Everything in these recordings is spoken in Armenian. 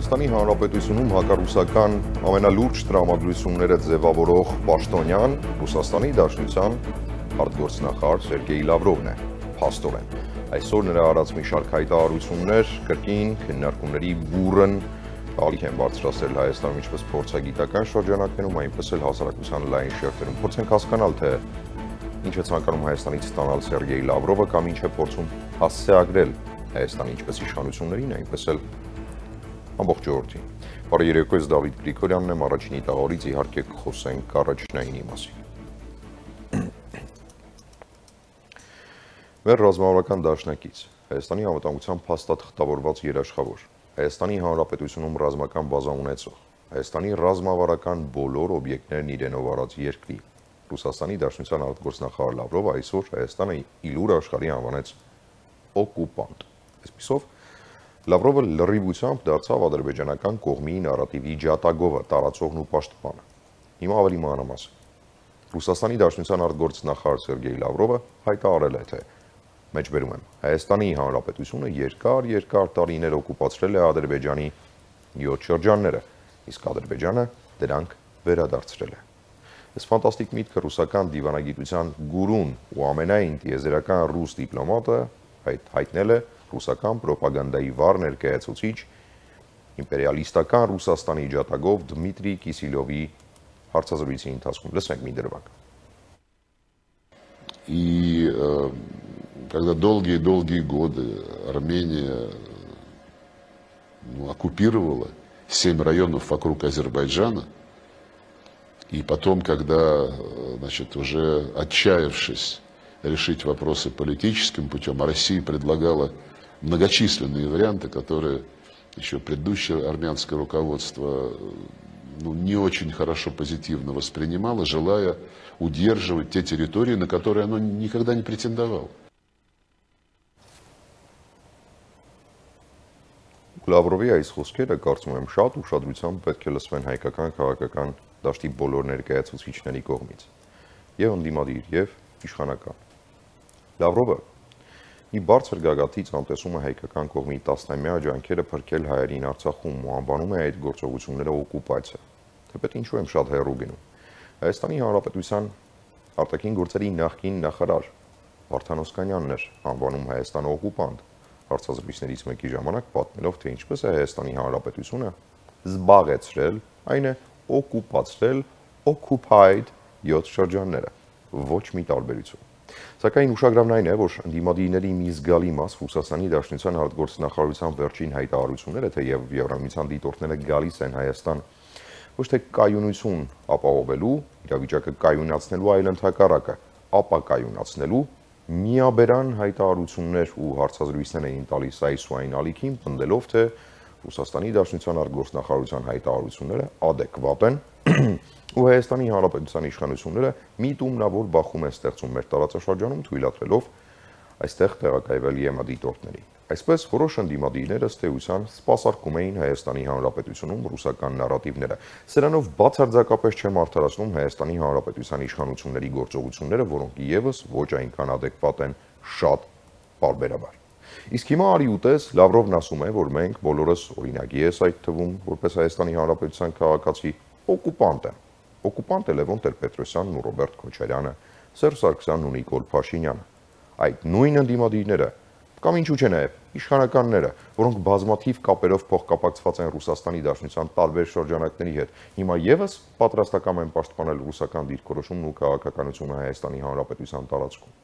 Հայաստանի Հանրապետությունում հակառուսական ամենալուրջ տրամադրությունները ձևավորող պաշտոնյան Ռուսաստանի Դաշնության արտգործնախարար Սերգեյ Լավրովն է, փաստորեն։ Այսօր նրա արած մի շարք հայտարարություններ կրկին քննարկումների բուռն ալիք են բարձրացրել Հայաստանում ինչպես փորձագիտական շրջանակներում, այնպես էլ հասարակության լայն շերտերում։ Փորձենք հասկանալ, թե ինչ է ցանկանում Հայաստանից ստանալ Սերգեյ Լավրովը կամ ինչ է փորձում հասցեագրել Հայաստանի ինչպես իշխանություններին, այնպես էլ ամբողջ ժողովրդին։ Բարի երեկո, ես Դավիթ Գրիգորյանն եմ, առաջինի տաղավարից իհարկե կխոսենք առաջնայինի մասին։ Մեր ռազմավարական դաշնակից, Հայաստանի անվտանգության փաստաթղթավորված երաշխավոր, Հայաստանի Հանրապետությունում ռազմական բազա ունեցող, Հայաստանի ռազմավարական բոլոր օբյեկտներն իրենով արած երկրի, Ռուսաստանի Դաշնության արտգործնախարար Լավրովը այսօր Հայաստանը իլուր աշխարհի անվանեց օկուպանտ։ Այսպիսով Լավրովը լրիվությամբ դարձավ ադրբեջանական կողմի նարատիվի ջատագովը, տարածողն ու պաշտպանը։ Հիմա ավելի մանրամասն։ Ռուսաստանի Դաշնության արտգործնախարար Սերգեյ Լավրովը հայտարարել է, թե մեջբերում եմ, Հայաստանի Հանրապետությունը երկար տարիներ օկուպացրել է Ադրբեջանի 7 շրջանները, իսկ Ադրբեջանը դրանք վերադարձրել է։ Այս ֆանտաստիկ միտքը ռուսական դիվանագիտության գուրուն ու ամենայն տիեզերական ռուս դիպլոմատը հայտնել է ռուսական պրոպագանդայի վառ ներկայացուցիչ իմպերիալիստական Ռուսաստանի ջատագով Դմիտրի Կիսիլովի հարցազրույցի ընթացքում։ Լսենք մի դրվագ։ И когда долгие годы Армения оккупировала 7 районов вокруг Азербайджана, и потом, когда, значит, уже отчаявшись решить вопросы политическим путем, Россия предлагала многочисленные варианты, которые еще предыдущее армянское руководство не очень хорошо позитивно воспринимало, желая удерживать те территории, на которые оно никогда не претендовало. Լավրովի այս խոսքերը կարծում եմ շատ ուշադրությամբ պետք է լսվեն հայկական քաղաքական դաշտի բոլոր ներկայացուցիչների կողմից, եւ ընդդիմադիր, եւ իշխանական։ Լավրովը մի բարձր գագաթից անտեսում է հայկական կողմի տասնամյա ջանքերը փրկել հայերին Արցախում ու անվանում է այդ գործողությունները օկուպացիա։ Թեպետ ինչու եմ շատ հեռու գնում։ Հայաստանի Հանրապետության արտաքին գործերի նախկին նախարար Վարդան Օսկանյանն էր անվանում Հայաստանը օկուպանտ, հարցազրույցներից մեկի ժամանակ պատմելով, թե ինչպես է Հայաստանի Հանրապետությունը զբաղեցրել, այն է օկուպացրել, occupied 7 շրջանները, ոչ մի տարբերություն։ Սակայն ուշագրավն այն է, որ ընդդիմադիրների մի զգալի մաս Ռուսաստանի Դաշնության արտգործնախարարության վերջին հայտարարությունները, թե եւ Եվրամիության դիտորդները գալիս են Հայաստան ոչ թե կայունություն ապահովելու, իրավիճակը կայունացնելու, այլ ընդհակառակը ապակայունացնելու միաբերան հայտարարություններ ու հարցազրույցներ էին տալիս այս ու այն ալիքին, պնդելով, թե Ռուսաստանի Դաշնության արտգործնախարարության հայտարարությունները adekvat են ու Հայաստանի Հանրապետության իշխանությունները միտումնավոր բախում են ստեղծում մեր տարածաշրջանում, թույլատրելով այստեղ տեղակայվել ԵՄ դիտորդների։ Այսպես որոշ ընդդիմադիրներ ըստ էության սպասարկում էին Հայաստանի Հանրապետությունում ռուսական նարատիվները։ Սրանով բացարձակապես չեմ արդարացնում Հայաստանի Հանրապետության իշխանությունների գործողությունները, որոնք եւս ոչ այնքան adekvat են շատ բարբերաբար։ Իսկ հիմա արի ուտես Լավրովն ասում է, որ մենք բոլորս, օրինակ ես այդ թվում, որպես Հայաստանի Հանրապետության քաղաքացի, օկուպանտ եմ։ Օկուպանտ է Լևոն Տեր-Պետրոսյանն ու Ռոբերտ Քոչարյանը, Սերժ Սարգսյանն ու Նիկոլ Փաշինյանը։ Այդ նույն ընդդիմադիրները կամ ինչու՞ չէ նաև իշխանականները, որոնք բազմաթիվ կապերով փոխկապակցված են Ռուսաստանի Դաշնության տարբեր շրջանակների հետ, հիմա եւս պատրաստական են պաշտպանել ռուսական դիրքորոշումն ու քաղաքականությունը Հայաստանի Հանրապետության տարածքում։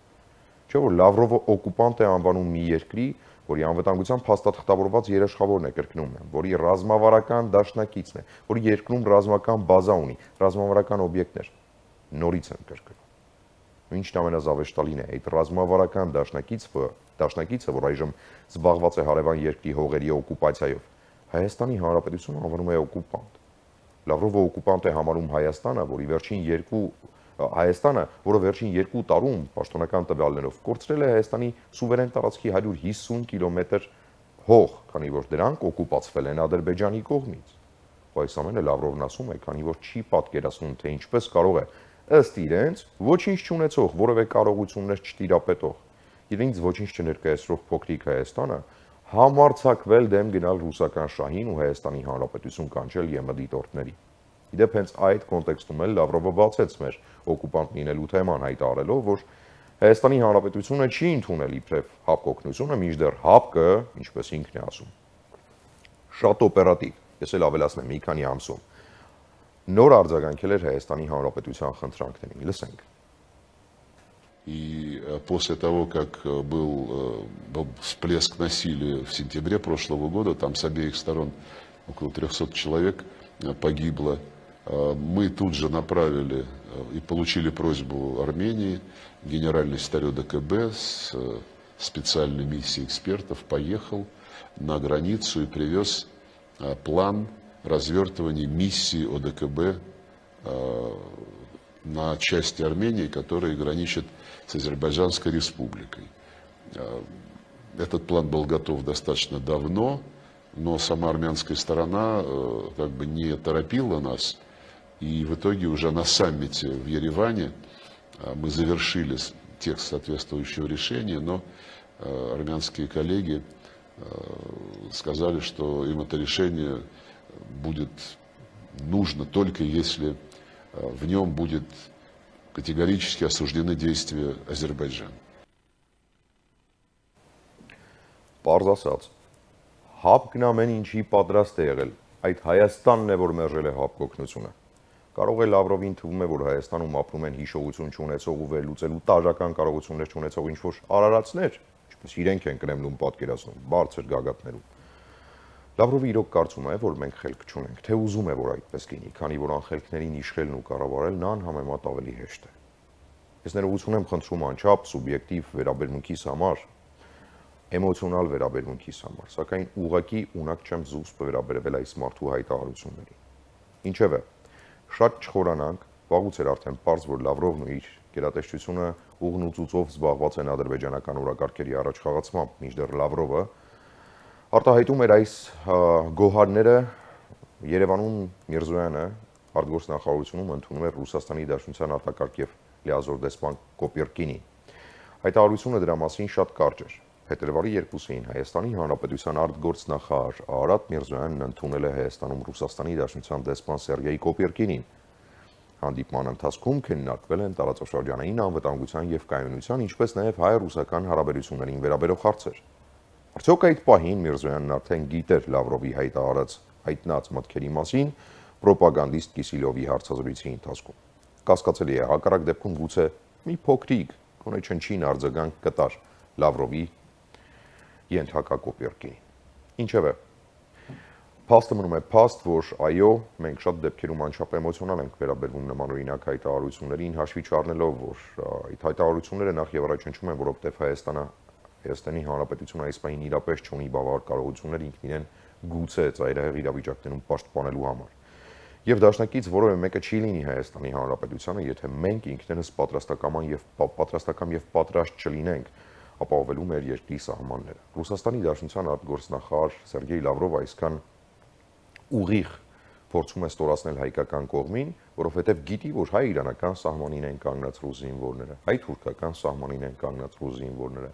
Չէ՞ որ Լավրովը օկուպանտ է անվանում մի երկրի, որի անվտանգության փաստաթղթավորված երաշխավորն է, կրկնում եմ, որի ռազմավարական դաշնակիցն է, որի երկրում ռազմական բազա ունի, ռազմավարական օբյեկտներ, նորից եմ կրկնում։ Ինչն ամենազավեշտալին է, այդ ռազմավարական դաշնակիցը, որ այժմ զբաղված է հարևան երկրի հողերի օկուպացիայով, Հայաստանի Հանրապետությունը անվանում է օկուպանտ։ Լավրովը օկուպանտ է համարում Հայաստանը, որը վերջին 2 տարում պաշտոնական տվյալներով կորցրել է Հայաստանի սուվերեն տարածքի 150 կիլոմետր հող, քանի որ դրանք օկուպացվել են Ադրբեջանի կողմից։ Այս ամենը Լավրովն ասում է, քանի որ չի պատկերացնում, թե ինչպես կարող է ըստ իրենց ոչինչ չունեցող, որևէ կարողություններ չտիրապետող, իրենց ոչինչ չներկայացրող փոքրիկ Հայաստանը համարձակվել դեմ գնալ ռուսական շահին ու Հայաստանի Հանրապետություն կանչել ԵՄ դիտորդների։ Իդեպ հենց այդ կոնտեքստում էլ Լավրովը բացեց մեր օկուպանտ լինելու թեման, հայտարարելով, որ Հայաստանի Հանրապետությունը չի ընդունել իբրև ՀԱՊԿ օգնությունը, մինչդեռ ՀԱՊԿ-ը, ինչպես ինքն է ասում, շատ օպերատիվ, ես էլ ավելացնեմ, մի քանի ամսում նոր արձագանքել էր Հայաստանի Հանրապետության խնդրանքներին։ Լսենք։ И после того, как был всплеск насилия в сентябре прошлого года, там с обеих сторон около 300 человек погибло, мы тут же направили и получили просьбу Армении, генеральный секретарь ОДКБ с специальной миссией экспертов поехал на границу и привез план развертывания миссии ОДКБ на части Армении, которая граничит с Азербайджанской республикой. Этот план был готов достаточно давно, но сама армянская сторона как бы не торопила нас. И в итоге уже на саммите в Ереване мы завершили текст соответствующего решения, но армянские коллеги сказали, что им это решение будет нужно только если в нем будет категорически осуждены действия Азербайджана. Պարզ ասած, ՀԱՊԿ-ն ամեն ինչի պատրաստ է եղել, այդ Հայաստանն է, որ մերժել է ՀԱՊԿ օգնությունը։ Կարող է Լավրովին թվում է, որ Հայաստանում ապրում են հիշողություն չունեցող ու վերլուծելու տարրական կարողություններ չունեցող ինչ-որ արարածներ, ինչպես իրենք են Կրեմլում պատկերացնում, բարձր գագաթներում։ Լավրովը իրոք կարծում է, որ մենք խելք չունենք, թե ուզում է, որ այդպես լինի, քանի որ անխելքներին իշխելն ու կառավարելն անհամեմատ ավելի հեշտ է։ Ես ներողություն եմ խնդրում անչափ սուբյեկտիվ վերաբերմունքիս համար, էմոցիոնալ վերաբերմունքիս համար, սակայն ուղղակի ունակ չեմ զուսպ վերաբերվել այս մարդու հայտարարություններին։ Ինչևէ, շատ չխորանանք, վաղուց էր արդեն պարզ, որ Լավրովն ու իր գերատեսչությունը ուղղնուծուծով զբաղված են ադրբեջանական օրակարգերի առաջխաղացմամբ, մինչդեռ Լավրովը արտահայտում էր այս գոհարները Երևանում Միրզոյանը արտգործնախարարությունում ընդունում էր Ռուսաստանի Դաշնության արտակարգ եւ լիազոր դեսպան Կոպիրկինի։ Հայտարարությունը դրա մասին շատ կարճ էր։ Փետրվարի 2-ին Հայաստանի Հանրապետության արտգործնախարար Արարատ Միրզոյանն ընդունել է Հայաստանում Ռուսաստանի Դաշնության դեսպան Սերգեյ Կոպիրկինին։ Հանդիպման ընթացքում քննարկվել են տարածաշրջանային անվտանգության եւ կայունության, ինչպես նաեւ հայ-ռուսական հարաբերություններին վերաբերող հարցեր։ Արդյոք այդ պահին Միրզոյանն արդեն գիտեր Լավրովի հայտարարած հայտնած մտքերի մասին պրոպագանդիստ Կիսիլյովի հարցազրույցի ընթացքում։ Կասկածելի է, հակառակ դեպքում գուցե մի փոքրիկ, գոնե չնչին արձագանք կտար Լավրովի ենթակա Կոպիրկինին։ Ինչևէ, փաստը մնում է փաստ, որ այո, մենք շատ դեպքերում անչափ էմոցիոնալ ենք վերաբերվում նմանօրինակ հայտարարություններին, հաշվի չառնելով, որ այդ հայտարարությունները նախ եւ առաջ հնչում են, որովհետեւ Հայաստանի Հանրապետությունը այս պահին իրապես չունի բավարար կարողություններ ինքն իրեն գուցե ծայրահեղ իրավիճակներում պաշտպանելու համար։ Եվ դաշնակից որևէ մեկը չի լինի Հայաստանի Հանրապետությանը, եթե մենք ինքներս պատրաստական եւ պատրաստ չլինենք ապահովելու մեր երկրի սահմանները։ Ռուսաստանի Դաշնության արտգործնախարար Սերգեյ Լավրովը այսքան ուղիղ փորձում է ստորացնել հայկական կողմին, որովհետև գիտի, որ հայ-իրանական սահմանին են կանգնած ռուս զինվորները, հայ-թուրքական սահմանին են կանգնած ռուս զինվորները,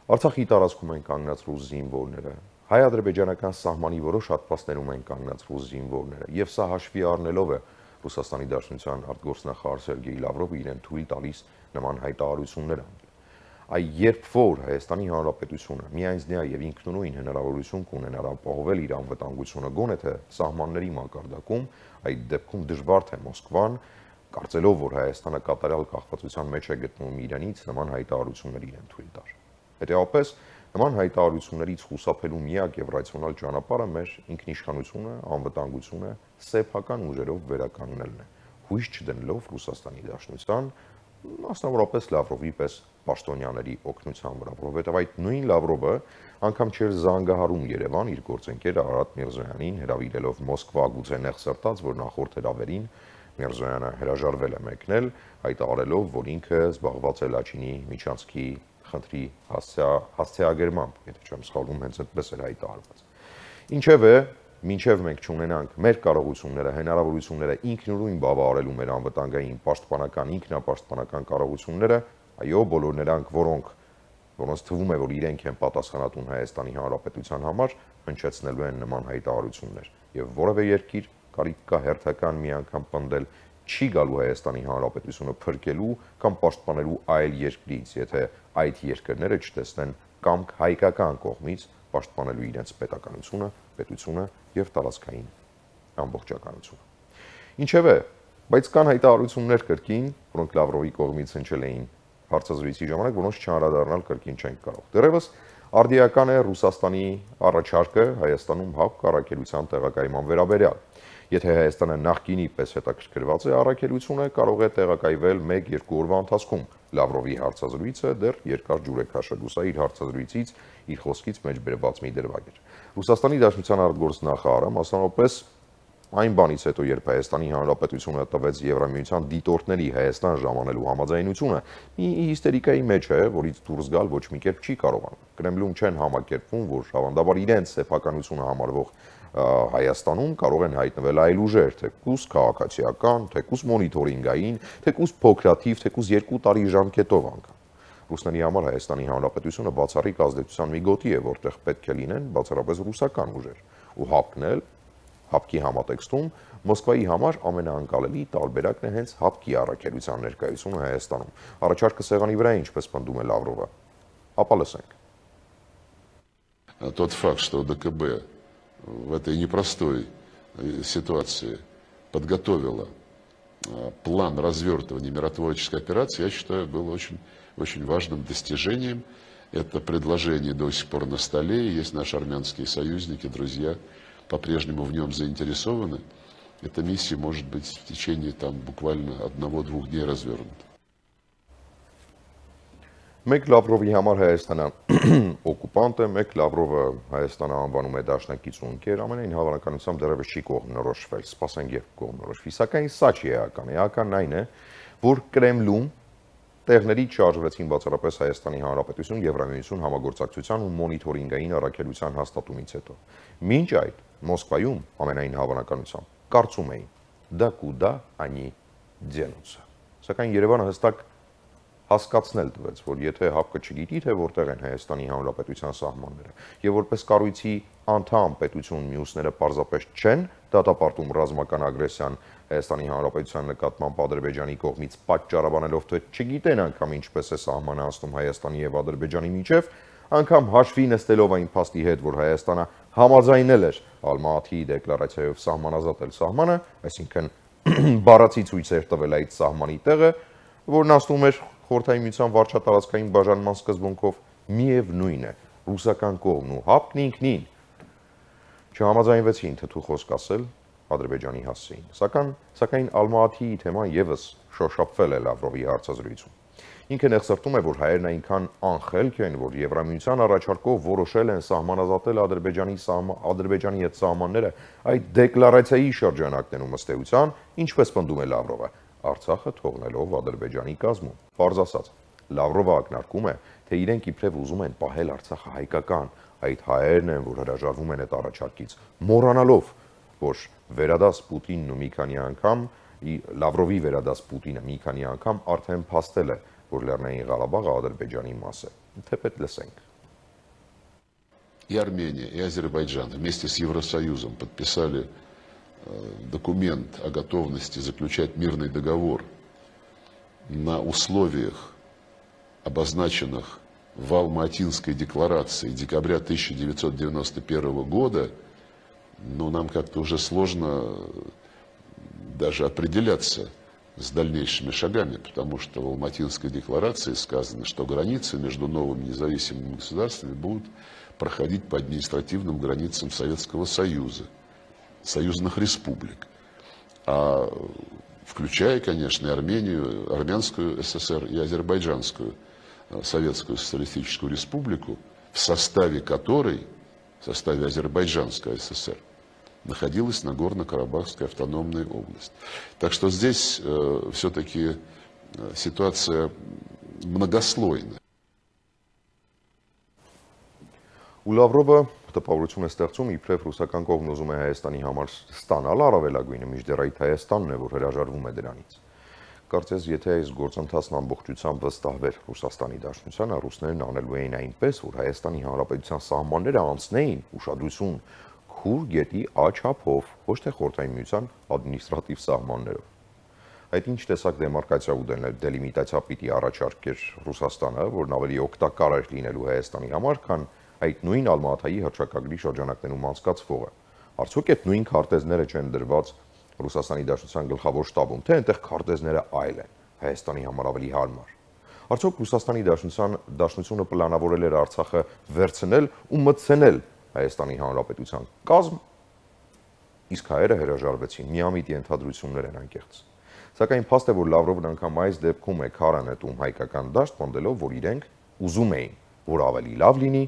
Արցախի տարածքում են կանգնած ռուս զինվորները, հայ-ադրբեջանական սահմանի որոշ հատվածներում են կանգնած ռուս զինվորները, եւ սա հաշվի առնելով է Ռուսաստանի Դաշնության արտգործնախարար Սերգեյ Լավրովը իրեն թույլ տալիս նման հայտարարություններ անել։ Երբ որ Հայաստանի Հանրապետությունը միայնձնյա եւ ինքնուրույն հնարավորություն կունենար ապահովել իր անվտանգությունը գոնե թե սահմանների մակարդակում, այդ դեպքում դժվար թե Մոսկվան, կարծելով, որ Հայաստանը կատարյալ կախվածության մեջ է գտնվում Իրանից, նման հայտարարություններ իրեն թույլ տար։ Հետևաբար, նման հայտարարություններից խուսափելու միակ եւ ռացիոնալ ճանապարհը մեր ինքնիշխանությունը, անվտանգությունը սեփական ուժերով վերականգնելն է, հույս չդնելով Ռուսաստանի Դաշնության, մասնավորապես Լավրովի պես պաշտոնյաների օգնության վրա, որովհետև այդ նույն Լավրովը անգամ չէր զանգահարում Երևան իր գործընկեր Արարատ Միրզոյանին հրավիրելով Մոսկվա, գուցե նեղ սրտած, որ նախորդ հրավերին Միրզոյանը հրաժարվել է մեկնել, հայտարարելով, որ ինքը զբաղված է Լաչինի միջանցքի խնդրի հասցեագրմամբ, եթե չեմ սխալվում, հենց այդպես էր հայտարարված։ Ինչևէ, մինչև մենք չունենանք մեր կարողությունները, հնարավորությունները ինքնուրույն բավարարելու մեր անվտանգային պաշտպանական, ինքնապաշտպանական կարողությունները, այո, բոլոր նրանք, որոնք որոնց թվում է, որ իրենք են պատասխանատուն Հայաստանի Հանրապետության համար, հնչեցնելու են նման հայտարարություններ, եւ որևէ երկիր կարիք կա հերթական մի անգամ պնդել չի գալու Հայաստանի Հանրապետությունը փրկելու կամ պաշտպանելու այլ երկրից, եթե այդ երկրները չտեսնեն կամք հայկական կողմից պաշտպանելու իրենց պետականությունը, պետությունը եւ տարածքային ամբողջականությունը։ Ինչևէ, բայց կան հայտարարություններ կրկին, որոնք Լավրովի կողմից հնչել էին հարցազրույցի ժամանակ, որոնց չանդրադառնալ կրկին չենք կարող։ Դեռևս արդիական է Ռուսաստանի առաջարկը Հայաստանում ՀԱՊԿ առաքելության տեղակայման վերաբերյալ։ Եթե Հայաստանը նախկինի պես հետաքրքրված է առաքելությունը, կարող է տեղակայվել 1-2 օրվա ընթացքում։ Լավրովի հարցազրույցը դեռ երկար ջուր է քաշել, ու սա իր հարցազրույցից, իր խոսքից մեջ բերված մի դրվագ էր։ Ռուսաստանի Դաշնության արտգործնախարարը մասնավորապես այն բանից հետո, երբ Հայաստանի Հանրապետությունը տվեց Եվրամիության դիտորդների Հայաստան ժամանելու համաձայնությունը, մի հիստերիկայի մեջ է, որից դուրս գալ ոչ մի կերպ չի կարողանում։ Կրեմլում չեն համակերպվում, որ հավանաբար իրենց սեփականությունը համարվող Հայաստանում կարող են հայտնվել այլ ուժեր, թեկուզ քաղաքացիական, թեկուզ մոնիթորինգային, թեկուզ փոքրաթիվ, թեկուզ 2 տարի ժամկետով անգամ։ Ռուսների համար Հայաստանի Հանրապետությունը բացառիկ ազդեցության մի գոտի է, որտեղ պետք է լինեն բացառապես ռուսական ուժեր, ու ՀԱՊԿ-ն էլ ՀԱՊԿ-ի համատեքստում Մոսկվայի համար ամենաանկալելի տարբերակն է հենց ՀԱՊԿ-ի առաքելության ներկայությունը Հայաստանում։ Առաջարկը սեղանի վրա է, ինչպես պնդում է Լավրովը։ Ապա լսենք։ Тот факт, что ДКБ в этой непростой ситуации подготовила план развертывания миротворческой операции, я считаю, был очень важным достижением. Это предложение до сих пор на столе, есть наши армянские союзники, друзья, по-прежнему в нем заинтересованы. Эта миссия может быть в течение буквально 1-2 дней развернута. Մեկ Լավրովի համար Հայաստանը օկուպանտ է, մեկ Լավրովը Հայաստանը անվանում է դաշնակից ու ընկեր, ամենայն հավանականությամբ դեռևս չի կողմնորոշվել, սպասենք երբ կողմնորոշվի, սակայն սա չի էական, էականն այն է, որ Կրեմլում տեղներից շարժվեցին բացառապես Հայաստանի Հանրապետություն, Եվրամիություն համագործակցության ու մոնիթորինգային առաքելության հաստատումից հետո։ Մինչ այդ Մոսկվայում ամենայն հավանականությամբ կարծում էին դա կուդա անի դենուցը։ Սակայն Երևանը հստակ հասկացնել տվեց, որ եթե ՀԱՊԿ-ը չգիտի, թե որտեղ են Հայաստանի Հանրապետության սահմանները, եւ որպես կառույցի անդամ պետություն մյուսները պարզապես չեն դատապարտում ռազմական ագրեսիան Հայաստանի Հանրապետության նկատմամբ Ադրբեջանի կողմից պատճառաբանելով, թե չգիտեն անգամ ինչպես է սահմանը անցնում Հայաստանի եւ Ադրբեջանի միջև, անգամ հաշվի նստելով այն փաստի հետ, որ Հայաստանը համաձայնել էր Ալմատիի դեկլարացիայով սահմանազատել սահմանը, այսինքն բառացի ցույցեր տվել այդ սահմանի տեղը, որն ասում էր Խորհրդային Միության վարչատարածքային բաժանման սկզբունքով, միևնույն է, ռուսական կողմն ու ՀԱՊԿ-ն ինքնին չհամաձայնվեցին թթու խոսք ասել Ադրբեջանի հասցեին։ Սակայն Ալմատիի թեման եւս շոշափվել է Լավրովի հարցազրույցում։ Ինքը նեղսրտում է, որ հայերն այնքան անխելք են, որ Եվրամիության առաջարկով որոշել են սահմանազատել Ադրբեջանի հետ սահմանները այդ դեկլարացիայի շրջանակներում ըստ էության, ինչպես պնդում է Լավրովը, Արցախը թողնելով Ադրբեջանի կազմում։ Պարզ ասած, Լավրովը ակնարկում է, թե իրենք իբրև ուզում են պահել Արցախը հայկական, այդ հայերն են, որ հրաժարվում են այդ առաջարկից, մոռանալով, որ վերադաս Պուտինն ու մի քանի անգամ Լավրովի վերադաս Պուտինը մի քանի անգամ արդեն փաստել է, որ Լեռնային Ղարաբաղը Ադրբեջանի մաս է։ Թեպետ լսենք։ И Армения, и Азербайджан вместе с Евросоюзом подписали документ о готовности заключать мирный договор на условиях, обозначенных в Алма-Атинской декларации декабря 1991 года, но нам как-то уже сложно даже определяться с дальнейшими шагами, потому что в Алма-Атинской декларации сказано, что границы между новыми независимыми государствами будут проходить по административным границам Советского Союза, союзных республик, включая, конечно, и Армению, Армянскую ССР и Азербайджанскую Советскую Социалистическую Республику, в составе которой, в составе Азербайджанской ССР, находилась Нагорно-Карабахская автономная область. Так что здесь все-таки ситуация многослойная. Ու Լավրովը տպավորություն է ստեղծում, իբրև ռուսական կողմն ուզում է Հայաստանի համար ստանալ առավելագույնը, մինչդեռ այդ Հայաստանն է, որ հրաժարվում է դրանից։ Կարծես, եթե այս գործընթացն ամբողջությամբ վստահվեր Ռուսաստանի Դաշնությանը, ռուսներն անելու էին այնպես, որ Հայաստանի Հանրապետության սահմանները անցնեին ուշադրություն Քուր գետի աչափով, ոչ թե Խորհրդային Միության ադմինիստրատիվ սահմաններով։ Այդ ինչ տեսակ դեմարկացիա ու դելիմիտացիա պիտի առաջարկեր Ռուսաստանը, որն ավելի օգտակար էր լինելու Հայաստանի համար, քան այդ նույն Ալմատայի հռչակագրի շրջանակներում անցկացվողը։ Արդյոք այդ նույն քարտեզները չեն դրված Ռուսաստանի Դաշնության գլխավոր շտաբում, թե այնտեղ քարտեզները այլ են, Հայաստանի համար ավելի հարմար։ Արդյոք Ռուսաստանի Դաշնությունը պլանավորել էր Արցախը վերցնել ու մտցնել Հայաստանի Հանրապետության կազմ, իսկ հայերը հրաժարվեցին, միամիտ ենթադրություններ են անկեղծ։ Սակայն փաստ է, որ Լավրովն անգամ այս դեպքում է քարը նետում հայկական դաշտ, պնդելով, որ իրենք ուզում էին, որ ավելի լավ լինի,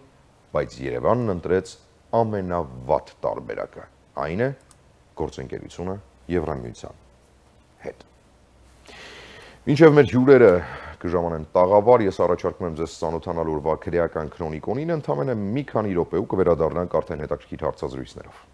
բայց Երևանն ընտրեց ամենավատ տարբերակը, այն է գործընկերությունը Եվրամիության հետ։ Մինչև մեր հյուրերը կժամանեն տաղավար, ես առաջարկում եմ ձեզ ծանոթանալ օրվա քրեական քրոնիկոնին, ընդամենը մի քանի րոպե ու կվերադառնանք արդեն հետաքրքիր հարցազրույցներով։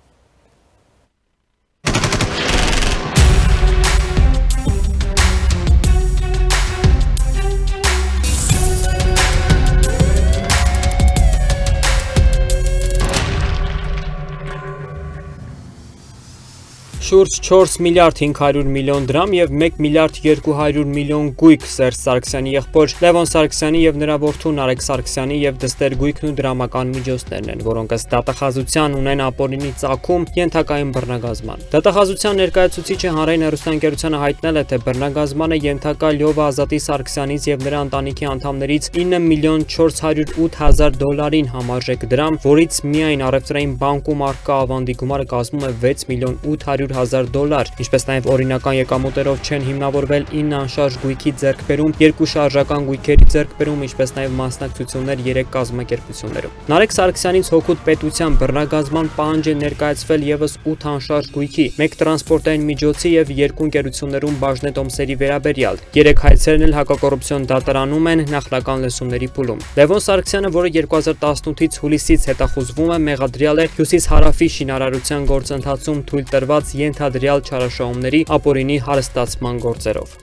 Շուրջ 4 միլիարդ 500 միլիոն դրամ և 1 միլիարդ 200 միլիոն գույք Սերժ Սարգսյանի եղբոր Լևոն Սարգսյանի և նրա որդու Նարեկ Սարգսյանի և դստեր գույքն ու դրամական միջոցներն են, որոնք ըստ դատախազության ունեն ապօրինի ծագում ենթակային բռնագազման։ Դատախազության ներկայացուցիչը հանրային հեռուստաընկերությանը հայտնել է, թե բռնագազմանը ենթակա Լյովա Ազատի Սարգսյանից և նրա ընտանիքի անդամներից 9 միլիոն 408 հազար դոլարին համարժեք դրամ, որից միայն առևտրային բանկում առկա ավանդի գումարը կազմում է 6 միլիոն 800 հազար դոլար, ինչպես նաև օրինական եկամուտերով չեն հիմնավորվել 9 անշարժ գույքի ձեռքբերում, 2 շարժական գույքերի ձեռքբերում, ինչպես նաև մասնակցություններ 3 կազմակերպություններում։ Նարեկ Սարգսյանից հօգուտ պետության բռնագազման պահանջ է ներկայացվել ևս 8 անշարժ գույքի, 1 տրանսպորտային միջոցի և 2 ընկերություններում բաժնետոմսերի վերաբերյալ։ 3 հայցերն էլ հակակոռուպցիոն դատարանում են նախնական լսումների փուլում։ Լևոն Սարգսյանը, որը 2018-ից հուլիսից հետախուզվում է, մեղադրյալ է հյուսիս-հարավի շինարարության գործընթացում թույլ տրված ենթադրյալ չարաշահումների ապօրինի հարստացման գործերով։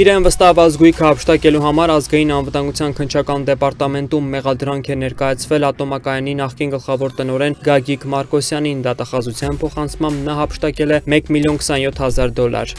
Իրեն վստահված գույքը հափշտակելու համար ազգային անվտանգության քննչական դեպարտամենտում մեղադրանք է ներկայացվել ատոմակայանի նախկին գլխավոր տնօրեն Գագիկ Մարկոսյանին, դատախազության փոխանցմամբ նա հափշտակել է 1 միլիոն 27 հազար դոլար։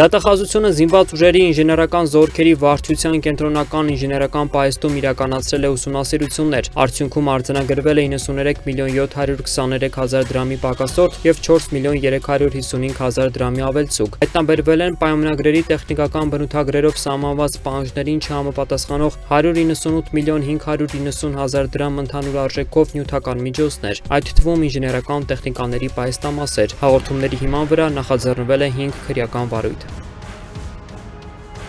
Դատախազությունը զինված ուժերի ինժեներական զորքերի վարչության կենտրոնական ինժեներական պահեստում իրականացրել է ուսումնասիրություններ, արդյունքում արձանագրվել է 93 միլիոն 723 հազար դրամի պակասորդ և 4 միլիոն 355 հազար դրամի ավելցուկ։ Հայտնաբերվել են պայմանագրերի տեխնիկական բնութագրերով սահմանված պահանջներին չհամապատասխանող 198 միլիոն 590 հազար դրամ ընդհանուր արժեքով նյութական միջոցներ, այդ թվում ինժեներական տեխնիկաների պահեստամասեր։ Հաղորդումների հիման վրա նախաձեռնվել է 5 քրեական վարույթ։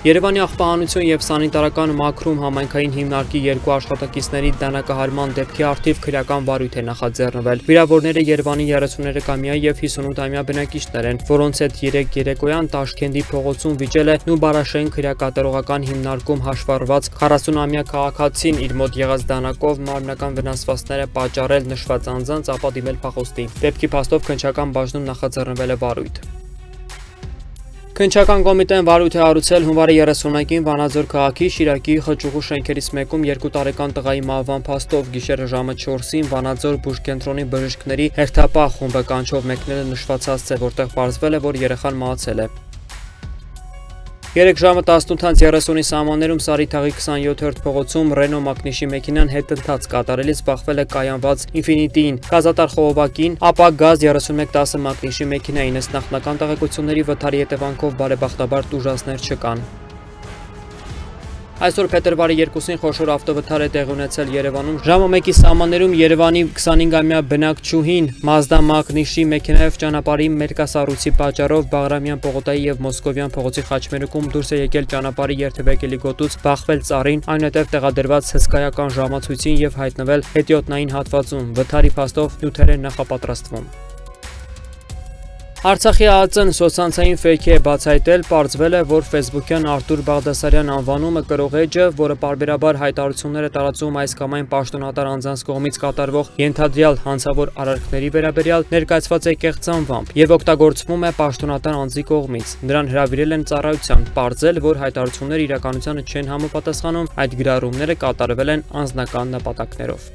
Երևանի աղբահանություն և սանիտարական մաքրում համայնքային հիմնարկի 2 աշխատակիցների դանակահարման դեպքի առթիվ քրեական վարույթ է նախաձեռնվել։ Վիրավորները Երևանի 33-ամյա և 58-ամյա բնակիչներ են, որոնց հետ 3 երեկոյան Տաշքենտի փողոցում վիճել է Նուբարաշեն քրեակատարողական հիմնարկում հաշվառված 40-ամյա քաղաքացին իր մոտ եղած դանակով մարմնական վնասվածքներ է պատճառել նշված անձանց, ապա դիմել փախոստի։ Դեպքի փաստով քննչական բաժնում նախաձեռնվել է վարույթ։ Քննչական կոմիտեն վարույթ է հարուցել հունվարի 30-ին Վանաձոր քաղաքի Շիրակի խճուղու շենքերից մեկում 2 տարեկան տղայի մահվան փաստով գիշերը ժամը 4-ին Վանաձոր բուժկենտրոնի բժիշկների հերթապահ խումբը կանչով մեկնել է նշված հասցե, որտեղ պարզվել է, որ երեխան մահացել է։ 3 ժամը 18:30-ի սահմաններում Սարիթաղի 27-րդ փողոցում Ռենո Մակնիշի մեքենան հետընթաց կատարելիս բախվել է կայանված Ինֆինիտիին, գազատար խողովակին, ապա Գազ 3110 Մակնիշի մեքենային, ըստ նախնական տեղեկությունների վթարի հետևանքով բարեբախտաբար տուժածներ չկան։ Այսօր փետրվարի 2-ին խոշոր ավտովթար է տեղի ունեցել Երևանում։ Ժամը 1-ի սահմաններում Երևանի 25-ամյա բնակչուհին Մազդա Մակնիշի մեքենայով ճանապարհի մերկասառույցի պատճառով Բաղրամյան պողոտայի և Մոսկովյան փողոցի խաչմերուկում դուրս է եկել ճանապարհի երթևեկելի գոտուց, բախվել ծառին, այնուհետև տեղադրված հսկայական ժամացույցին և հայտնվել հետիոտնային հատվածում։ Վթարի փաստով նյութեր են նախապատրաստվում։ Արցախի ԱԱԾ-ն սոցցանցային ֆեյքի է բացահայտել, պարզվել է, որ ֆեյսբուքյան Արտուր Բաղդասարյան անվանումը կրող էջը, որը պարբերաբար հայտարարություններ է տարածում այս կամ այն պաշտոնատար անձանց կողմից կատարվող ենթադրյալ հանցավոր արարքների վերաբերյալ, ներկայացված է կեղծ անվամբ եւ օգտագործվում է պաշտոնատար անձի կողմից։ Նրան հրավիրել են ծառայության, պարզել, որ հայտարարությունները իրականությանը չեն համապատասխանում, այդ գրառումները կատարվել են անձնական նպատակներով։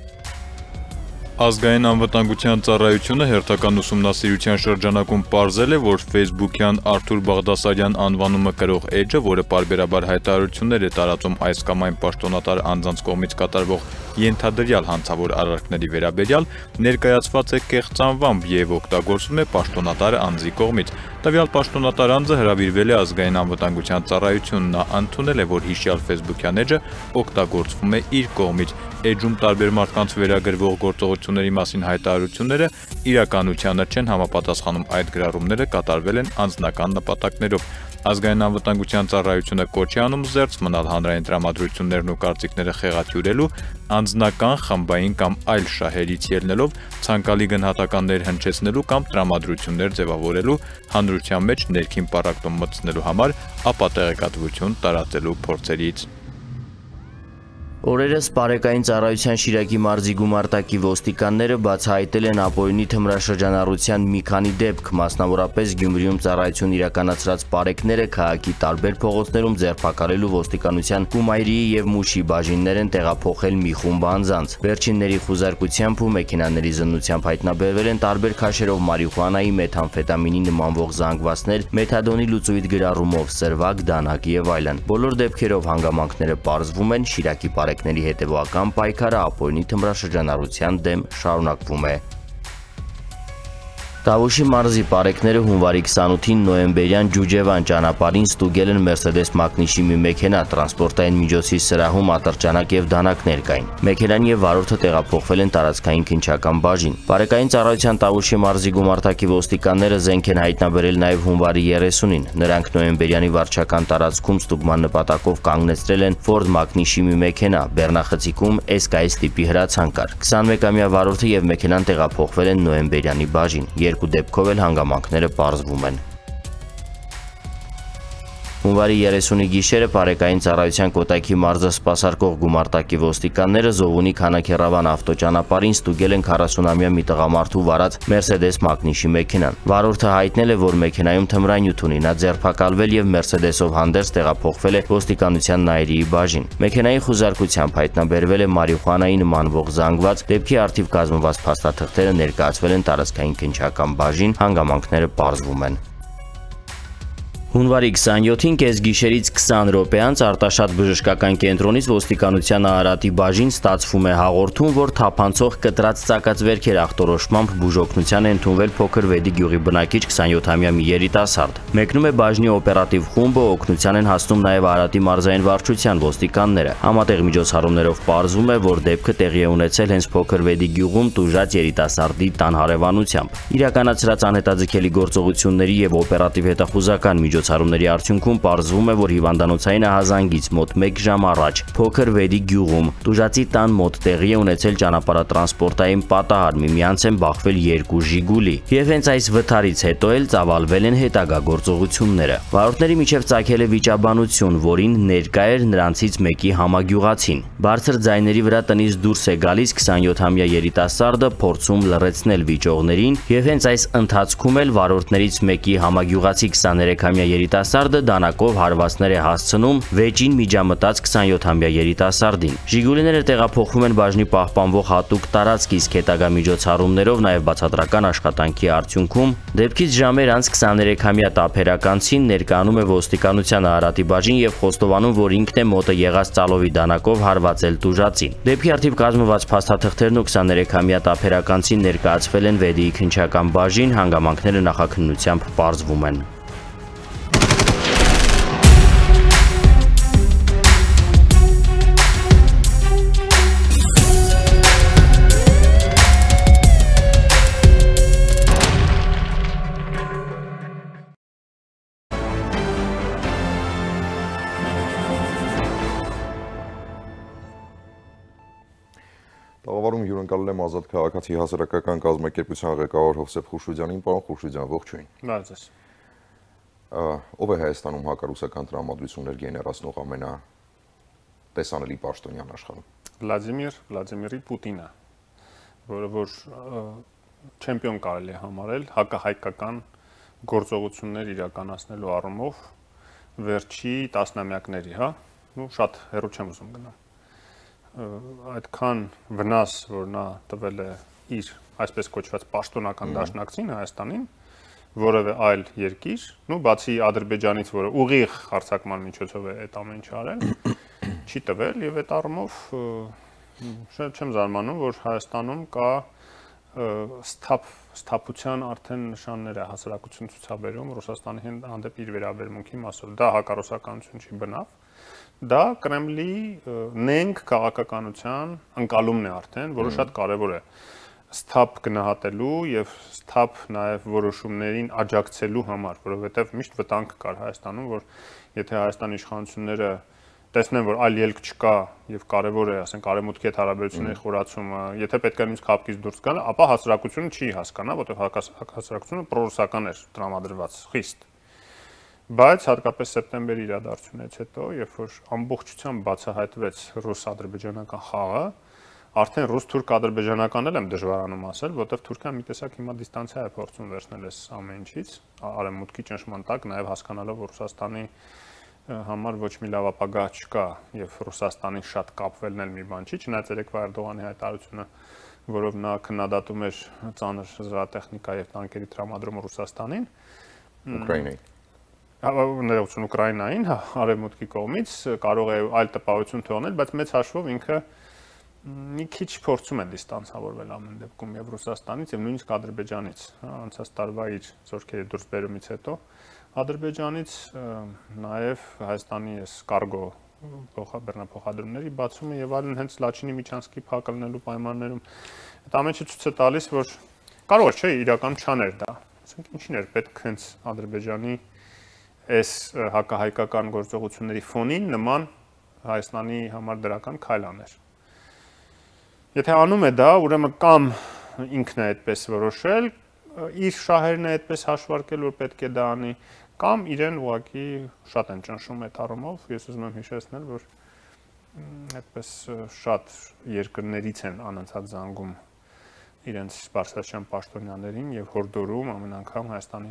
Ազգային անվտանգության ծառայությունը հերթական ուսումնասիրության շրջանակում պարզել է, որ ֆեյսբուքյան Արտուր Բաղդասարյան անվանումը կրող էջը, որը պարբերաբար հայտարարություններ է տարածում այս կամ այն պաշտոնատար անձանց կողմից կատարվող ենթադրյալ հանցավոր արարքների վերաբերյալ, ներկայացված է կեղծ անվամբ եւ օգտագործվում է պաշտոնատար անձի կողմից։ Տվյալ պաշտոնատար անձը հրավիրվել է ազգային անվտանգության ծառայություն, նա ընդունել է, որ հիշյալ ֆեյսբուքյան էջը օգտագործվում է իր կողմից։ Էջում տարբեր մարդկանց վերագրվող գործողությունների մասին հայտարարությունները իրականությանը չեն համապատասխանում, այդ գրառումները կատարվել են անձնական նպատակներով։ Ազգային անվտանգության ծառայությունը կոչ է անում զերծ մնալ հանրային տրամադրություններն ու կարծիքները խեղաթյուրելու, անձնական, խմբային կամ այլ շահերից ելնելով ցանկալի գնահատականներ հնչեցնելու կամ տրամադրություններ ձևավորելու, հանրության մեջ ներքին պառակտում մտցնելու համար ապատեղեկատվություն տարածելու փորձերից։ Օրերս Պարեկային ծառայության Շիրակի մարզի գումարտակի ոստիկանները բացահայտել են ապօրինի թմրաշրջանառության մի քանի դեպք, մասնավորապես Գյումրիում ծառայություն իրականացրած պարեկները քաղաքի տարբեր փողոցներում ձերբակալելու ոստիկանության Կումայրիի եւ Մուշի բաժիններ են տեղափոխել մի խումբ անձանց։ Վերջինների խուզարկությամբ ու մեքենաների զննությամբ հայտնաբերվել են տարբեր քաշերով մարիխուանայի, մեթամֆետամինի նմանվող զանգվածներ, մեթադոնի լուծույթ գրառումով, սրվակ, դանակ եւ այլն։ Բոլոր դեպքերով հանգամանքները պարզվում են, Շիրակի պարեկների հետևողական պայքարը ապօրինի թմրաշրջանառության դեմ շարունակվում է։ Տավուշի մարզի պարեկները հունվարի 28-ին նոյեմբերյան Ջուջևան ճանապարհին ստուգել են Mercedes Magnus-ի մի մեքենա, տրանսպորտային միջոցի սրահում ատրճանակ եւ դանակներ կային։ Մեքենան եւ վարորդը տեղափոխվել են տարածքային քննչական բաժին։ Պարեկային ծառայության Տավուշի մարզի գումարտակի ոստիկանները զենք են հայտնաբերել նաեւ հունվարի 30-ին։ Նրանք նոյեմբերյանի վարչական տարածքում ստուգման նպատակով կանգնեցրել են Ford Magnus-ի մի մեքենա, բեռնախցիկում SKS տիպի հրացան կար։ 21-ամյա վարորդը եւ մեքենան տեղափոխվել են նոյեմբերյանի բաժին։ Երկու դեպքով էլ հանգամանքները պարզվում են։ Հունվարի 30-ի գիշերը Պարեկային ծառայության Կոտայքի մարզը սպասարկող գումարտակի ոստիկանները Զովունի Քանաքեռավան ավտոճանապարհին ստուգել են 40-ամյա մի տղամարդու վարած Mercedes Magnus-ի մեքենան։ Վարորդը հայտնել է, որ մեքենայում թմրանյութ ունի, նա ձերբակալվել եւ Mercedes-ով հանդերձ տեղափոխվել է ոստիկանության Նայիրիի բաժին։ Մեքենայի խուզարկությամբ հայտնաբերվել է մարիխուանայի նմանվող զանգված, դեպքի արդիվ կազմված փաստաթղթերը ներկայացվել են տարածքային քննչական բաժին, հանգամանքները պարզվում են։ Հունվարի 27-ին կեսգիշերից 20 րոպե անց Արտաշատ բժշկական կենտրոնից ոստիկանության Արարատի բաժին ստացվում է հաղորդում, որ թափանցող կտրած ծակածվերքեր ախտորոշմամբ բուժօգնության է ընդունվել փոքր Վեդի գյուղի բնակիչ 27-ամյա մի երիտասարդ։ Մեկնում է բաժնի օպերատիվ խումբը, օգնության են հասնում նաև Արարատի մարզային վարչության ոստիկանները։ Համատեղ միջոցառումներով պարզվում է, որ դեպքը տեղի է ունեցել հենց փոքր Վեդի գյուղում տուժած երիտասարդի տան հարևանությամբ։ Իրականացրած անհետաձգելի գործողությունների եւ օպերատիվ հետախուզական միջոցառումների արդյունքում պարզվում է, որ հիվանդանոցային ահազանգից մոտ 1 ժամ առաջ փոքր Վեդի գյուղում տուժածի տան մոտ տեղի է ունեցել ճանապարհատրանսպորտային պատահար, միմյանց են բախվել 2 Ժիգուլի, եւ հենց այս վթարից հետո էլ ծավալվել են հետագա գործողությունները։ Վարորդների միջև ծագել է վիճաբանություն, որին ներկա էր նրանցից մեկի համագյուղացին։ Բարձր ձայների վրա տնից դուրս է գալիս 27-ամյա երիտասարդը, փորձում լռեցնել վիճողներին, եւ հենց այս ընթացքում էլ վարորդներից մեկի համագյուղացի 23-ամյա երիտասարդը դանակով հարվածներ է հասցնում վեճին միջամտած 27-ամյա երիտասարդին։ Ժիգուլիները տեղափոխվում են բաժնի պահպանվող հատուկ տարածք, իսկ հետագա միջոցառումներով նաև բացատրական աշխատանքի արդյունքում դեպքից ժամեր անց 23-ամյա տափերականցին ներկայանում է ոստիկանության Արարատի բաժին եւ խոստովանում, որ ինքն է մոտը եղած ծալովի դանակով հարվածել տուժածին։ Դեպքի արդիվ կազմված փաստաթղթերն ու 23-ամյա տափերականցին ներկայացվել են Վեդիի քննչական բաժին, հանգամանքները նախաքննությամբ պարզվում են։ Տաղավարում հյուրընկալել եմ Ազատ քաղաքացի հասարակական կազմակերպության ղեկավար Հովսեփ Խուրշուդյանին, պարոն Խուրշուդյան, ողջույն։ Բարև ձեզ։ Ով է Հայաստանում հակառուսական տրամադրություններ գեներացնող ամենատեսանելի պաշտոնյան աշխարհում։ Վլադիմիր Պուտինը, որը որ չեմպիոն կարելի է համարել հակահայկական գործողություններ իրականացնելու առումով վերջի տասնամյակների, հա, շատ հեռու չեմ ուզում գնալ։ Այդքան վնաս, որ նա տվել է իր այսպես կոչված պաշտոնական դաշնակցին Հայաստանին, որևէ այլ երկիր, բացի Ադրբեջանից, որը ուղիղ հարձակման միջոցով է այդ ամեն ինչ արել, չի տվել եւ այդ առումով չեմ զարմանում, որ Հայաստանում կա սթափության արդեն նշաններ է հասարակություն ցուցաբերում Ռուսաստանի հանդեպ իր վերաբերմունքի մասով։ Դա հակառուսականություն չի բնավ, դա Կրեմլի նենգ քաղաքականության ընկալումն է արդեն, որը շատ կարևոր է սթափ գնահատելու եւ սթափ նաեւ որոշումներին աջակցելու համար, որովհետեւ միշտ վտանգ կար Հայաստանում, որ եթե Հայաստանի իշխանությունները տեսնեն, որ այլ ելք չկա եւ կարեւոր է, ասենք, արևմուտքի հետ հարաբերությունների խորացումը, եթե պետք է նույնիսկ քապկից դուրս գալ, ապա հասարակությունը չի հասկանա, որտեղ հասարակությունը պրոռուսական էր տրամադրված խիստ։ Բայց հատկապես սեպտեմբերի իրադարձությունից հետո, երբ որ ամբողջությամբ բացահայտվեց ռուս-ադրբեջանական խաղը, արդեն ռուս-թուրք-ադրբեջանական էլ եմ դժվարանում ասել, որտեղ Թուրքիան մի տեսակ հիմա դիստանցիա է փորձում վերցնել այս ամեն ինչից, արևմուտքի ճնշման տակ, նաեւ հասկանալով, որ Ռուսաստանի համար ոչ մի լավ ապագա չկա եւ Ռուսաստանին շատ կապվելն էլ մի բան չի, չնայած երեկվա Էրդողանի հայտարարությունը, որով նա քննադատում էր ծանր զրահատեխնիկա եւ տանկերի տրամադրումը Ռուսաստանին, ներողություն Ուկրաինային, արևմուտքի կողմից կարող է այլ տպավորություն թողնել, բայց մեծ հաշվով ինքը մի քիչ փորձում է դիստանցավորվել ամեն դեպքում եւ Ռուսաստանից եւ նույնիսկ Ադրբեջանից, անցած տարվա իր զորքերի դուրսբերումից հետո Ադրբեջանից նաև Հայաստանի այս կարգո բեռնափոխադրումների բացումը եւ այլն հենց Լաչինի Միչանսկի փակ լինելու պայմաններում այդ ամենը ցույց է տալիս, որ կարող չէ իրական չաներ դա։ Ասենք ինչին էր պետք հենց Ադրբեջանի այս հակահայկական գործողությունների ֆոնին նման Հայաստանի համար դրական քայլ աներ։ Եթե անում է դա, ուրեմն կամ ինքն է այդպես որոշել, իր շահերն է այդպես հաշվարկել, որ պետք է դա անի, կամ իրեն ուղղակի շատ են ճնշում այդ առումով, ես ուզում եմ հիշեցնել, որ այդպես շատ երկրներից են անընդհատ զանգում իրենց բարձրաստիճան պաշտոնյաներին եւ հորդորում ամեն անգամ Հայաստանի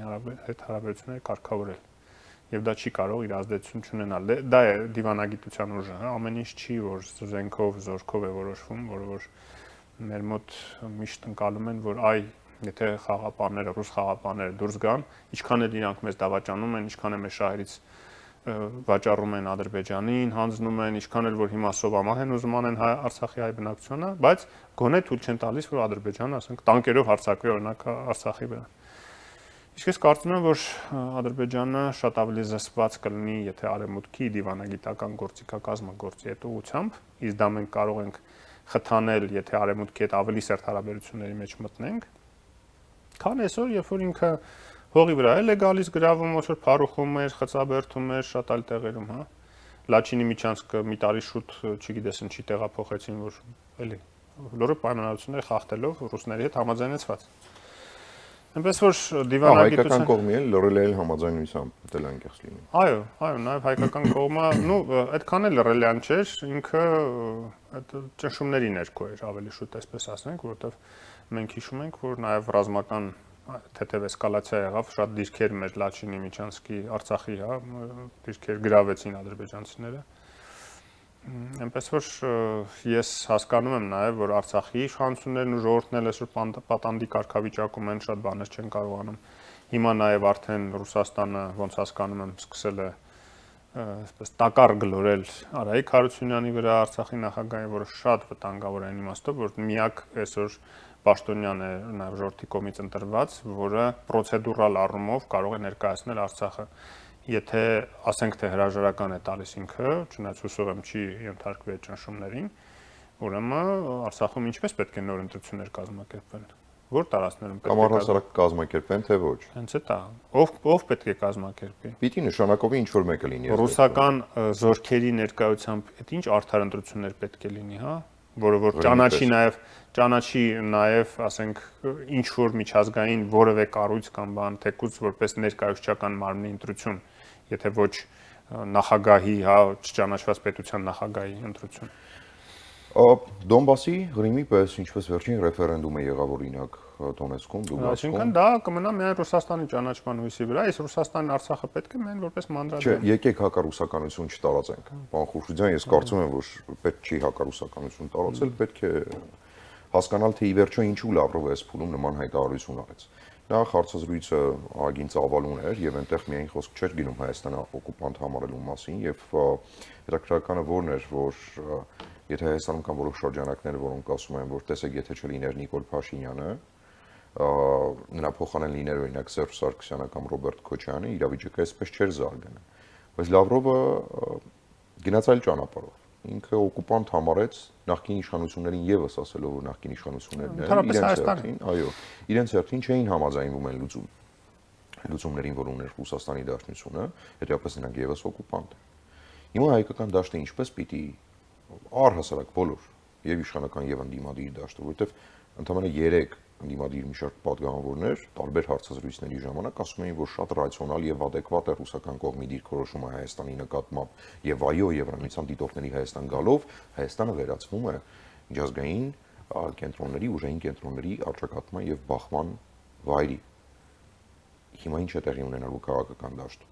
հետ հարաբերությունները կարգավորել։ Եվ դա չի կարող իր ազդեցություն չունենալ։ Դա է դիվանագիտության ուժը, հա, ամեն ինչ չի, որ զենքով, զորքով է որոշվում, որը որ մեր մոտ միշտ ընկալում են, որ այ եթե խաղապանները, ռուս խաղապանները դուրս գան, ինչքան էլ իրանք մեզ դավաճանում են, ինչքան էլ մեր շահերից վաճառում են Ադրբեջանին, հանձնում են, ինչքան էլ որ հիմա սովամահ են ուզում անեն Արցախի հայ բնակչությունը, բայց գոնե թույլ չեն տալիս, որ Ադրբեջանը, ասենք, տանկերով հարձակվի օրինակ Արցախի վրա։ Իսկ ես կարծում եմ, որ Ադրբեջանը շատ ավելի զսպված կլինի, եթե արևմուտքի դիվանագիտական գործիքակազմը գործի այդ ուղղությամբ, իսկ դա մենք կարող ենք խթանել, եթե արևմուտքի հետ ավելի սերտ հարաբերությունների մեջ մտնենք, քան այսօր, երբ որ ինքը հողի վրա էլ է գալիս գրավում, ոչ որ փարուխում էր, խծաբերդում էր, շատ այլ տեղերում, հա։ Լաչինի Միչանսկը մի տարի շուտ, չգիտես ինչի տեղափոխեցին, որ էլի լուրջ պայմանավորություններ խախտելով ռուսների հետ համաձայնեցված։ Այնպես որ դիվանագիտության հայկական կողմի էլ լրել է համաձայնությամբ, դա անկեղծ լինի։ Այո, նաև հայկական կողմը, այդքան էլ լրելյան չէր, ինքը այդ ճնշումների ներքո էր, ավելի շուտ այսպես ասենք, որովհետև մենք հիշում ենք, որ նաև ռազմական թեթև էսկալացիա եղավ, շատ դիրքեր մեր Լաչինի Միչանսկի, Արցախի, հա, դիրքեր գրավեցին ադրբեջանցիները։ Այնպես որ ես հասկանում եմ նաև, որ Արցախի իշխանություններն ու ժողովուրդն էլ այսօր պատանդի կարգավիճակում են, շատ բաներ չեն կարողանում։ Հիմա նաև արդեն Ռուսաստանը, ոնց հասկանում եմ, սկսել է այսպես տակառ գլորել Արայիկ Հարությունյանի վրա, Արցախի նախագահի, որը շատ վտանգավոր է այն իմաստով, որ միակ այսօր պաշտոնյան է նաև ժողովրդի կողմից ընտրված, որը պրոցեդուրալ առումով կարող է ներկայացնել Արցախը։ Եթե ասենք թե հրաժարական է տալիս ինքը, չնայած հուսով եմ չի ենթարկվի այդ ճնշումներին, ուրեմն Արցախում ինչպես պետք է նոր ընտրություններ կազմակերպվեն։ Որ տարածքներում պետք է Համառասարակ կազմակերպեն, թե ոչ։ Հենց է դա։ Ով պետք է կազմակերպի։ Պիտի նշանակովի ինչ որ մեկը լինի։ Ռուսական զորքերի ներկայությամբ այդ ինչ արդար ընտրություններ պետք է լինի, հա։ որը որ ճանաչի նաև, ասենք, ինչ որ միջազգային որևէ կառույց կամ բան, թեկուզ որպես ներկայացուցչական մարմնի ընտրություն, եթե ոչ նախագահի, հա, չճանաչված պետության նախագահի ընտրություն։ Դոնբասի Ղրիմի պես ինչպես վերջին ռեֆերենդումը եղավ օրինակ Դոնեցկում, Լուգանսկում։ Այսինքն դա կմնա միայն Ռուսաստանի ճանաչման հույսի վրա, իսկ Ռուսաստանն Արցախը պետք է միայն որպես մանդատ։ Չէ, եկեք հակառուսականություն չտարածենք։ Պարոն Խուշուձյան, ես կարծում եմ, որ պետք չի հակառուսականություն տարածել, պետք է հասկանալ, թե ի վերջո ինչու Լավրովը այս փուլում նման հայտարարություն արեց։ Նախ հարցազրույցը ագին ծավալուն էր եւ այնտեղ միայն խոսք չէր գնում Հայաստանը օկուպանտ համարելու մասին եւ հետաքրքրականը որն էր, որ եթե Հայաստանում կան որոշ շրջանակներ, որոնք ասում են, որ տեսեք, եթե չլիներ Նիկոլ Փաշինյանը, նրա փոխանեն լիներ օրինակ Սերժ Սարգսյանը կամ Ռոբերտ Քոչյանը, իրավիճակը այսպես չէր զարգանա։ Բայց Լավրովը գնաց այլ ճանապարհով։ Ինքը օկուպանտ համարեց նախկին իշխանություններին եւս ասելով, որ նախկին իշխանություններն իրենց հերթին չէին համաձայնվում այն լուծումներին, որ ուներ Ռուսաստանի Դաշնությունը, հետեւաբար նրանք եւս օկուպանտ են։ Հիմա հայկական դաշտը ինչպես պիտի առհասարակ բոլոր եւ իշխանական եւ ընդդիմադիր դաշտը, որովհետեւ ընդամենը 3 ընդդիմադիր մի շարք պատգամավորներ տարբեր հարցազրույցների ժամանակ ասում էին, որ շատ ռացիոնալ եւ adekvat է ռուսական կողմի դիրքորոշումը Հայաստանի նկատմամբ եւ այո, Եվրամիության դիտորդների Հայաստան գալով Հայաստանը վերածվում է միջազգային կենտրոնների, ուժային կենտրոնների առճակատման եւ բախման վայրի։ Հիմա ինչ է տեղի ունենալու քաղաքական դաշտում։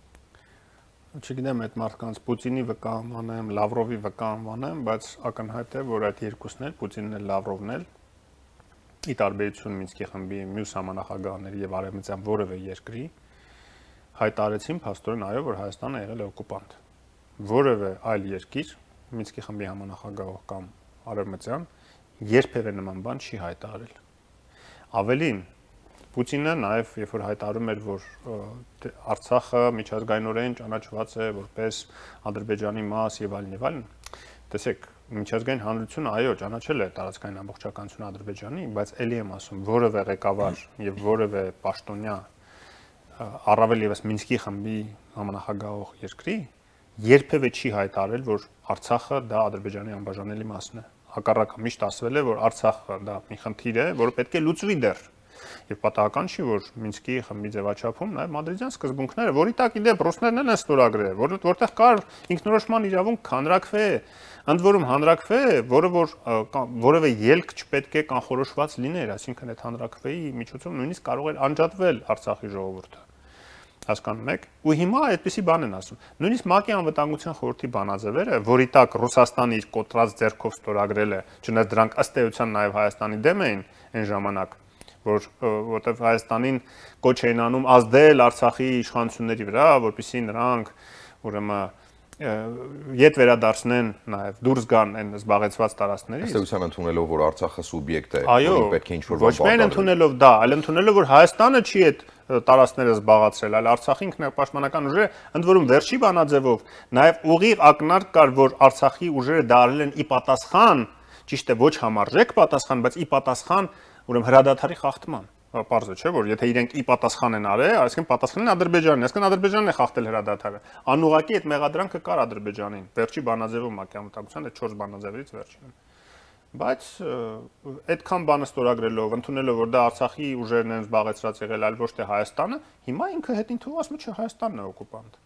Չգիտեմ, այդ մարդկանց Պուտինի վկա անվանեմ, Լավրովի վկա անվանեմ, բայց ակնհայտ է, որ այդ երկուսն էլ, Պուտինն էլ, Լավրովն էլ, ի տարբերություն Մինսկի խմբի մյուս համանախագահների եւ արևմտյան որևէ երկրի, հայտարարեցին փաստորեն այո, որ Հայաստանը եղել է օկուպանտ։ Որևէ այլ երկիր, Մինսկի խմբի համանախագահ կամ արևմտյան, երբևէ նման բան չի հայտարարել։ Ավելին, Պուտինը նաև երբ որ հայտարարում էր, որ Արցախը միջազգայինորեն ճանաչված է որպես Ադրբեջանի մաս եւ այլն, տեսեք, միջազգային հանրությունը այո, ճանաչել է տարածքային ամբողջականությունը Ադրբեջանի, բայց ելի եմ ասում, որևէ ղեկավար եւ որևէ պաշտոնյա առավել եւս Մինսկի խմբի համանախագահող երկրի երբևէ չի հայտարարել, որ Արցախը դա Ադրբեջանի անբաժանելի մասն է։ Հակառակը միշտ ասվել է, որ Արցախը դա մի խնդիր է, որը պետք է լուծվի դեռ։ Եվ պատահական չի, որ Մինսկի խմբի ձևաչափում նաև մադրիդյան սկզբունքները, որի տակ իդեպ ռուսներն են ստորագրել, որտեղ կար ինքնորոշման իրավունք հանրակրվե, ընդ որում հանրակրվե, որը որ որևէ ելք չպետք է կանխորոշված լիներ, այսինքն այդ հանրակրվեի միջոցով նույնիսկ կարող էր անջատվել Արցախի ժողովուրդը։ Հասկանում եք։ Ու հիմա այդպիսի բան են ասում։ Նույնիսկ ՄԱԿ-ի անվտանգության խորհրդի բանաձևերը, որի տակ Ռուսաստանը իր կոտրած ձեռքով ստորագրել է, չնայած դրանք ըստ էության նաև Հայաստանի դեմ էին այն ժամանակ, որտեղ Հայաստանին կոչ էին անում ազդել Արցախի իշխանությունների վրա, որպեսզի նրանք ուրեմն ետ վերադարձնեն նաև դուրս գան այն զբաղեցված տարածքներից։ Ըստ էության ընդունելով, որ Արցախը սուբյեկտ է, որին պետք է ինչ-որ ոչ միայն ընդունելով դա, այլ ընդունելով, որ Հայաստանը չի այդ տարածքները զբաղացրել, այլ Արցախի ինքնապաշտպանական ուժերը, ընդ որում վերջի բանաձևով նաև ուղիղ ակնարկ կար, որ Արցախի ուժերը դարել են ի պատասխան, ճիշտ է, ոչ համարժեք պատասխան, բայց ի պատասխան ուրեմն հրադադարի խախտման։ Պարզ է, չէ՞, որ եթե իրենք ի պատասխան են արել, այսինքն պատասխանն է Ադրբեջանին, այսինքն Ադրբեջանն է խախտել հրադադարը։ Անուղղակի այդ մեղադրանքը կար Ադրբեջանին, վերջի բանաձևում ՄԱԿ-ի անվտանգության այդ 4 բանաձևերից վերջինը։ Բայց այդքան բանը ստորագրելով, ընդունելով, որ դա Արցախի ուժերն են զբաղեցրած եղել, այլ ոչ թե Հայաստանը, հիմա ինքը հետին թող ասում է, չէ, Հայաստանն է օկուպանտ։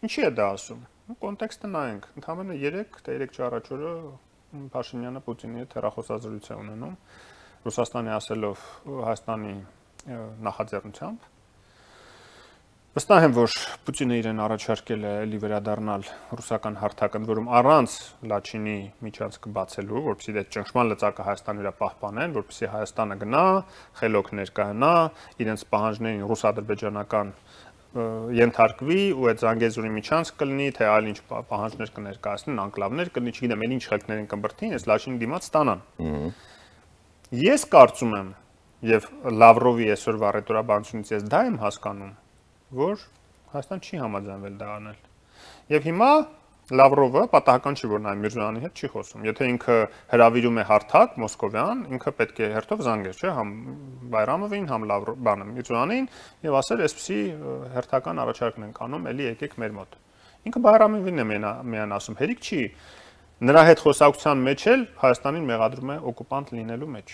Ինչի է դա ասում։ Կոնտեքստը նայենք։ Ընդհանրապես 3 առաջ օրը Փաշինյանը Պուտինի հետ հեռախոսազրույց է ունենում, Ռուսաստանի ասելով Հայաստանի նախաձեռնությամբ։ Վստահ եմ, որ Պուտինը իրեն առաջարկել է էլի վերադառնալ ռուսական հարթակ, ընդ որում առանց Լաչինի միջանցքը բացելու, որպեսզի այդ ճնշման լծակը Հայաստանի վրա պահպանեն, որպեսզի Հայաստանը գնա, խելոք ներկայանա, իրենց պահանջներին ռուս-ադրբեջանական ենթարկվի ու այդ Զանգեզուրի միջանցք կլինի, թե այլ ինչ պահանջներ կներկայացնեն, անկլավներ կլինի, չգիտեմ, էլ ինչ խելքներ են կմբրդին, այս Լաչինի դիմաց ստանան։ Ես կարծում եմ, եւ Լավրովի այսօրվա ռետորաբանությունից ես դա եմ հասկանում, որ Հայաստան չի համաձայնվել դա անել։ Եվ հիմա Լավրովը պատահական չի, որ նա Միրզոյանի հետ չի խոսում։ Եթե ինքը հրավիրում է հարթակ մոսկովյան, ինքը պետք է հերթով զանգեր, չէ՞, համ Բայրամովին, համ բանը Միրզոյանին եւ ասել, այսպեսի հերթական առաջարկն ենք անում, էլի եկեք մեր մոտ։ Ինքը Բայրամովին է միան ասում, հերիք չի Նրա հետ խոսակցության մեջ էլ Հայաստանին մեղադրում է օկուպանտ լինելու մեջ։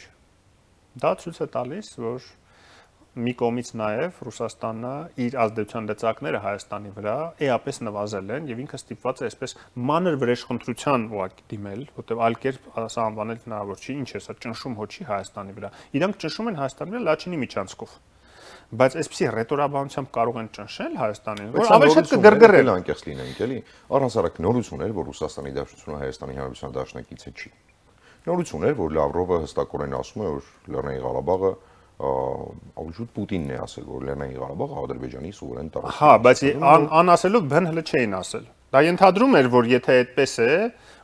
Դա ցույց է տալիս, որ մի կողմից նաև Ռուսաստանը իր ազդեցության լծակները Հայաստանի վրա էապես նվազել են եւ ինքը ստիպված է այսպես մանր վրեժխնդրության ուղղակի դիմել, որտեղ այլ կերպ սա անվանել հնարավոր չի, ինչ է սա ճնշում հոչի Հայաստանի վրա։ Իրանք ճնշում են Հայաստանի վրա Լաչինի միջանցքով։ Բայց այսպեսի ռետորաբանությամբ կարող են ճնշել Հայաստանին, որ ավելի շատ կգրգռել անկեղծ լինենք, էլի։ Առհասարակ նորություն էր, որ Ռուսաստանի Դաշնությունը Հայաստանի Հանրապետության դաշնակիցը չի։ Նորություն էր, որ Լավրովը հստակորեն ասում է, որ Լեռնային Ղարաբաղը ավելի շուտ Պուտինն է ասել, որ Լեռնային Ղարաբաղը Ադրբեջանի սուվերեն տարածք է։ Հա, բայց անասելով բն հələ չէին ասել։ Դա ենթադրում էր, որ եթե այդպես է,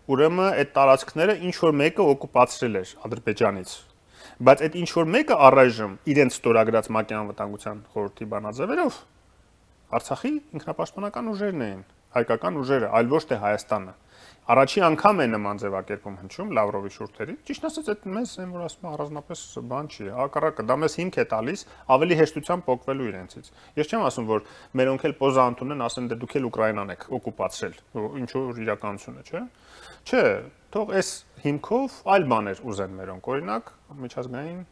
ուրեմն այդ տարածքները ինչ որ մեկը օկուպացրել էր Ադրբեջանից։ Բայց այդ ինչ որ մեկը առայժմ իրենց ստորագրած ՄԱԿ-ի անվտանգության խորհրդի բանաձևերով Արցախի ինքնապաշտպանական ուժերն էին, հայկական ուժերը, այլ ոչ թե Հայաստանը։ Առաջի անգամ է նման ձևակերպում հնչում Լավրովի շուրթերի։ Ճիշտ ասած, այդ մեզ այն որ ասում առանձնապես բան չի, հակառակը դա մեզ հիմք է տալիս ավելի հեշտությամբ փոխվելու իրենցից։ Ես չեմ ասում, որ մերոնք էլ պոզանտ ունեն, ասեն դե դուք էլ Ուկրաինան եք օկուպացրել, ինչ որ իրականություն է, չէ՞։ Չէ, թող այս հիմքով այլ բաներ ուզեն մերոնք, օրինակ միջազգային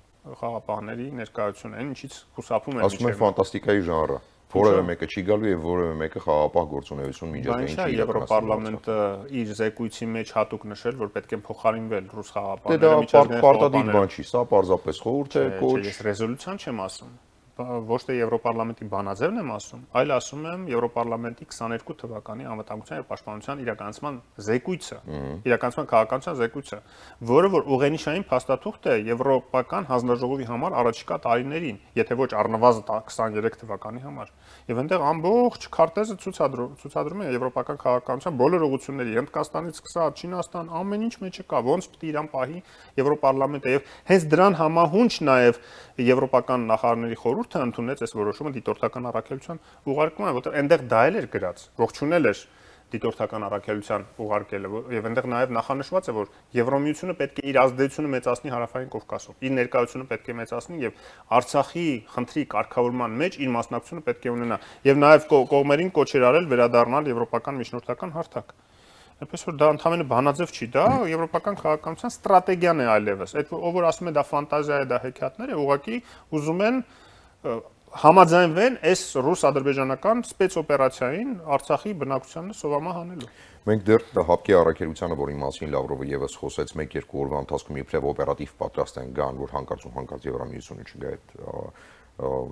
խաղապահների ներկայությունը, այն ինչից խուսափում են։ Ասում են ֆանտաստիկայի ժանրը։ Որևէ մեկը չի գալու եւ որևէ մեկը խաղապահ գործունեություն միջազգային չի։ Եվրոպարլամենտը իր զեկույցի մեջ հատուկ նշել, որ պետք է փոխարինվել ռուս խաղապահները միջազգային պարտադիր բան չի, սա պարզապես խորհուրդ է, կոչ։ Ես ռեզոլյուցիան չեմ ասում։ Ոչ թե Եվրոպարլամենտի բանաձևն եմ ասում, այլ ասում եմ Եվրոպարլամենտի 22 թվականի անվտանգության եւ պաշտպանության իրականացման զեկույցը, իրականացման քաղաքականության զեկույցը, որը որ ուղենիշային փաստաթուղթ է Եվրոպական հանձնաժողովի համար առաջիկա տարիներին, եթե ոչ առնվազն 23 թվականի համար։ Եվ այնտեղ ամբողջ քարտեզը ցուցադրում է Եվրոպական քաղաքականության բոլոր ուղղությունների, Հնդկաստանից սկսած Չինաստան, ամեն ինչ մեջը կա, ոնց պիտի իրան պահի Եվրոպարլամենտը եւ հենց դրան համահունչ նաեւ Եվրոպական նախարարների խորհուրդը ընդունեց այս որոշումը դիտորդական առաքելության ուղարկման, որտեղ այնտեղ դա էլ էր գրած, ողջունել էր դիտորդական առաքելության ուղարկելը եւ այնտեղ նաեւ նախանշված է, որ Եվրոմիությունը պետք է իր ազդեցությունը մեծացնի Հարավային Կովկասում, իր ներկայությունը պետք է մեծացնի եւ Արցախի խնդրի կարգավորման մեջ իր մասնակցությունը պետք է ունենա եւ նաեւ կողմերին կոչ էր արել վերադառնալ եվրոպական միջնորդական հարթակ։ Այնպես որ դա ընդհանրապես բանաձև չի, դա եվրոպական քաղաքականության ստրատեգիան է այլևս։ Այդ ով որ ասում է դա ֆանտազիա է, դա հեքիաթներ է, ուղղակի ուզում են համաձայնվեն այս ռուս-ադրբեջանական սպեցօպերացիային Արցախի բնակչությանը սովամահ անելու։ Մենք դեռ հապկի առաքելությանը, որի մասին Լավրովը եւս խոսեց 1-2 օրվա ընթացքում իբրև օպերատիվ պատրաստ են գան, որ հանկարծ Եվրամիությունը չգա այդ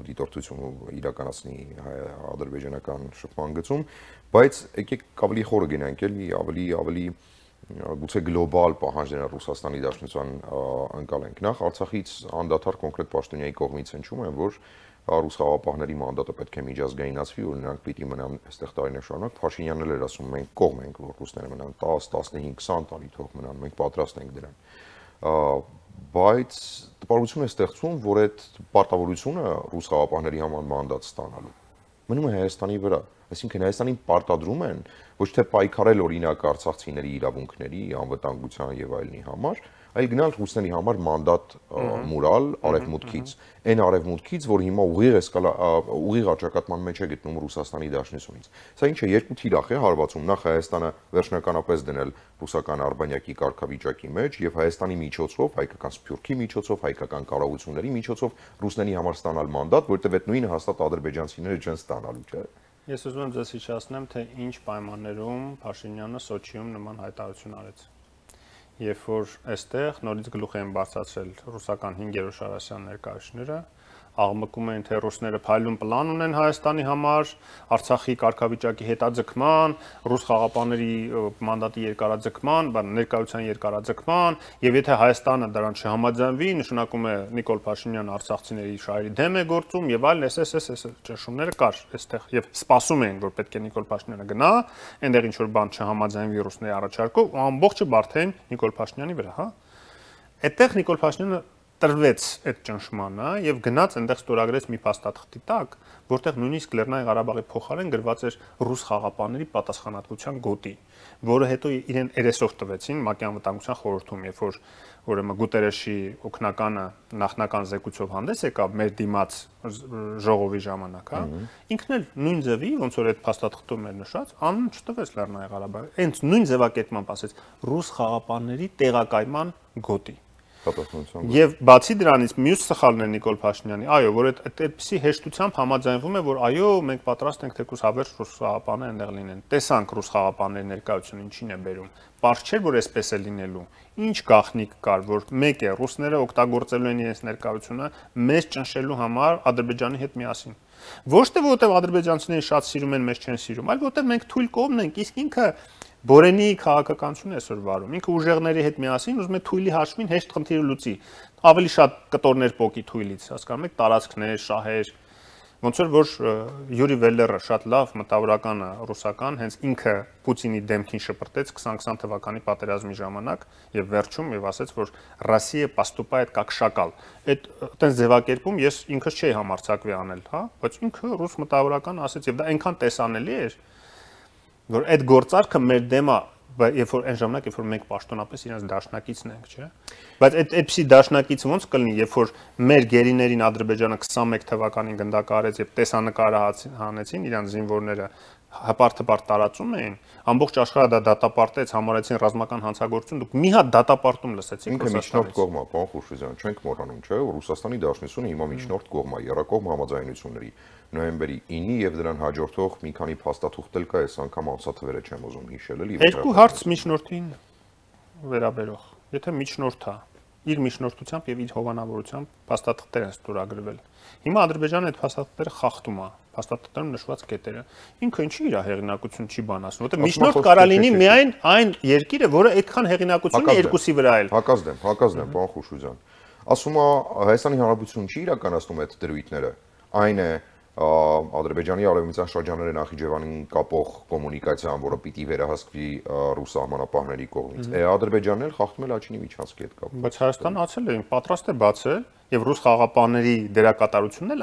դիտորդությունը իրականացնի ադրբեջանական շփման գծում, բայց եկեք ավելի խորը գնանք, ավելի գուցե գլոբալ պահանջները Ռուսաստանի Դաշնության անցալենք։ Նախ Արցախից անդադար կոնկրետ պաշտոնյայի կողմից հնչում են, որ ռուս խաղապահների մանդատը պետք է միջազգայնացվի, որ նրանք պիտի մնան այստեղ տարիներ շարունակ։ Փաշինյանն էլ էր ասում, մենք կողմ ենք, որ ռուսները մնան 10, 15, 20 տարի թող մնան, մենք պատրաստ ենք դրան։ Բայց տպավորություն է ստեղծում, որ այդ պարտավորությունը ռուս խաղապահների համար մանդատ ստանալու մնում է Հայաստանի վրա, այսինքն Հայաստանին պարտադրում են ոչ թե պայքարել օրինակ արցախցիների իրավունքների, անվտանգության եւ այլնի համար, այլ գնալ ռուսների համար մանդատ մուրալ արևմուտքից, այն արևմուտքից, որ հիմա ուղիղ աճակատման մեջ է գտնում Ռուսաստանի Դաշնությունից։ Սա ինչ է, երկու թիրախ է հարվածում, նախ Հայաստանը վերջնականապես դնել ռուսական արբանյակի կարգավիճակի մեջ եւ Հայաստանի միջոցով, հայկական սփյուռքի միջոցով, հայկական կառավարությունների միջոցով ռուսների համար ստանալ մանդատ, որտեղ այդ նույնը հաստատ ադրբեջանցիները չեն ստանալու, չէ՞։ Ես ուզում եմ ձեզ հիշեցնեմ, թե ինչ պայմաններում Փաշինյանը Սոչիում նման հայտարարություն արեց։ Երբ որ այստեղ նորից գլուխ են բացացրել ռուսական 5-րդ շարասյան ներկայացուցիչները, աղմկում են, թե ռուսները փայլուն պլան ունեն Հայաստանի համար, Արցախի կարգավիճակի հետաձգման, ռուս խաղապահների մանդատի երկարաձգման, ներկայության երկարաձգման, եւ եթե Հայաստանը դրան չհամաձայնվի, նշանակում է Նիկոլ Փաշինյանը արցախցիների շահերի դեմ է գործում եւ այլն, այս ճնշումները կար այստեղ եւ սպասում էին, որ պետք է Նիկոլ Փաշինյանը գնա, այնտեղ ինչ որ բան չհամաձայնվի ռուսների առաջարկով, ու ամբողջը բարթեն Նիկոլ Փաշինյանի վրա, հա։ Այդտեղ Նիկոլ Փաշինյանը տրվեց այդ ճնշմանը եւ գնաց այնտեղ ստորագրեց մի փաստաթղթի տակ, որտեղ նույնիսկ Լեռնային Ղարաբաղի փոխարեն գրված էր ռուս խաղապանների պատասխանատվության գոտի, որը հետո իրեն երեսով տվեցին ՄԱԿ-ի անվտանգության խորհրդում, երբ որ ուրեմն Գուտերեշի օգնականը նախնական զեկույցով հանդես եկավ մեր դիմաց ժողովի ժամանակ, հա, ինքն էլ նույն ձևի, ոնց որ այդ փաստաթղթում էր նշած, անուն չտվեց Լեռնային Ղարաբաղի, հենց նույն ձևակերպմամբ ասեց ռուս խաղապանների տեղակայման գոտի։ Եվ բացի դրանից մյուս սխալն է Նիկոլ Փաշինյանի, այո, որ այդպիսի հեշտությամբ համաձայնվում է, որ այո, մենք պատրաստ ենք թեկուզ հավերժ ռուս խաղապաններ այնտեղ լինեն։ Տեսանք ռուս խաղապանների ներկայությունը ինչին է բերում։ Պարզ չէր, որ այսպես է լինելու։ Ինչ գաղտնիք կար, որ մեկ է ռուսները օգտագործելու են իրենց ներկայությունը մեզ ճնշելու համար Ադրբեջանի հետ միասին։ Ոչ թե որովհետև ադրբեջանցիները շատ սիրում են, մեզ չեն սիրում, այլ որովհետև մենք թույլ կողմն ենք, իսկ ինքը Բորենի քաղաքականությունն է այսօր վարում։ Ինքը ուժեղների հետ միասին ուզում է թույլի հաշվին հեշտ խնդիրը լուծի։ Ավելի շատ կտորներ պոկի թույլից, հասկանում եք, տարածքներ, շահեր։ Ոնց որ Յուրի Վելլերը շատ լավ մտավորական է ռուսական, հենց ինքը Պուտինի դեմքին շպրտեց 2020 թվականի պատերազմի ժամանակ եւ վերջում եւ ասաց, որ Ռոսիա поступает как шакал։ Այդ այդպես ձևակերպում ես ինքս չէի համարձակվի անել, հա, բայց ինքը ռուս մտավորական ասաց եւ դա այնքան տեսանելի էր, որ այդ գործարքը մեր դեմ է, երբ որ այն ժամանակ, երբ որ մենք պաշտոնապես իրենց դաշնակիցն ենք, չէ՞։ Բայց այդպիսի դաշնակից ոնց կլինի, երբ որ մեր գերիներին Ադրբեջանը 21 թվականին գնդակահարեց եւ տեսանկարը հանեցին իրանց զինվորները հպարտ տարածում էին, ամբողջ աշխարհը դա դատապարտեց, համարեցին ռազմական հանցագործություն, դուք մի հատ դատապարտում լսեցիք ինքը միջնորդ կողմա, պարոն Խուշիզյան, չենք մոռանում, չէ՞, որ Ռուսաստանի Դաշնությունը հիմա միջնորդ կողմա, երակողմ համաձայնությունների նոյեմբերի 9-ի եւ դրան հաջորդող մի քանի փաստաթուղթ էլ կա, այս անգամ ամսաթվերը չեմ ուզում հիշել էլի։ Երկու հարց միջնորդին վերաբերող, եթե միջնորդա իր միջնորդությամբ եւ իր հովանավորությամբ փաստաթղթեր են ստորագրվել։ Հիմա Ադրբեջանը այդ փաստաթղթերը խախտում է, փաստաթղթերում նշված կետերը։ Ինքը ինչի իր հեղինակություն չի բան ասում, որտեղ միջնորդ կարա լինի միայն այն երկիրը, որը այդքան հեղինակություն ունի երկուսի վրա էլ։ Հակազդեմ, պարոն Խուշուզյան։ Ասում է Հայաստանի Հանրապետությունը չի իրականացնում այդ դրույթները։ Այն է Ադրբեջանի արևմտյան շրջանները Նախիջևանին կապող կոմունիկացիան, որը պիտի վերահսկվի ռուս սահմանապահների կողմից։ Ադրբեջանն էլ խախտում է Լաչինի միջանցքի հետ կապված։ Բայց Հայաստանը ասել է, պատրաստ է բացել եւ ռուս խաղապանների դերակատարությունն էլ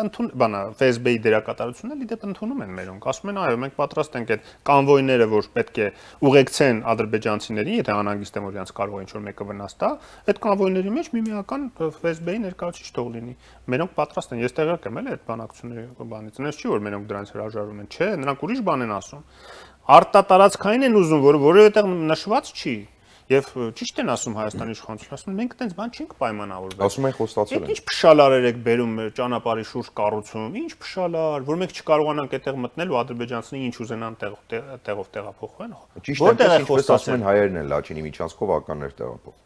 ՖՍԲ-ի դերակատարությունն էլ իդեպ ընդունում են մերոնք։ Ասում են, այո, մենք պատրաստ ենք այդ կանվոյները, որ պետք է ուղեկցեն ադրբեջանցիներին, եթե անհանգիստ են, որ իրենց կարող է ինչ-որ մեկը վնաս տա, այդ կանվոյների մեջ միմիական ՖՍԲ-ի ներկայացուցիչ թող լինի։ Մերոնք պատրաստ են։ Ես տեղյակ եմ էլ այդ բանակցությունների բանից։ Այնպես չի, որ մերոնք դրանից հրաժարվում են, չէ, նրանք ուրիշ բան են ասում։ Արտատարածքային են ուզում, որովհետեւ նշված չի։ Եվ ճիշտ են ասում Հայաստանի իշխանությունը, ասում են մենք այդպես բան չենք պայմանավորվել։ Ասում են խոստացել են։ Ինչ փշալարեր եք բերում ճանապարհի շուրջ կառուցում, ինչ փշալար, որ մենք չկարողանանք այդտեղ մտնել ու ադրբեջանցիները ինչ ուզենան տեղով տեղափոխվեն։ Ճիշտ է, ինչպես ասում են հայերն են Լաչինի միջանցքով ականներ տեղափոխ։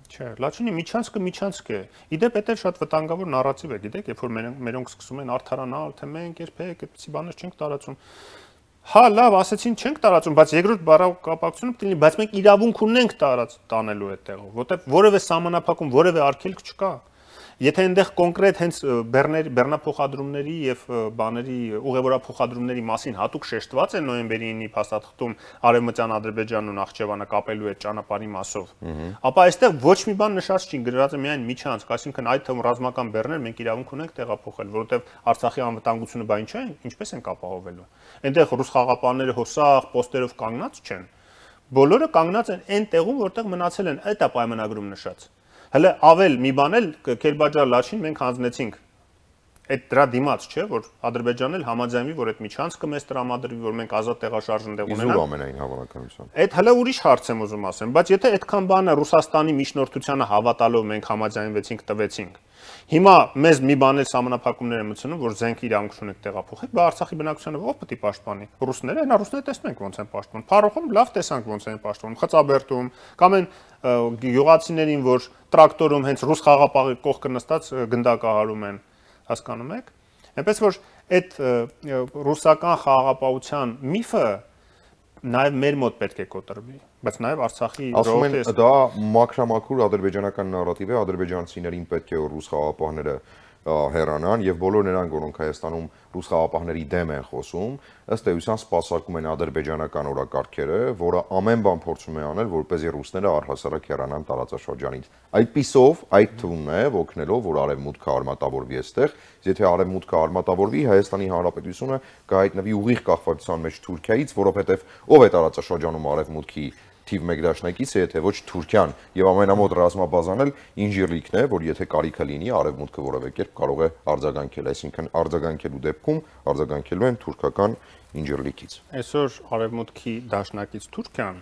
Չէ, Լաչինի միջանցքը է։ Իդեպ դա շատ վտանգավոր նարատիվ է, գիտեք, երբ որ մերոնք սկսում են արդարանալ, թե մենք երբեք այդպիսի բաներ չենք տարածում։ Հա, լավ, ասեցին չենք տարածում, բայց երկրորդ բառակապակցությունը պետք է լինի, բայց մենք իրավունք ունենք տանելու այդտեղով, որտեղ որևէ սահմանափակում, որևէ արգելք չկա։ Եթե այնտեղ կոնկրետ հենց բեռնափոխադրումների եւ բաների ուղևորափոխադրումների մասին հատուկ շեշտված է նոյեմբերի 9-ի փաստաթղթում Արևմտյան Ադրբեջանն ու Նախճեվանը կապելու այդ ճանապարհի մասով, ապա այստեղ ոչ մի բան նշած չի, գրված է միայն միջանցք, այսինքն այդ թվում ռազմական բեռներ մենք իրավունք ունենք տեղափոխել, որովհետեւ Արցախի անվտանգությունը բան չէ, ինչպես են ապահովելու։ Այնտեղ ռուս խաղապանները հոսախ պոստերով կանգնած չեն։ Բոլորը կանգնած են այն տեղում, որտեղ մնացել են, այդ է պայմանագրում նշած։ Հələ ավել մի բան էլ Քերբաջար Լաչին մենք հանձնեցինք այդ դրա դիմաց, չէ, որ Ադրբեջանն էլ համաձայնվի, որ այդ միջանցքը մեզ տրամադրվի, որ մենք ազատ տեղաշարժ ընդեղ ունենանք։ Իզուր ամենայն հավանականությամբ։ Այդ հələ ուրիշ հարց եմ ուզում ասեմ, բայց եթե այդքան բանը Ռուսաստանի միջնորդությանը հավատալով մենք համաձայնվեցինք, տվեցինք։ Հիմա մեզ մի բան էլ սահմանափակումներ են մտցնում, որ զենք իրավունք ունենք տեղափոխել, բայց Արցախի բնակչությանը ով պետք է պաշտպանի։ Ռուսները, նա ռուսները տեսնում ենք ոնց են պաշտպանում։ Փարոխում լավ տեսանք ոնց են պաշտպանում, Խծաբերդում, կամ այն գյուղացիներին, որ տրակտորում հենց ռուս խաղապահի կողքը նստած գնդակահարում են, հասկանում եք։ Այնպես որ այդ ռուսական խաղապահության միֆը նաև մեր մոտ պետք է կոտրվի, բայց նաև Արցախի ժողովրդի դա մաքրամաքուր ադրբեջանական նարատիվ է, ադրբեջանցիներին պետք է որ ռուս խաղապահները հեռանան եւ բոլոր նրանք, որոնք Հայաստանում ռուս խաղապահների դեմ են խոսում, ըստ էության սպասարկում են ադրբեջանական օրակարգերը, որը ամեն բան փորձում է անել, որպեսզի ռուսները առհասարակ հեռանան տարածաշրջանից։ Այդպիսով այդ թվում է օգնելով, որ արևմուտքը արմատավորվի այստեղ, եթե արևմուտքը արմատավորվի, Հայաստանի Հանրապետությունը կհայտնվի ուղիղ կախվածության մեջ Թուրքիայից, որովհետեւ ով է տարածաշրջանում արևմուտքի թիվ 1 դաշնակիցը, եթե ոչ Թուրքիան, եւ ամենամոտ ռազմաբազան էլ Ինժիրլիկն է, որ եթե կարիքը լինի, արևմուտքը որևէ կերպ կարող է արձագանքել, այսինքն արձագանքելու դեպքում արձագանքելու են թուրքական Ինժիրլիկից։ Այսօր արևմուտքի դաշնակից Թուրքիան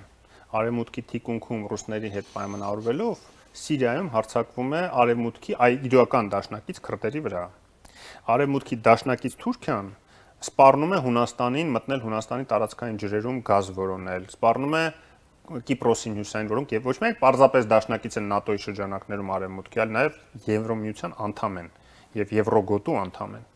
արևմուտքի թիկունքում ռուսների հետ պայմանավորվելով Սիրիայում հարձակվում է արևմուտքի իրական դաշնակից քրդերի վրա։ Արևմուտքի դաշնակից Թուրքիան սպառնում է Հունաստանին մտնել Հունաստանի տարածքային ջրերում գազ որոնել, սպառնում է Կիպրոսին հյուսային, որոնք եւ ոչ միայն պարզապես դաշնակից են ՆԱՏՕ-ի շրջանակներում արևմուտքի, այլ նաեւ Եվրոմիության անդամ են եւ Եվրոգոտու անդամ են։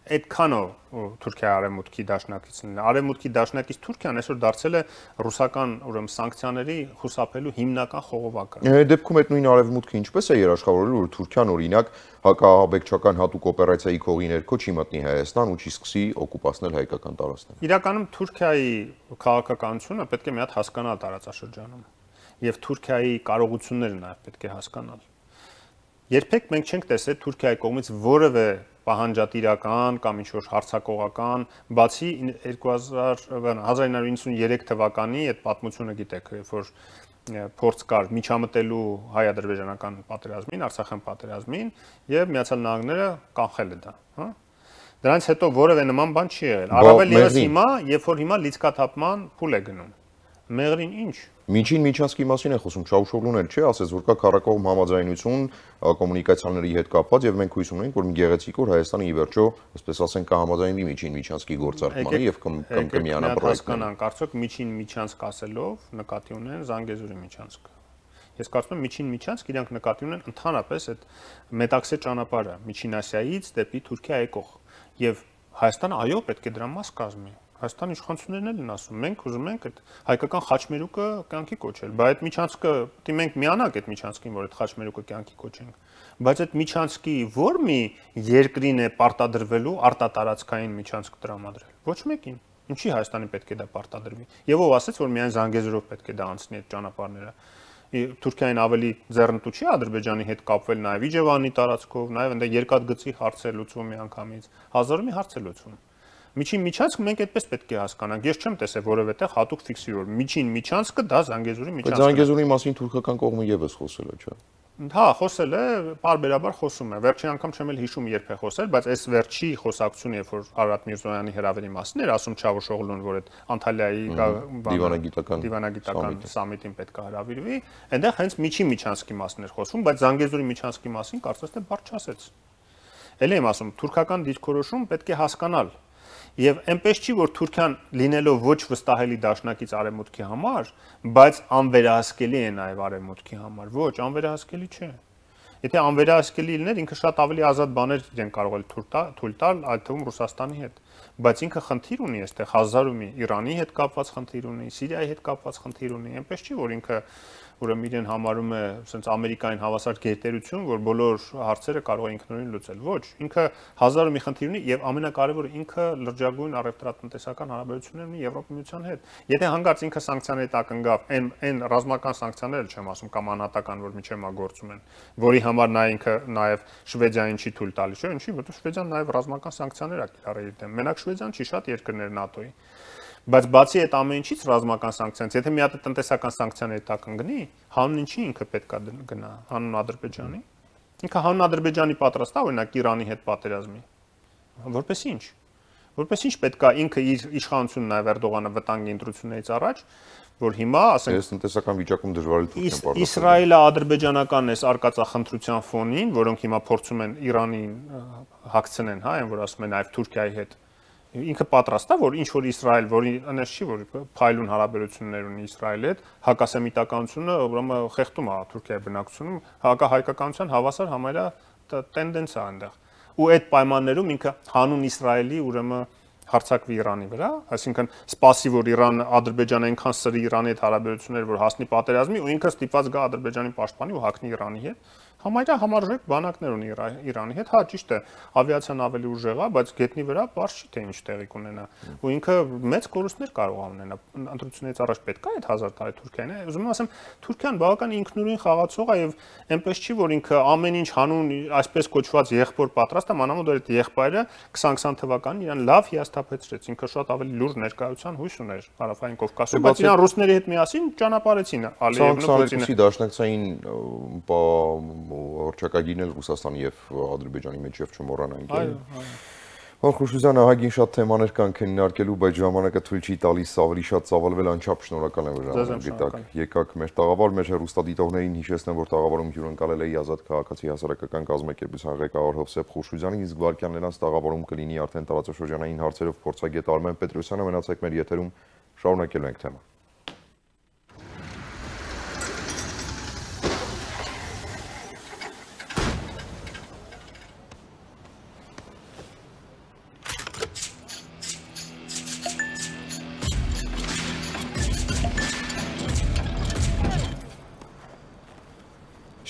Այդքանով Թուրքիա արևմուտքի դաշնակիցն է։ Արևմուտքի դաշնակից Թուրքիան այսօր դարձել է ռուսական ուրեմն սանկցիաների խուսափելու հիմնական խողովակը։ Այդ դեպքում այդ նույն արևմուտքը ինչպես է երաշխավորելու, որ Թուրքիան օրինակ հակաահաբեկչական հատուկ օպերացիայի քողի ներքո չի մտնի Հայաստան ու չի սկսի օկուպացնել հայկական տարածքներ։ Իրականում Թուրքիայի քաղաքականությունը պետք է մի հատ հասկանալ տարածաշրջանում եւ Թուրքիայի կարողությունները նաեւ պետք է հասկանալ։ Երբեք մենք չենք տեսել Թուրքիայի կողմից որևէ պահանջատիրական կամ ինչ-որ հարձակողական, բացի 1993 թվականի այդ պատմությունը գիտեք, երբ որ փորձ կար միջամտելու հայ-ադրբեջանական պատերազմին, Արցախյան պատերազմին եւ Միացյալ Նահանգները կանխել է դա, հա։ Դրանից հետո որևէ նման բան չի եղել։ Առավել ևս հիմա, երբ որ հիմա լիցքաթափման փուլ է գնում։ Մեղրին ինչ։ Միջին միջանցքի մասին է խոսում, Չաուշօղլուն էլ չէ, ասես որ կա քառակողմ համաձայնություն կոմունիկացիաների հետ կապված եւ մենք հույս ունենք, որ մի գեղեցիկ օր Հայաստանը ի վերջո, այսպես ասենք, կհամաձայնվի միջին միջանցքի գործարկմանը եւ կմիանա պրոյեկտին։ Կարծոք միջին միջանցք ասելով նկատի ունեն Զանգեզուրի միջանցքը։ Ես կարծում եմ միջին միջանցք իրանք նկատի ունեն ընդհանրապես այդ Մետաքսե ճանապարհը Միջին Ասիայից դեպի Թուրքիա եկող եւ Հայաստանը այո պետք է դրա մաս կազմի։ Հայաստանի իշխանություններն էլ են ասում, մենք ուզում ենք այդ հայկական խաչմերուկը կյանքի կոչել, բայց այդ միջանցքը դի մենք միանանք այդ միջանցքին, որ այդ խաչմերուկը կյանքի կոչենք, բայց այդ միջանցքի որ մի երկրին է պարտադրվելու արտատարածքային միջանցք տրամադրել, ոչ մեկին։ Ինչի Հայաստանի պետք է դա պարտադրվի։ Եվ ով ասեց, որ միայն Զանգեզուրով պետք է դա անցնի այդ ճանապարհները։ Թուրքիային ավելի ձեռնտու չի Ադրբեջանի հետ կապվել նաև Իջևանի տարածքով, նաև այնտեղ երկաթգծի հարց է լուծվում միանգամից, հազարով մի հարց է լուծվում։ Միջին միջանցք մենք այդպես պետք է հասկանանք։ Ես չեմ տեսել որևէ տեղ հատուկ ֆիքսի որ միջին միջանցքը դա Զանգեզուրի միջանցքն է։ Զանգեզուրի մասին թուրքական կողմը եւս խոսել է, չէ՞։ Հա, խոսել է, բարբերաբար խոսում է։ Վերջին անգամ չեմ էլ հիշում երբ է խոսել, բայց այս վերջի խոսակցությունը, երբ որ Արարատ Միրզոյանի հրավերի մասին էր ասում Չավուշօղլուն, որ այդ Անտալիայի դիվանագիտական սամիտին պետք է հրավիրվի, այնտեղ հենց միջին միջանցքի մասին էր խոսում, բայց Զանգեզուրի միջանցքի մասին կարծես թե բառ չասեց։ Էլ եմ ասում, թուրքական դիրքորոշում պետք է հասկանալ։ Եվ այնպես չի, որ Թուրքիան լինելով ոչ վստահելի դաշնակից արևմուտքի համար, բայց անվերահսկելի է նաև արևմուտքի համար։ Ոչ, անվերահսկելի չէ։ Եթե անվերահսկելի լիներ, ինքը շատ ավելի ազատ բաներ իրեն կարող է թույլ տալ, այդ թվում Ռուսաստանի հետ։ Բայց ինքը խնդիր ունի այստեղ հազար ու մի Իրանի հետ կապված խնդիր ունի, Սիրիայի հետ կապված խնդիր ունի։ Այնպես չի, որ ինքը ուրեմն իրեն համարում է ասենց Ամերիկային հավասար գերտերություն, որ բոլոր հարցերը կարող է ինքնուրույն լուծել։ Ոչ, ինքը հազար ու մի խնդիր ունի եւ ամենակարևորը ինքը լրջագույն առևտրատնտեսական հարաբերություններ ունի Եվրոպայության հետ։ Եթե հանգարց ինքը սանկցիաների տակ ընկավ, այն ռազմական սանկցիաները չեմ ասում կամ անհատական, որ միջև մա գործում են, որի համար նա ինքը նաեւ Շվեդիային չի թույլ տալիս, չէ՞, ինչի, որովհետեւ Շվեդիան նաեւ ռազմական սանկցիաներ ա կիրառել իր դեմ։ Մենակ Շվեդիան չի, շատ երկրներ ՆԱՏՕ-ի։ Բայց բացի այդ ամեն ինչից ռազմական սանկցիաներից, եթե մի հատ տնտեսական սանկցիաների տակ ընկնի, հանուն ինչի ինքը պետք է գնա, հանուն Ադրբեջանի։ Ինքը հանուն Ադրբեջանի պատրաստ է օրինակ Իրանի հետ պատերազմի։ Որպես ինչ։ Որպես ինչ պետք է ինքը իր իշխանությունն նաև Էրդողանը վտանգի ընտրություններից առաջ, որ հիմա, ասենք, այս տնտեսական վիճակում դժվար է Թուրքիան պատրաստել։ Իսրայելը ադրբեջանական էս արկածախնդրության ֆոնին, որոնք հիմա փորձում են Իրանին հագցնեն, հա, այն որ ասում են նաև Թուրքիայի հետ ինքը պատրաստ է որ ինչ որ Իսրայել, որի այնպես չի որ փայլուն հարաբերություններ ունի Իսրայելի հետ, հակասեմիտականությունը ուրեմն խեղդում է Թուրքիայի բնակչությունում, հակահայկականության հավասար համարյա տենդենս է այնտեղ։ Ու այդ պայմաններում ինքը հանուն Իսրայելի ուրեմն հարձակվի Իրանի վրա, այսինքն սպասի որ Իրանը Ադրբեջանը այնքան սրի Իրանի հետ հարաբերություններ որ հասնի պատերազմի ու ինքը ստիպված գա Ադրբեջանի պաշտպանի ու հակնի Իրանի հետ։ Համարյա համարժեք բանակներ ունի Իրանի հետ, հա ճիշտ է, ավիացիան ավելի ուժեղ է, բայց գետնի վրա բարձ չի թե ինչ տեղի կունենա։ Ու ինքը մեծ կորուստներ կարող է ունենա։ Ընտրությունից առաջ պետք է այդ 1000 տարի Թուրքիան է։ Ուզում եմ ասեմ, Թուրքիան բավական ինքնուրույն խաղացող է եւ այնպես չի, որ ինքը ամեն ինչ հանուն այսպես կոչված եղբոր պատրաստ է, մանավանդ որ այդ եղբայրը 2020 թվականին իրան լավ հիասթափեցրեց։ Ինքը շատ ավելի լուրջ ներկայության հույս ուներ Հարավային Կովկասում, բայց իրան ռուսների հետ միասին ճանապարհեցին Ալիևն ու Պուտինը։ Դաշնակցային հռչակագիրն էլ Ռուսաստանի եւ Ադրբեջանի մեջ եւ չմոռանանք։ Խուշուզյան ահագին շատ թեմաներ կան քննարկելու, բայց ժամանակը թույլ չի տալիս ավելի շատ ծավալվել անչափ շնորհակալ եմ ժամանակ եկաք մեր տաղավար, մեր հեռուստադիտողներին հիշեցնեմ, որ տաղավարում հյուրընկալել էի Ազատ քաղաքացի հասարակական կազմակերպության ղեկավար Հովսեփ Խուշուզյանին, իսկ վարքյան նրանց տաղավարում կլինի արդեն տարածաշրջանային հարցերով փորձագետ Արմեն Պետրոսյանը, մնացեք մեր եթերում, շարունակելու ենք թեման։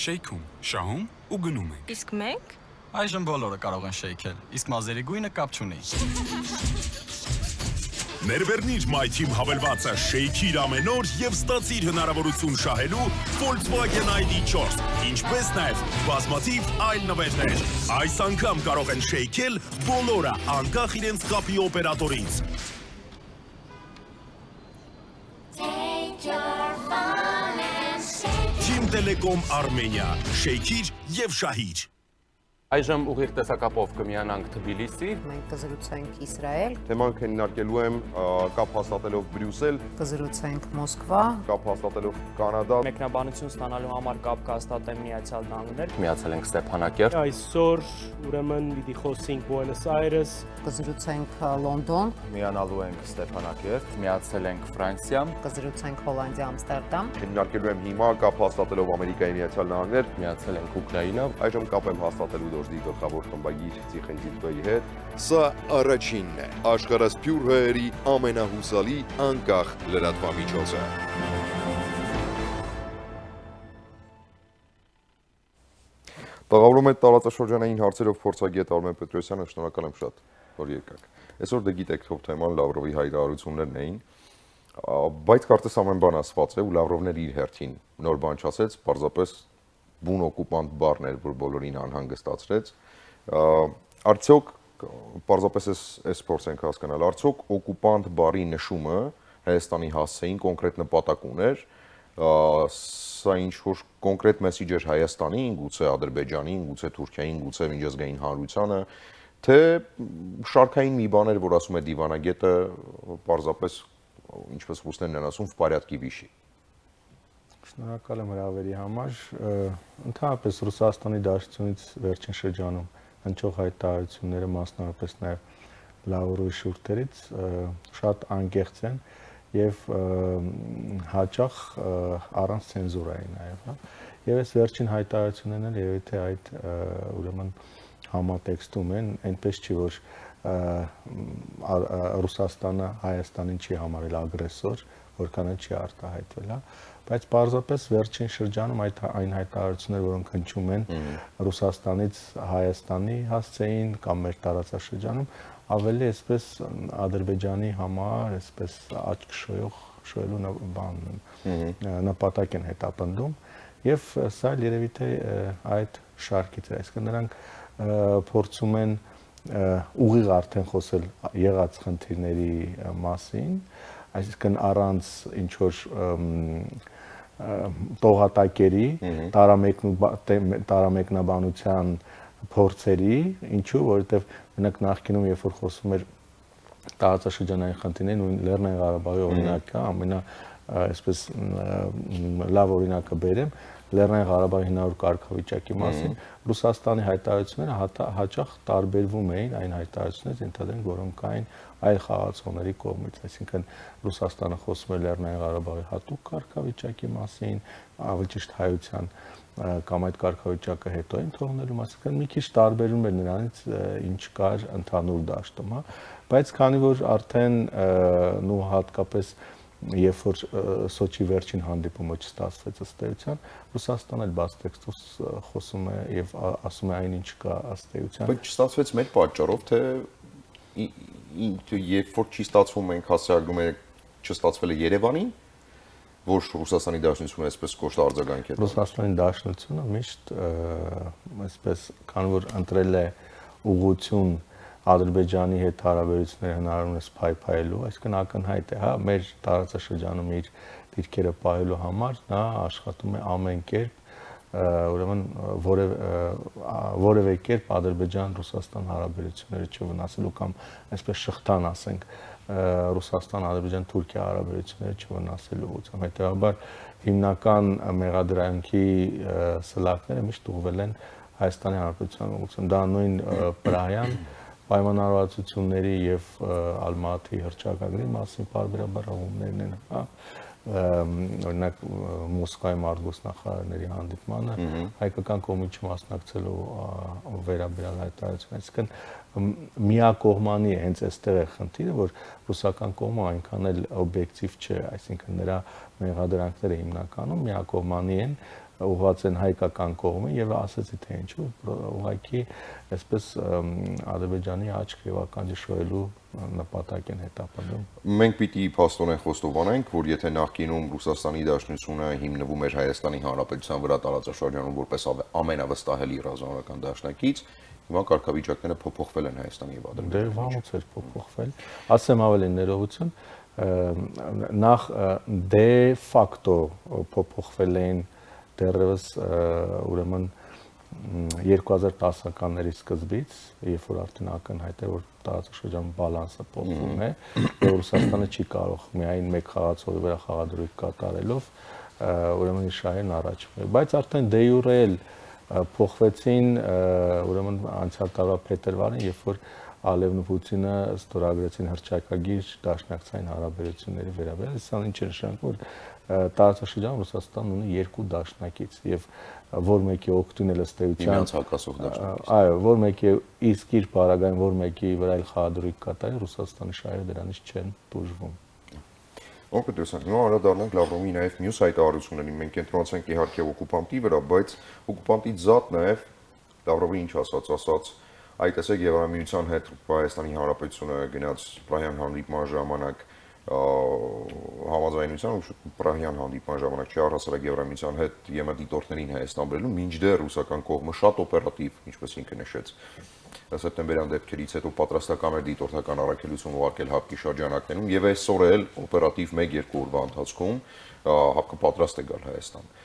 Շեյքում, շահում ու գնում ենք։ Իսկ մենք? Այժմ բոլորը կարող են շեյքել, իսկ մազերի գույնը կապ չունի։ Ներվերնիր MyTeam հավելվածը շեյքիր ամեն օր եւ ստացիր հնարավորություն շահելու Volkswagen ID4, ինչպես նաեւ բազմաթիվ այլ նվերներ։ Այս անգամ կարող են շեյքել բոլորը, անկախ իրենց կապի օպերատորից։ Team Telecom Armenia, շեյքիր եւ շահիր։ Այժմ ուղիղ տեսակապով կմիանանք Թբիլիսի։ Մենք կզրուցենք Իսրայել։ Թեման քննարկելու եմ կապ հաստատելով Բրյուսել։ Կզրուցենք Մոսկվա։ Կապ հաստատելով Կանադա։ Մեկնաբանություն ստանալու համար կապ կհաստատեմ Միացյալ Նահանգներ։ Միացել ենք Ստեփանակերտ։ Այսօր ուրեմն պիտի խոսենք Բուենոս Այրես։ Կզրուցենք Լոնդոն։ Միանալու ենք Ստեփանակերտ։ Միացել ենք Ֆրանսիա։ Կզրուցենք Հոլանդիա, Ամստերդամ։ Քննարկելու եմ հիմա կապ հաստատելով Ամերիկայի Միացյալ Նահանգներ։ Միացել ենք Ուկրաինա։ Այժմ կապ եմ հաստատելու դոժդի գլխավոր խմբագիր Ցիխենջիլբեի հետ։ Սա առաջինն է աշխարհասփյուր հայերի ամենահուսալի անկախ լրատվամիջոցը։ Տաղավարում այդ տարածաշրջանային հարցերով փորձագետ Արմեն Պետրոսյանը, շնորհակալ եմ շատ, որ եկաք։ Այսօր դե գիտեք, թող թեման Լավրովի հայտարարություններն էին, բայց կարծես ամեն բան ասված է ու Լավրովն իր հերթին նոր բան չասեց, պարզապես բուն օկուպանտ բառն էր, որ բոլորին անհանգստացրեց։ Արդյոք պարզապես այս փորձենք հասկանալ, արդյոք օկուպանտ բառի նշումը Հայաստանի հասցեին կոնկրետ նպատակ ուներ, սա ինչ-որ կոնկրետ մեսիջ էր Հայաստանին, գուցե Ադրբեջանին, գուցե Թուրքիային, գուցե միջազգային հանրությանը, թե շարքային մի բան էր, որ ասում է դիվանագետը, պարզապես ինչպես ռուսներն են ասում, в порядке вещей։ Շնորհակալ եմ հրավերի համար։ Ընդհանրապես Ռուսաստանի Դաշնությունից վերջին շրջանում հնչող հայտարարությունները, մասնավորապես նաև Լավրովի շուրթերից շատ անկեղծ են եւ հաճախ առանց ցենզուրայի նաև, հա։ Եվ այս վերջին հայտարարություններն էլ երևի թե այդ ուրեմն համատեքստում են, այնպես չի որ Ռուսաստանը Հայաստանին չի համարել ագրեսոր, որքան չի արտահայտվել, հա, բայց պարզապես վերջին շրջանում այն հայտարարությունները, որոնք հնչում են Ռուսաստանից Հայաստանի հասցեին կամ մեր տարածաշրջանում, ավելի այսպես Ադրբեջանի համար այսպես աչք շոյելու նպատակ են հետապնդում եւ սա երևի թե այդ շարքից է, այսինքն նրանք փորձում են ուղիղ արդեն խոսել եղած խնդիրների մասին, այսինքն առանց ինչ որ տողատակերի, տարամեկնաբանության փորձերի, ինչու, որովհետև մենակ նախկինում երբ որ խոսում էր տարածաշրջանային խնդիրներին ու Լեռնային Ղարաբաղի օրինակը, ամենա այսպես լավ օրինակը բերեմ, Լեռնային Ղարաբաղի հնարավոր կարգավիճակի մասին, Ռուսաստանի հայտարարությունները հաճախ տարբերվում էին այն հայտարարություններից, ենթադրենք, որոնք կային այլ խաղացողների կողմից, այսինքն Ռուսաստանը խոսում էր Լեռնային Ղարաբաղի հատուկ կարգավիճակի մասին, ավելի ճիշտ հայության կամ այդ կարգավիճակը հետո են թողնելու մասին, մի քիչ տարբերում էր նրանից, ինչ կար ընդհանուր դաշտում, հա, բայց քանի որ արդեն նու հատկապես երբ որ Սոչի վերջին հանդիպումը չստացվեց ըստ էության, Ռուսաստանը էլ բաց տեքստով խոսում է եւ ասում է այնինչ կա ըստ էության։ Բայց չստացվեց մեր պատճառով, թե երբ որ չի ստացվում, մենք հասարակում ենք չստացվել է Երևանին, որ Ռուսաստանի Դաշնությունը այսպես կոշտ արձագանք է։ Ռուսաստանի Դաշնությունը միշտ այսպես քան որ ընտրել է ուղղություն Ադրբեջանի հետ հարաբերությունները հնարավորինս փայփայելու, այսինքն ակնհայտ է, հա, մեր տարածաշրջանում իր դիրքերը պահելու համար նա աշխատում է ամեն կերպ, ուրեմն որևէ կերպ Ադրբեջան-Ռուսաստան հարաբերությունները չվնասելու կամ այսպես շղթան ասենք Ռուսաստան-Ադրբեջան-Թուրքիա հարաբերությունները չվնասելու ուղղությամբ։ Հետևաբար հիմնական մեղադրանքի սլաքները միշտ ուղղվել են Հայաստանի Հանրապետության ուղղությամբ։ Դա նույն Պրահյան պայմանավորվածությունների եւ Ալմատի հռչակագրի մասին բարբերաբար հողումներն են, հա, օրինակ Մոսկվայի արտգործնախարարների հանդիպմանը հայկական կողմից չմասնակցելու վերաբերյալ հայտարարություն, այսինքն միակողմանի է, հենց այստեղ է խնդիրը, որ ռուսական կողմը այնքան էլ օբյեկտիվ չէ, այսինքն նրա մեղադրանքները հիմնականում միակողմանի են, ուղղված են հայկական կողմը եւ ասացի թե ինչու ուղղակի այսպես Ադրբեջանի աչք եւ ականջը շոյելու նպատակ են հետապնդում։ Մենք պիտի փաստորեն խոստովանենք, որ եթե նախկինում Ռուսաստանի Դաշնությունը հիմնվում էր Հայաստանի Հանրապետության վրա տարածաշրջանում որպես ամենավստահելի ռազմական դաշնակից, հիմա կարգավիճակները փոփոխվել են Հայաստանի եւ Ադրբեջանի։ Դե վաղուց էր փոփոխվել։ Ասեմ ավելի ներողություն, նախ դե ֆակտո փոփոխվել են դեռևս ուրեմն 2010-ականների սկզբից, երբ որ արդեն ակնհայտ է, որ տարածաշրջանում բալանսը փոխվում է, եւ Ռուսաստանը չի կարող միայն մեկ խաղացողի վրա խաղադրույք կատարելով ուրեմն իր շահերն առաջ բերել, բայց արդեն դե յուրե փոխվեցին ուրեմն անցյալ տարվա փետրվարին, երբ որ Ալիևն ու Պուտինը ստորագրեցին հռչակագիր դաշնակցային հարաբերությունների վերաբերյալ, սա ինչ է նշանակում, որ տարածաշրջանում Ռուսաստանն ունի երկու դաշնակից եւ որ մեկի օգտին էլ ըստ էության հակասող դաշնակից։ Այո, որ մեկի իսկ իր բարագային, որ մեկի վրա էլ խաղադրույք կատարի, Ռուսաստանի շահերը դրանից չեն տուժվում։ Օգտեցանք, նո անդրադառնանք Լավրովի նաև մյուս հայտարարություններին, մենք կենտրոնացանք իհարկե օկուպանտի վրա, բայց օկուպանտից զատ նաև Լավրովի ինչ ասաց, այ տեսեք Եվրամիության հետ Հայաստանի Հանրապետությունը գնաց Պրահյան հանդիպման ժամանակ համաձայնության ու Պրահյան հանդիպման ժամանակ չի առհասարակ Եվրամիության հետ ԵՄ դիտորդներին Հայաստան բերելու, մինչդեռ ռուսական կողմը շատ օպերատիվ, ինչպես ինքը նշեց, սեպտեմբերյան դեպքերից հետո պատրաստական էր դիտորդական առաքելություն ուղարկել ՀԱՊԿ-ի շրջանակներում եւ այսօր էլ օպերատիվ 1-2 օրվա ընթացքում ՀԱՊԿ-ը պատրաստ է գալ Հայաստան։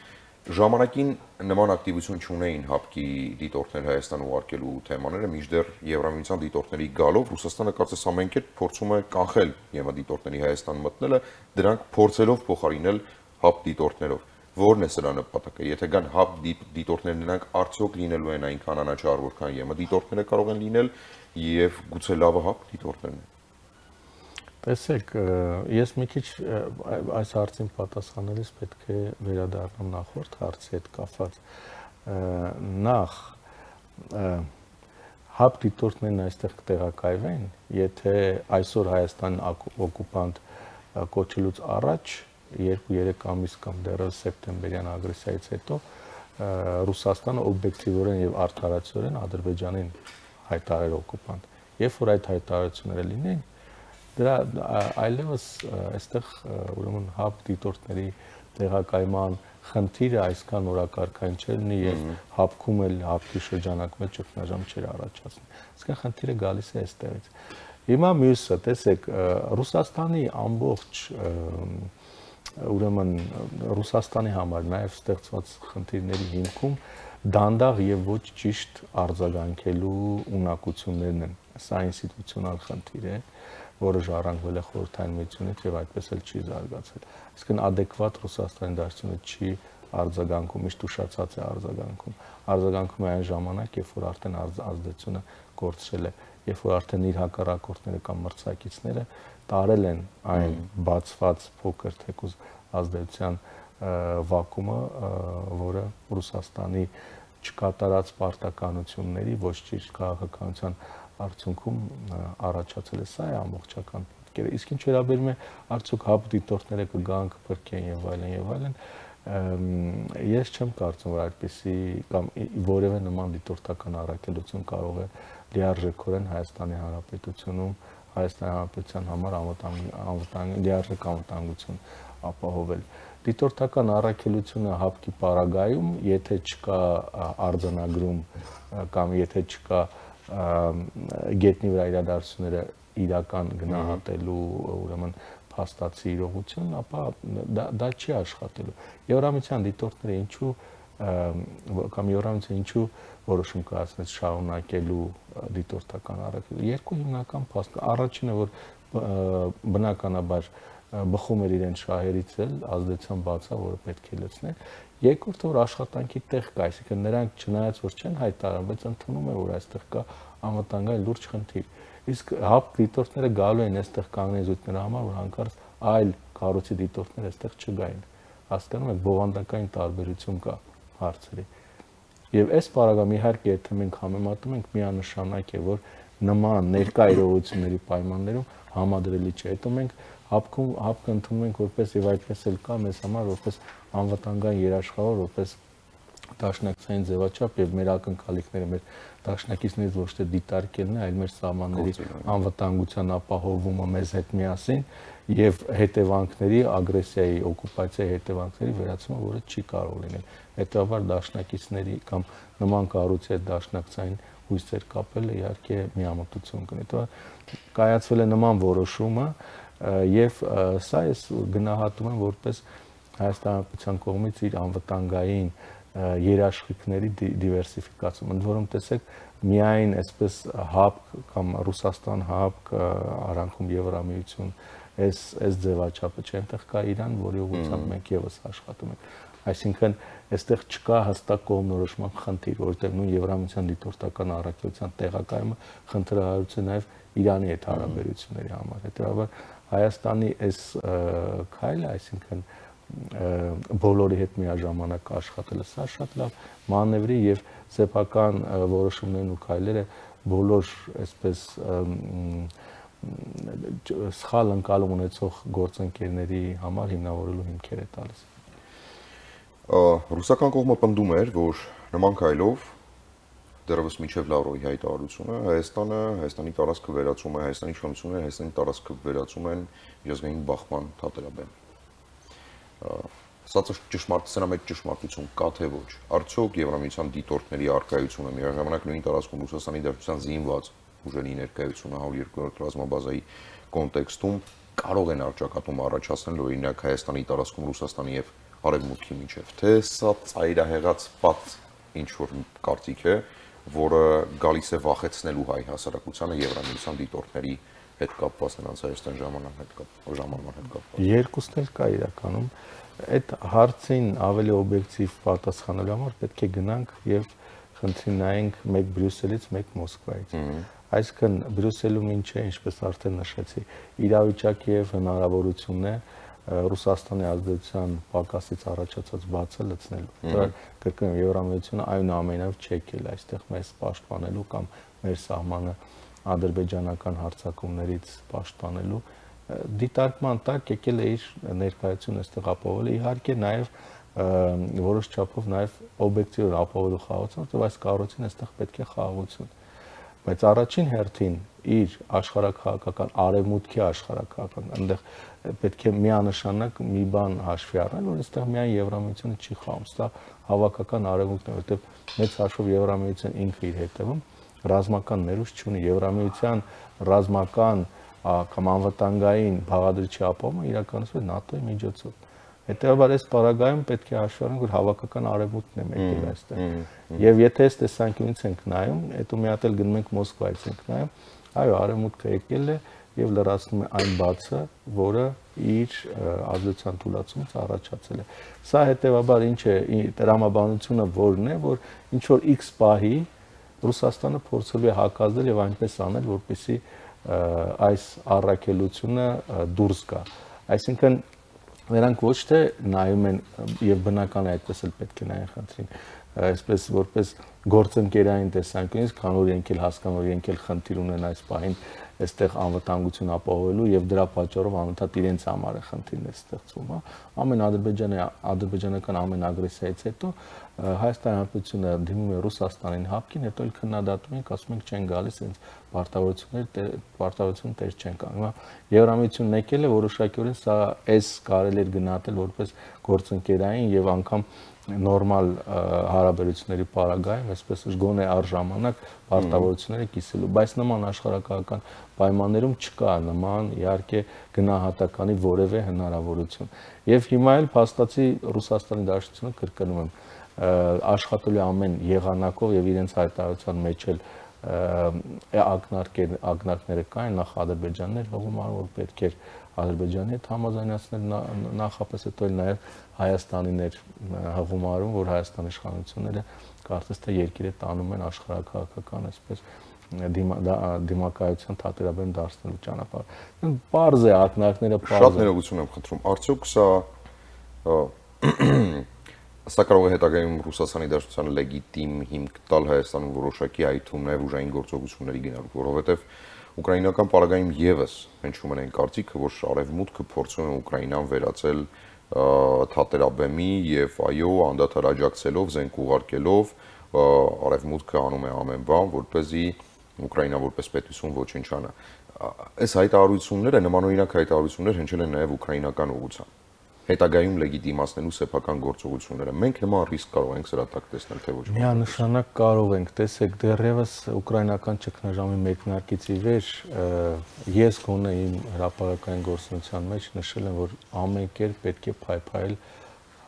Ժամանակին նման ակտիվություն չունեին ՀԱՊԿ-ի դիտորդներ Հայաստան ուղարկելու թեմաները, մինչդեռ Եվրամիության դիտորդների գալով Ռուսաստանը կարծես ամեն կերպ փորձում է կանխել ԵՄ դիտորդների Հայաստան մտնելը, դրանք փորձելով փոխարինել ՀԱՊԿ դիտորդներով։ Որն է սրա նպատակը։ Եթե կան ՀԱՊԿ դիտորդներ, նրանք արդյոք լինելու են այնքան անաչառ, որքան ԵՄ դիտորդները կարող են լինել, եւ գուցե լավը ՀԱՊԿ դիտորդներն են։ Տեսեք, ես մի քիչ այս հարցին պատասխանելիս պետք է վերադառնամ նախորդ հարցի հետ կապված։ Նախ ՀԱՊԿ դիտորդներն այստեղ կտեղակայվեն, եթե այսօր Հայաստան օկուպանտ կոչելուց առաջ 2-3 ամիս կամ դեռևս սեպտեմբերյան ագրեսիայից հետո Ռուսաստանը օբյեկտիվորեն եւ արդարացիորեն Ադրբեջանին հայտարարել օկուպանտ։ Երբ որ այդ հայտարարությունները լինեն, դրա այլևս այստեղ ուրեմն ՀԱՊԿ դիտորդների տեղակայման խնդիրը այսքան օրակարգային չէ լինի եւ ՀԱՊԿ-ում էլ ՀԱՊԿ-ի շրջանակում էլ ճգնաժամ չէր առաջացնի։ Այսինքն խնդիրը գալիս է այստեղից։ Հիմա մյուսը, տեսեք, Ռուսաստանի ամբողջ ուրեմն Ռուսաստանի համար նաև ստեղծված խնդիրների հիմքում դանդաղ եւ ոչ ճիշտ արձագանքելու ունակություններն են։ Սա ինստիտուցիոնալ խնդիր է, որը ժառանգվել է խորհրդային միությունից եւ այդպես էլ չի զարգացել։ Այսինքն adekvat Ռուսաստանի դաշնությունը չի արձագանքում, միշտ ուշացած է արձագանքում։ Արձագանքում է այն ժամանակ, երբ որ արդեն ազդեցությունը կորցրել է, երբ որ արդեն իր հակառակորդները կամ մրցակիցները տարել են այն բացված փոքր թեկուզ ազդեցության վակումը, որը Ռուսաստանի չկատարած պարտականությունների ոչ ճիշտ քաղաքականության արդյունքում առաջացել է, սա է ամբողջական պատկերը։ Իսկ ինչ վերաբերում է արդյոք հապ դիտորդները կգան, կփրկեն եւ այլն, ես չեմ կարծում, որ այդպիսի կամ որևէ նման դիտորդական առաքելություն կարող է լիարժեքորեն Հայաստանի Հանրապետությունում Հայաստանի Հանրապետության համար լիարժեք անվտանգություն ապահովել։ Դիտորդական առաքելությունը հապկի պարագայում, եթե չկա արձանագրում կամ եթե չկա գետնի վրա իրադարձությունները իրական գնահատելու ուրեմն փաստացի իրողություն, ապա դա չի աշխատելու։ Եվրամիության դիտորդները ինչու որոշում կայացնեց շարունակելու դիտորդական առաքելությունը։ Երկու հիմնական փաստ։ Առաջինը, որ բնականաբար բխում էր իրեն շահերից էլ ազդեցության բացա, որը պետք է լցնել։ Երկրորդը, որ աշխատանքի տեղ կա, այսինքն նրանք չնայած որ չեն հայտարարում, բայց ընդունում են, որ այստեղ կա անվտանգային լուրջ խնդիր։ Իսկ հապ դիտորդները գալու են այստեղ կանգնեն զույգ նրա համար, որ հանկարծ այլ կառույցի դիտորդներ այստեղ չգային։ Հասկանում եք, բովանդակային տարբերություն կա հարցերի։ Եւ այս պարագայում իհարկե եթե մենք համեմատում ենք, միանշանակ է, որ նման ներկա իրողությունների պայմաններում համադրելի չէ։ Հետո մենք հապկը ընդունում ենք որպես եւ այդպես էլ կա մեզ համար որպես անվտանգային երաշխավոր, որպես դաշնակցային ձևաչափ եւ մեր ակնկալիքները մեր դաշնակիցներից ոչ թե դիտարկելն է, այլ մեր սահմանների անվտանգության ապահովումը մեզ հետ միասին եւ հետևանքների ագրեսիայի, օկուպացիայի հետևանքների վերացումը, որը չի կարող լինել։ Հետևաբար դաշնակիցների կամ նման կառույցի հետ դաշնակցային հույսեր կապելը իհարկե միամտություն կնի։ Դա կայացվել է նման որոշումը եւ սա ես գնահատում եմ որպես Հայաստանի Հանրապետության կողմից իր անվտանգային երաշխիքների դիվերսիֆիկացում։ Ընդ որում տեսեք, միայն այսպես հապ կամ Ռուսաստան հապ արանքում Եվրամիություն այս ձևաչափը չէ, այնտեղ կա Իրան, որի ուղղությամբ մենք եւս աշխատում ենք։ Այսինքն, այստեղ չկա հստակ կողմնորոշման խնդիր, որովհետեւ նույն Եվրամիության դիտորդական առաքելության տեղակայումը խնդրահարույց է նաեւ Իրանի հետ հարաբերությունների համար։ Հետեւաբար Հայաստանի այս քայլը, այսինքն բոլորի հետ միաժամանակ աշխատելը, սա շատ լավ մանևրի եւ սեփական որոշումներն ու քայլերը բոլոր այսպես սխալ ընկալում ունեցող գործընկերների համար հիմնավորելու հիմքեր է տալիս։ Ռուսական կողմը պնդում էր, որ նման քայլով դեռևս մինչև Լավրովի հայտարարությունը Հայաստանի տարածքը վերածում է, Հայաստանի իշխանությունները Հայաստանի տարածքը վերածում են միջազգային բախման թատերաբեմ։ Սա սրա մեջ ճշմարտություն կա թե ոչ։ Արդյոք Եվրամիության դիտորդների առկայությունը միաժամանակ նույն տարածքում Ռուսաստանի դաշնության զինված ուժերի ներկայությունը 102-րդ ռազմաբազայի կոնտեքստում կարող են արճակատում առաջացնել օրինակ Հայաստանի տարածքում Ռուսաստանի եւ Արևմուտքի միջև, թե սա ծայրահեղացված ինչ որ կարծիք է, որը գալիս է վախեցնելու հայ հասարակությանը Եվրամիության դիտորդների հետ կապված նրանց Հայաստան ժամանման հետ կապված։ Երկուսն էլ կա իրականում։ Այդ հարցին ավելի օբյեկտիվ պատասխանելու համար պետք է գնանք եւ խնդրի նայենք մեկ Բրյուսելից, մեկ Մոսկվայից։ Այսինքն Բրյուսելում ինչ է, ինչպես արդեն նշեցի, իրավիճակի եւ հնարավորությունն է Ռուսաստանի ազդեցության պակասից առաջացած բացը լցնելու։ Դա կրկնում Եվրամիությունը այնուամենայնիվ չի եկել այստեղ մեզ պաշտպանելու կամ մեր սահմանը ադրբեջանական հարձակումներից պաշտպանելու, դիտարկման տակ եկել է իր ներկայությունը այստեղ ապահովելու, իհարկե նաև որոշ չափով նաև օբյեկտիվ ապահովելու խաղաղություն, որտեղ այս կառույցին այստեղ պետք է խաղաղություն։ Բայց առաջին հերթին իր աշխարհակահաղական արևմուտքի աշխարհակահաղական այնտեղ պետք է միանշանակ մի բան հաշվի առնել, որ այստեղ միայն Եվրամիությունը չի խաղում, սա հավաքական արևմուտքն է, որտեղ մեծ հաշվով Եվրամիությունը ինքը իր հետևում ռազմական ներուժ չունի, Եվրամիության ռազմական կամ անվտանգային բաղադրիչի ապահովումը իրականացվում է ՆԱՏՕ-ի միջոցով։ Հետևաբար այս պարագայում պետք է հաշվի առնենք, որ հավաքական արևմուտքն է եկել այստեղ։ Եվ եթե այս տեսանկյունից ենք նայում, հետո մի հատ էլ գնում ենք Մոսկվայից ենք նայում, այո, արևմուտքը եկել է եւ լրացնում է այն բացը, որը իր ազդեցության թուլացումից առաջացել է։ Սա հետևաբար ինչ է, տրամաբանությունը որն է, որ ինչ որ X պահի Ռուսաստանը փորձելու է հակազդել եւ այնպես անել, որպեսզի այս առաքելությունը դուրս գա։ Այսինքն նրանք ոչ թե նայում են եւ բնական է այդպես էլ պետք է նայեն խնդրին, այսպես որպես գործընկերային տեսանկյունից, քան որ իրենք էլ հասկանում են, իրենք էլ խնդիր ունեն այս պահին այստեղ անվտանգություն ապահովելու եւ դրա պատճառով անընդհատ իրենց համար է խնդիրներ ստեղծվում, հա։ Ամեն ադրբեջանական ամեն ագրեսիայից հետո Հայաստանի Հանրապետությունը դիմում է Ռուսաստանին հապկին, հետո էլ քննադատում ենք, ասում ենք չեն գալիս, հենց պարտավորություն տեր չեն կանգնում։ Եվրամիությունն եկել է որոշակիորեն սա էս կարելի էր գնահատել որպես գործընկերային եւ անգամ նորմալ հարաբերությունների պարագայում, այսպես գոնե առժամանակ պարտավորությունները կիսելու, բայց նման աշխարհակահական պայմաններում չկա նման իհարկե գնահատականի որևէ հնարավորություն։ Եւ հիմա էլ փաստացի Ռուսաստանի Դաշնությունը կրկնում եմ աշխատելու ամեն եղանակով եւ իրենց հայտարարության մեջ էլ ակնարկները կային նախ Ադրբեջանն էր հողմարը, որ պետք էր Ադրբեջանի հետ համաձայնացնել նախապես հետո էլ նաեւ Հայաստանին էր հողմարում, որ Հայաստանի իշխանությունները կարծես թե երկիրը տանում են աշխարհակահաղական այսպես դիմակայության թատերաբեմ դարձնելու ճանապարհ։ Պարզ է ակնարկները պարզ։ Շատ ներողություն եմ խնդրում։ Արդյոք սա կարող է հետագայում Ռուսաստանի Դաշնությանը լեգիտիմ հիմք տալ Հայաստանում որոշակի այդ թվում նաև ուժային գործողությունների գնալու, որովհետև ուկրաինական պարագայում եւս հնչում են այն կարծիքը, որ Արևմուտքը փորձում է Ուկրաինան վերածել թատերաբեմի եւ այո, անդադար աջակցելով, զենք ուղարկելով, Արևմուտքը անում է ամեն բան, որպեսզի Ուկրաինան որպես պետություն ոչնչանա։ Այս հայտարարությունները, նմանօրինակ հայտարարություններ հնչել են նաև ուկրաինական ուղղությամբ։ Հետագայում լեգիտիմացնելու սեփական գործողությունները։ Մենք նման ռիսկ կարող ենք սրա տակ տեսնել, թե ոչ։ Միանշանակ կարող ենք, տեսեք, դեռևս ուկրաինական ճգնաժամի մեկնարկից ի վեր ես գոնե իմ հրապարակային գործունեության մեջ նշել եմ, որ ամեն կերպ պետք է փայփայել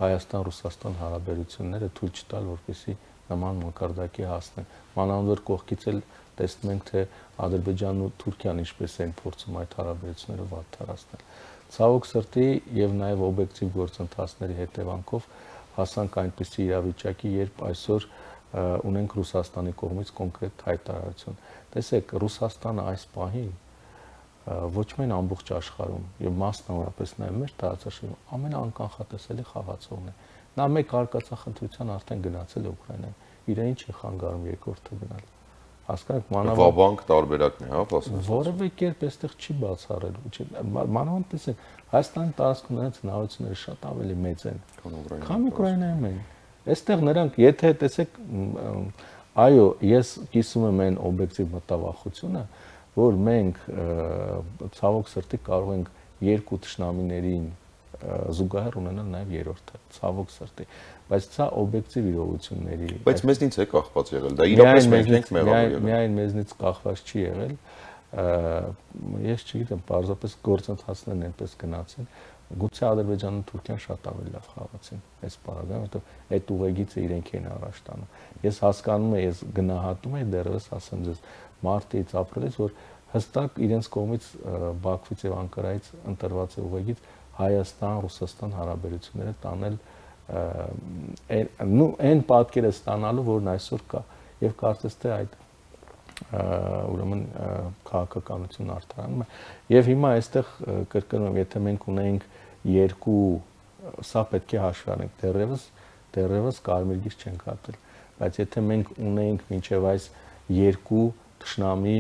Հայաստան-Ռուսաստան հարաբերությունները, թույլ չտալ, որպեսզի նման մակարդակի հասնեն։ Մանավանդ որ կողքից էլ տեսնում ենք, թե Ադրբեջանն ու Թուրքիան ինչպես են փորձում այդ հարաբերությունները վատթարացնել։ Ցավոք սրտի եւ նաեւ օբյեկտիվ գործընթացների հետևանքով հասանք այնպիսի իրավիճակի, երբ այսօր ունենք Ռուսաստանի կողմից կոնկրետ հայտարարություն։ Տեսեք, Ռուսաստանը այս պահին ոչ միայն ամբողջ աշխարհում եւ մասնավորապես նաեւ մեր տարածաշրջանում ամենաանկանխատեսելի խաղացողն է։ Նա մեկ արկածախնդրության արդեն գնացել է Ուկրաինա։ Իրեն ինչ է խանգարում երկրորդը գնալ։ Հասկանաք, մանավանդ տարբերակն է, հա, ասում։ Որևէ կերպ այստեղ չի բացառելու։ Մանավանդ տեսեք, Հայաստանի տարածքում նրանց հնարավորությունները շատ ավելի մեծ են, քան Ուկրաինայում են։ Այստեղ նրանք, եթե տեսեք, այո, ես կիսում եմ այն օբյեկտիվ մտավախությունը, որ մենք ցավոք սրտի կարող ենք երկու թշնամիներին զուգահեռ ունենալ նաև երրորդը, ցավոք սրտի, բայց սա օբյեկտիվ իրողությունների։ Բայց մեզնից է կախված եղել, դա իրապես մենք ենք մեղավոր եղել։ Միայն մեզնից կախված չի եղել, ես չգիտեմ, պարզապես գործընթացներն այնպես գնացին, գուցե Ադրբեջանն ու Թուրքիան շատ ավելի լավ խաղացին այս պարագայում, որովհետև այդ ուղեգիծը իրենք են առաջ տանում։ Ես հասկանում եմ, ես գնահատում եմ դեռևս ասեմ ձեզ մարտից ապրիլից, որ հստակ իրենց կողմից Բաքվից եւ Անկարայից ընտրված է ուղեգիծ Հայաստան-Ռուսաստան հարաբերությունները տանել այն պատկերը ստանալու, որն այսօր կա, եւ կարծես թե այդ ուրեմն քաղաքականություն արդարանում է։ Եվ հիմա այստեղ կրկնում եմ, եթե մենք ունենք երկու, սա պետք է հաշվի առնենք, դեռևս կարմիր գիծ չենք հատել, բայց եթե մենք ունենք մինչև այս երկու թշնամի,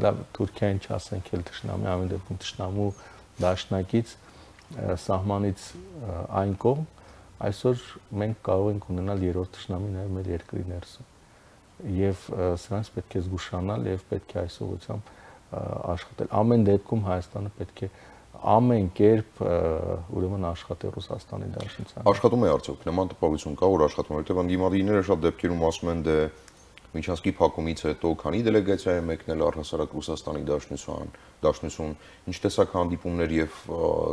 լավ, Թուրքիային չասենք էլ թշնամի, ամեն դեպքում թշնամու դաշնակից սահմանից այն կողմ, այսօր մենք կարող ենք ունենալ երրորդ թշնամի նաև մեր երկրի ներսում։ Եվ սրանց պետք է զգուշանալ եւ պետք է այս ուղղությամբ աշխատել։ Ամեն դեպքում Հայաստանը պետք է ամեն կերպ ուրեմն աշխատի Ռուսաստանի Դաշնության։ Աշխատում է արդյոք, նման տպավորություն կա, որ աշխատում է, որտեղ անդիմադիրները շատ դեպքերում ասում են, դե Միջանցքի փակումից հետո քանի դելեգացիա է մեկնել առհասարակ Ռուսաստանի Դաշնություն, ինչ տեսակ հանդիպումներ եւ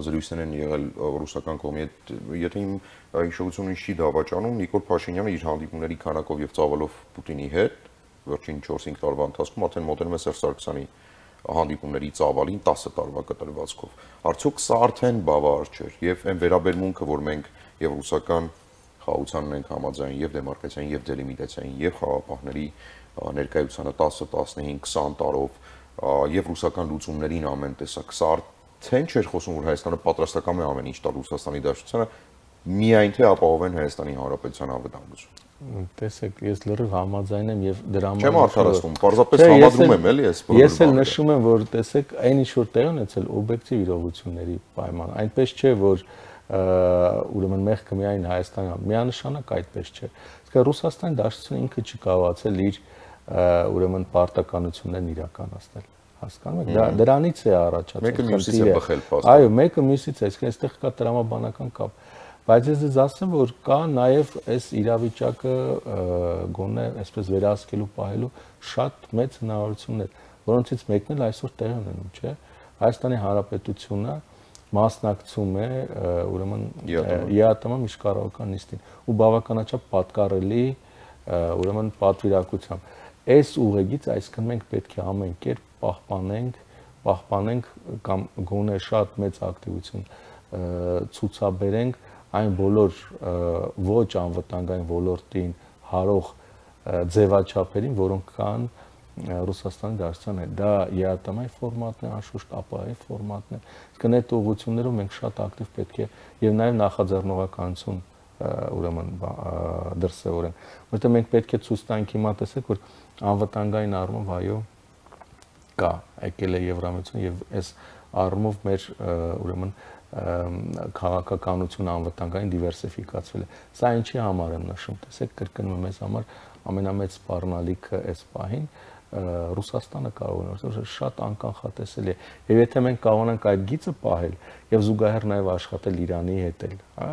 զրույցներ են եղել ռուսական կողմի հետ, եթե իմ հիշողությունը չի դավաճանում, Նիկոլ Փաշինյանը իր հանդիպումների քանակով եւ ծավալով Պուտինի հետ վերջին 4-5 տարվա ընթացքում արդեն մոտենում է Սերժ Սարգսյանի հանդիպումների ծավալին 10 տարվա կտրվածքով։ Արդյոք սա արդեն բավարար չէ եւ այն վերաբերմունքը, որ մենք եւ ռուսական խաղացանն ենք համաձայն եւ դեմարկացիային եւ դելիմիտացիային եւ խաղապահների ներկայությանը 10, 15, 20 տարով եւ ռուսական լուծումներին ամեն տեսակ։ Սա արդեն չէր խոսում, որ Հայաստանը պատրաստական է ամեն ինչ տալ Ռուսաստանի Դաշնությանը, միայն թե ապահովեն Հայաստանի Հանրապետության անվտանգությունը։ Տեսեք, ես լրիվ համաձայն եմ եւ դրա համար չեմ արդարացնում, պարզապես համադրում եմ էլի այս բոլորը։ Ես էլ նշում եմ, որ տեսեք, այն ինչ որ տեղ ունեցել օբյեկտիվ իրողությունների պայման, այնպես չէ, որ ուրեմն մեղքը միայն Հայաստանն է, միանշանակ այդպես չէ։ Իսկ Ռուսաստանի Դաշնությունը ինքը չի կարողացել իր ուրեմն պարտականություններն իրականացնել։ Հասկանում եք, դրանից է առաջացել։ Մեկը մյուսից է բխել փաստորեն։ Այո, մեկը մյուսից է, այսինքն այստեղ կա տրամաբանական կապ։ Բայց ես ձեզ ասեմ, որ կա նաև այս իրավիճակը գոնե այսպես վերահսկելու պահելու շատ մեծ հնարավորություններ, որոնցից մեկն էլ այսօր տեղի ունենում, չէ՞։ Հայաստանի Հանրապետությունը մասնակցում է ուրեմն ԵԱՏՄ միջկառավարական նիստին ու բավականաչափ պատկառելի ուրեմն պատվիրակությամբ։ Այս ուղեգից այսինքն մենք պետք է ամեն կերպ պահպանենք կամ գոնե շատ մեծ ակտիվություն ցուցաբերենք այն բոլոր ոչ անվտանգային ոլորտին հարող ձևաչափերին, որոնք կան Ռուսաստանի Դաշնության հետ։ Դա ԵԱՏՄ-ի ֆորմատն է, անշուշտ ԱՊԱ-ի ֆորմատն է։ Իսկ այդ ուղղություններով մենք շատ ակտիվ պետք է եւ նաեւ նախաձեռնողականություն ուրեմն դրսեւորենք, որտեղ մենք պետք է ցույց տանք հիմա տեսեք, որ անվտանգային առումով այո կա, եկել է Եվրամիություն եւ այս առումով մեր ուրեմն քաղաքականությունը անվտանգային դիվերսիֆիկացվել է։ Սա ինչի համար եմ նշում, տեսեք, կրկնում եմ, այս համար ամենամեծ սպառնալիքը այս պահին Ռուսաստանը կարող է, որովհետեւ շատ անկանխատեսելի է։ Եվ եթե մենք կարողանանք այդ գիծը պահել եւ զուգահեռ նաեւ աշխատել Իրանի հետ էլ, հա,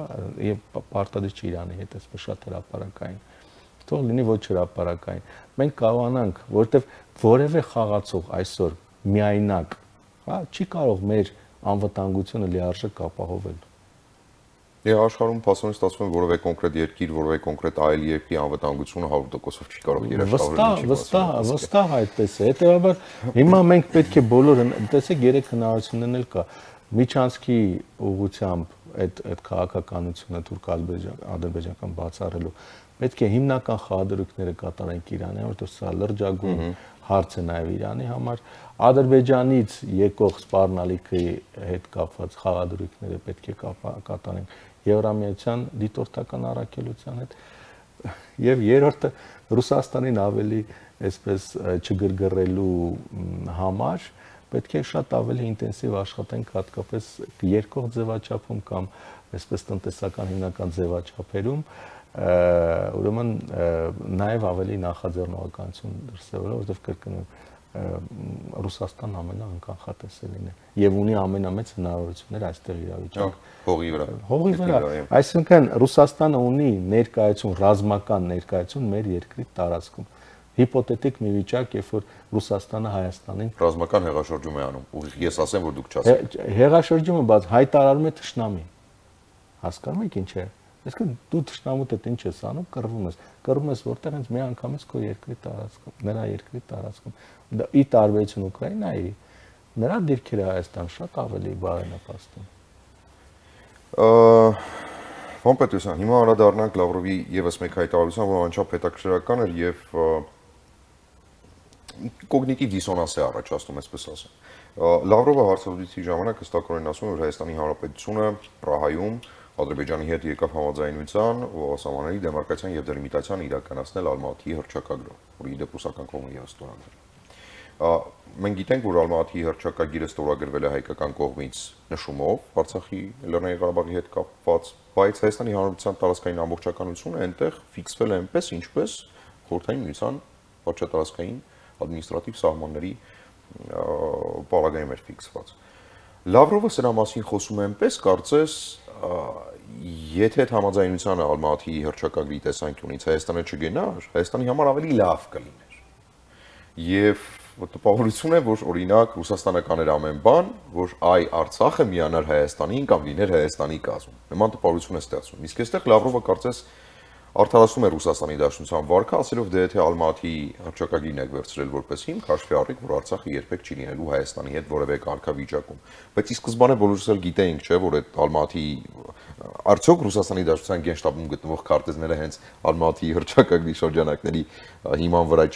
եւ պարտադիր չի Իրանի հետ, այսպես շատ հրապարակային, թող լինի ոչ հրապարակային, մենք կարողանանք, որովհետեւ որևէ խաղացող այսօր միայնակ, հա, չի կարող մեր անվտանգությունը լիարժեք ապահովել։ Եվ աշխարհում փաստորեն ստացվում է որևէ կոնկրետ երկիր, որևէ կոնկրետ այլ երկրի անվտանգությունը 100%-ով չի կարող երաշխավորել։ Վստահ այդպես է։ Հետևաբար հիմա մենք պետք է բոլորը, տեսեք, երեք հնարավորություններն էլ կա։ Միջանցքի ուղղությամբ այդ քաղաքականությունը թուրք-ադրբեջանական բացառելու պետք է հիմնական խաղադրույքները կատարենք Իրանի, որովհետև սա լրջագույն հարց է նաև Իրանի համար։ Ադրբեջանից եկող սպառնալիքի հետ կապված խաղադրույքները պետք է կատարենք Եվրամիության դիտորդական առաքելության հետ։ Եվ երրորդը Ռուսաստանին ավելի այսպես չգրգռելու համար պետք է շատ ավելի ինտենսիվ աշխատենք հատկապես երկող ձևաչափում կամ այսպես տնտեսական հիմնական ձևաչափերում, ուրեմն նաև ավելի նախաձեռնողականություն դրսևորել, որովհետև կրկնում եմ, Ռուսաստանն ամենաանկանխատեսելին է եւ ունի ամենամեծ հնարավորություններ այստեղ իրավիճակ հողի վրա։ Այսինքն Ռուսաստանը ունի ներկայություն, ռազմական ներկայություն մեր երկրի տարածքում։ Հիպոթետիկ մի վիճակ, երբ որ Ռուսաստանը Հայաստանին ռազմական հեղաշրջում է անում, ուղիղ ես ասեմ, որ դուք չասեք։ Հեղաշրջումը բաց հայտարարում է թշնամի։ Հասկանում եք ինչ է։ Այսինքն դու թշնամուդ հետ ինչ ես անում, կռվում ես որտեղ հենց մի անգամից քո երկրի տարածքում, նրա երկրի տարածքում։ Ի տարբերություն Ուկրաինայի, նրա դիրքերը Հայաստան շատ ավելի բարենպաստ են։ Պարոն Պետրոսյան, հիմա անդրադառնանք Լավրովի եւս մեկ հայտարարության, որ անչափ հետաքրքրական էր եւ կոգնիտիվ դիսոնանս է առաջացնում, այսպես ասեմ։ Լավրովը հարցազրույցի ժամանակ հստակորեն ասում է, որ Հայաստանի Հանրապետությունը Պրահայում Ադրբեջանի հետ եկավ համաձայնության սահմանների դեմարկացիան եւ դելիմիտացիան իրականացնել Ալմատիի հռչակագրով, որի դեպ ռուսական կողմը եւս ստորագրել։ Մենք գիտենք, որ Ալմատիի հռչակագիրը ստորագրվել է հայկական կողմից նշումով Արցախի Լեռնային Ղարաբաղի հետ կապված, բայց Հայաստանի Հանրապետության տարածքային ամբողջականությունը այնտեղ ֆիքսվել է այնպես, ինչպես Խորհրդային Միության վարչատարածքային ադմինիստրատիվ սահմանների պարագայում էր ֆիքսված։ Լավրովը սրա մասին խոսում է այնպես, կարծես եթե այդ համաձայնությանը Ալմատիի հռչակագրի տեսանկյունից Հայաստանը չգնար, Հայաստանի համար ավելի լավ կլիներ։ Եվ տպավորություն է, որ օրինակ Ռուսաստանը կաներ ամեն բան, որ այ Արցախը միանար Հայաստանին կամ լիներ Հայաստանի կազմում։ Նման տպավորություն է ստեղծում։ Իսկ այստեղ Լավրովը կարծես արդարացնում է Ռուսաստանի Դաշնության վարկը, ասելով դե եթե Ալմատիի հռչակագիրն եք վերցրել որպես հիմք, հաշվի առեք, որ Արցախը երբեք չի լինելու Հայաստանի հետ որևէ կարգավիճակում։ Բայց ի սկզբանե բոլորս էլ գիտեինք, չէ, որ այդ Ալմատիի արդյոք Ռուսաստանի Դաշնության գենշտաբում գտնվող քարտեզները հենց Ալմատիի հռչակագրի շրջանակների հիման վրա